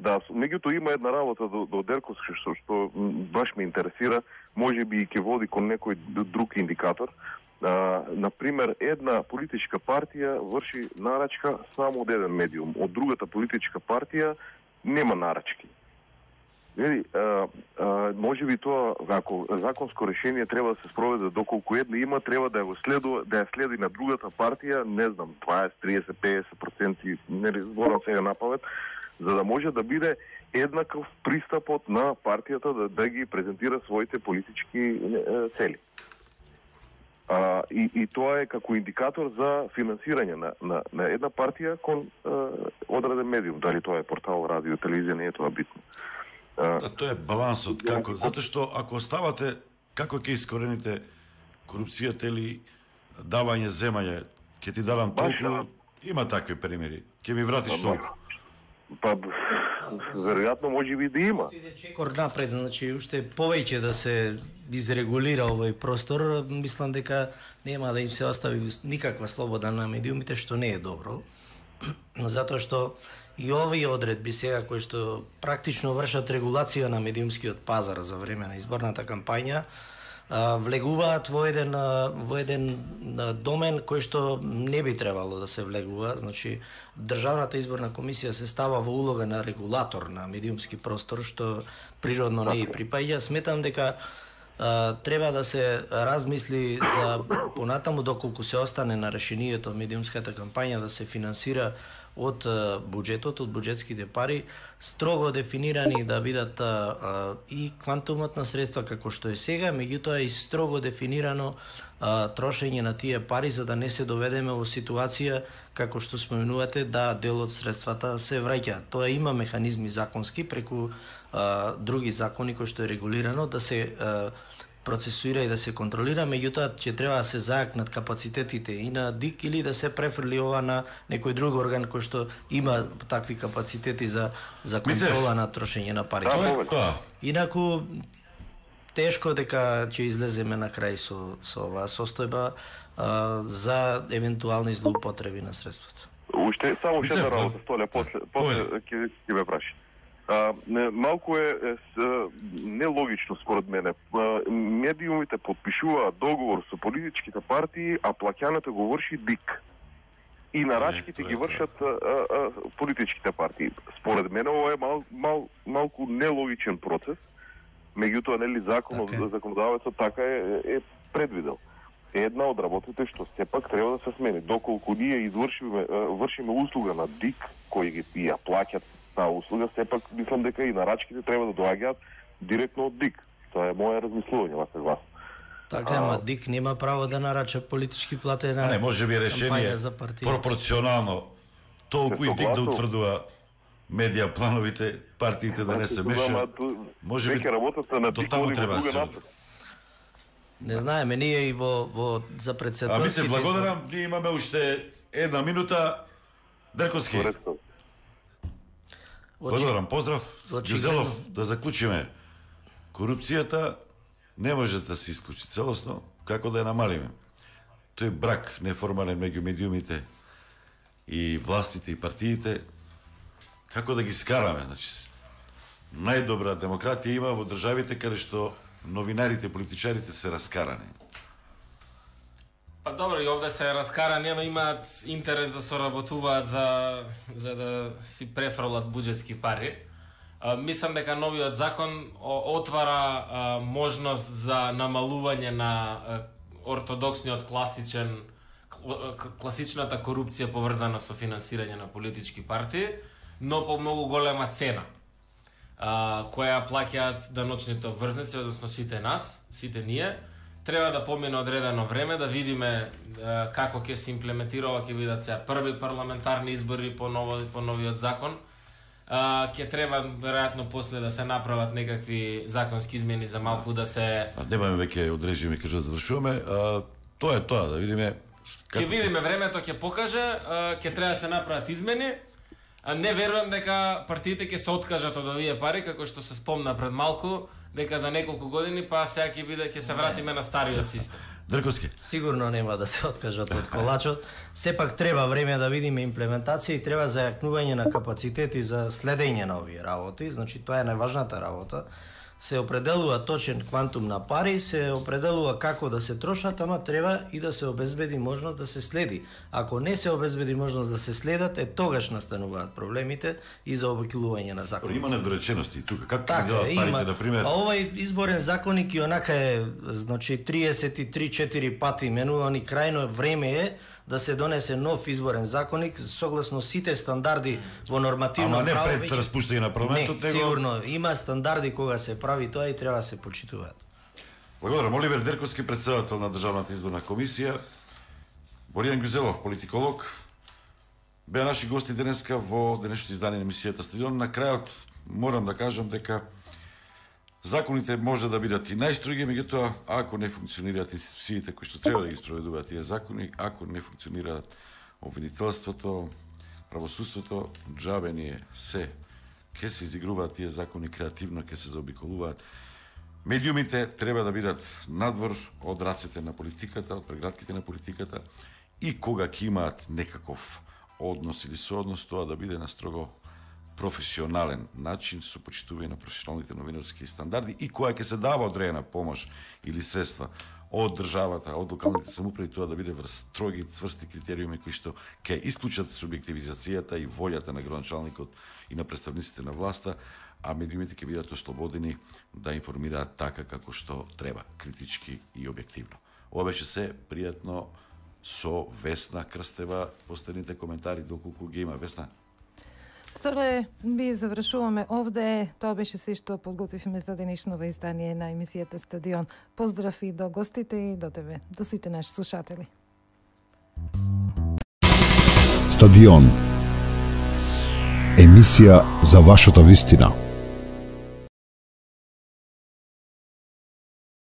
Speaker 8: Да, меѓутоа има една работа до Дерковски што баш ме интересира, може би и ќе води кон некој друг индикатор. Например, една политичка партија врши нарачка само од еден медиум, од другата политичка партија нема нарачки. Може би тоа, ако законско решение треба да се спроведе доколку една има, треба да ја следи на другата партија, не знам, 20, 30, 50%, не зборам сега напамет, за да може да биде еднаков пристапот на партијата да ги презентира своите политички цели. И тоа е како индикатор за финансирање на една партија кон одреден медиум, дали тоа е портал, радио, телевизија, не е тоа битно.
Speaker 21: Тоа е балансот, како, затоа што ако оставате, како ќе искорените корупцијата или давање, земање, ќе ти дадам толку, има такви примери, ќе ми вратиш толку.
Speaker 8: Па, веројатно може би да има.
Speaker 17: Чекор напред, значи уште повеќе да се изрегулира овој простор, мислам дека нема да им се остави никаква слобода на медиумите, што не е добро. Затоа што и овие одредби сега кои што практично вршат регулација на медиумскиот пазар за време на изборната кампања, влегуваат во еден домен кој што не би требало да се влегува. Значи, Државната изборна комисија се става во улога на регулатор на медиумски простор, што природно не и припаѓа. Сметам дека треба да се размисли за понатаму доколку се остане на решението медиумската кампања да се финансира од буџетот, од буџетските пари, строго дефинирани да бидат и квантумот на средства како што е сега, меѓутоа и строго дефинирано трошење на тие пари за да не се доведеме во ситуација како што споменувате да дел од средствата се враќаат. Тоа има механизми законски преку други закони кои што е регулирано да се процесуира и да се контролира, меѓутоа ќе треба да се зајакнат капацитетите и на ДИК или да се префрли ова на некој друг орган кој што има такви капацитети за контрола на трошење на пари. Инаку тешко дека ќе излеземе на крај со оваа состојба за евентуални злоупотреби на средствата.
Speaker 8: Уште само една работа, Столе, после ќе ме праши. Малку е нелогично според мене. Медиумите подпишуваат договор со политичките партии, а плаќањето го врши ДИК. И нарачките ги вршат политичките партии. Според мене ова е малку нелогичен процес. Меѓутоа, нели законодавецот така е предвидел. Една од работите што сепак треба да се смени. Доколку ние вршиме услуга на ДИК, кои ги ја плаќат таа услуга, сепак мислам дека и нарачките треба да доаѓаат директно од ДИК. Тоа е моје размислување во вас.
Speaker 17: Така, ама ДИК нема право да нарача политички платена.
Speaker 21: Не, може би решение пропорционално толку и ДИК да утврдува медија плановите, партиите да не се мешаат. Може би до таму треба да се.
Speaker 17: Не знаеме, ние и за председателските...
Speaker 21: А ми се благодарам, ние имаме уште една минута. Дерковски. Благодарам, поздрав. Ѓузелов, да заклучиме. Корупцијата не може да се исклучи целосно, како да ја намалиме. Тој брак неформален меѓу медиумите и властите и партиите, како да ги скараме. Значи, најдобра демократија има во државите каде што новинарите, политичарите се раскарани.
Speaker 3: Па добро, и овде се раскарани, ама имаат интерес да соработуваат за да си префрлат буџетски пари. Мислам дека новиот закон отвара можност за намалување на ортодоксниот класичната корупција поврзана со финансирање на политички партии, но по многу голема цена, која плаќаат даночните обврзници, односно сите ние. Треба да помине одредено време, да видиме како ќе се имплементира, ќе бидат сега први парламентарни избори по новиот закон. Ќе треба веројатно после да се направат некакви законски измени за малку да се...
Speaker 21: Немаме веќе одрежиме, кажа, завршуваме. Тоа е тоа, да видиме...
Speaker 3: Ќе видиме, времето ќе покаже, ќе треба да се направат измени. Не верувам дека партиите ќе се откажат од овие пари, како што се спомна пред малку, дека за неколку години па сега ќе се вратиме на стариот систем.
Speaker 21: Дрковски.
Speaker 17: Сигурно нема да се откажат од колачот. Сепак треба време да видиме имплементација и треба зајакнување на капацитети за следење на овие работи. Значи тоа е најважната работа. Се определува точен квантум на пари, се определува како да се трошат, ама треба и да се обезбеди можност да се следи. Ако не се обезбеди можност да се следат, тогаш настануваат проблемите и за обиколување на законите.
Speaker 21: Има недоречености тука. Како
Speaker 17: така,
Speaker 21: ги дават парите, например?
Speaker 17: Овој изборен законник и онака е, значи 33-4 пати менуван и крајно време е да се донесе нов изборен законник согласно сите стандарди во нормативно право.
Speaker 21: Ама не пред распуштање на парламентот,
Speaker 17: него... сигурно има стандарди кога се прави тоа и треба да се почитуваат.
Speaker 21: Благодарам. Оливер Дерковски, председател на Државната изборна комисија, Боријан Гюзелов, политиколог, беа наши гости денеска во денешното издание на емисијата Стадион. На крајот морам да кажам дека законите може да бидат и најстроги, меѓутоа ако не функционираат институциите кои што треба да ги спроведуваат тие закони, ако не функционираат обвинителството, правосудството, џабе ние се ќе се изигруваат тие закони креативно, ќе се заобиколуваат. Медиумите треба да бидат надвор од рацете на политиката, од прегратките на политиката и кога ќе имаат некаков однос или сооднос, тоа да биде на строго професионален начин, со почитување на професионалните новинарски стандарди и која ќе се дава одредена помош или средства од државата, од локалните самоуправи, тоа да биде врз строги, цврсти критериуми кои што ќе исклучат субјективизацијата и волјата на градоначалникот и на представниците на власта, а медиумите ќе бидат ослободени да информираат така како што треба, критички и објективно. Ова беше се пријатно со Весна Крстева, последните коментари доколку ги има. Весна?
Speaker 4: Сторе, би завршуваме овде. Тоа беше се што подготвивме за денешново издание на емисијата Стадион. Поздрав и до гостите и до тебе, до сите наши слушатели.
Speaker 12: Стадион. Емисија за вашата вистина.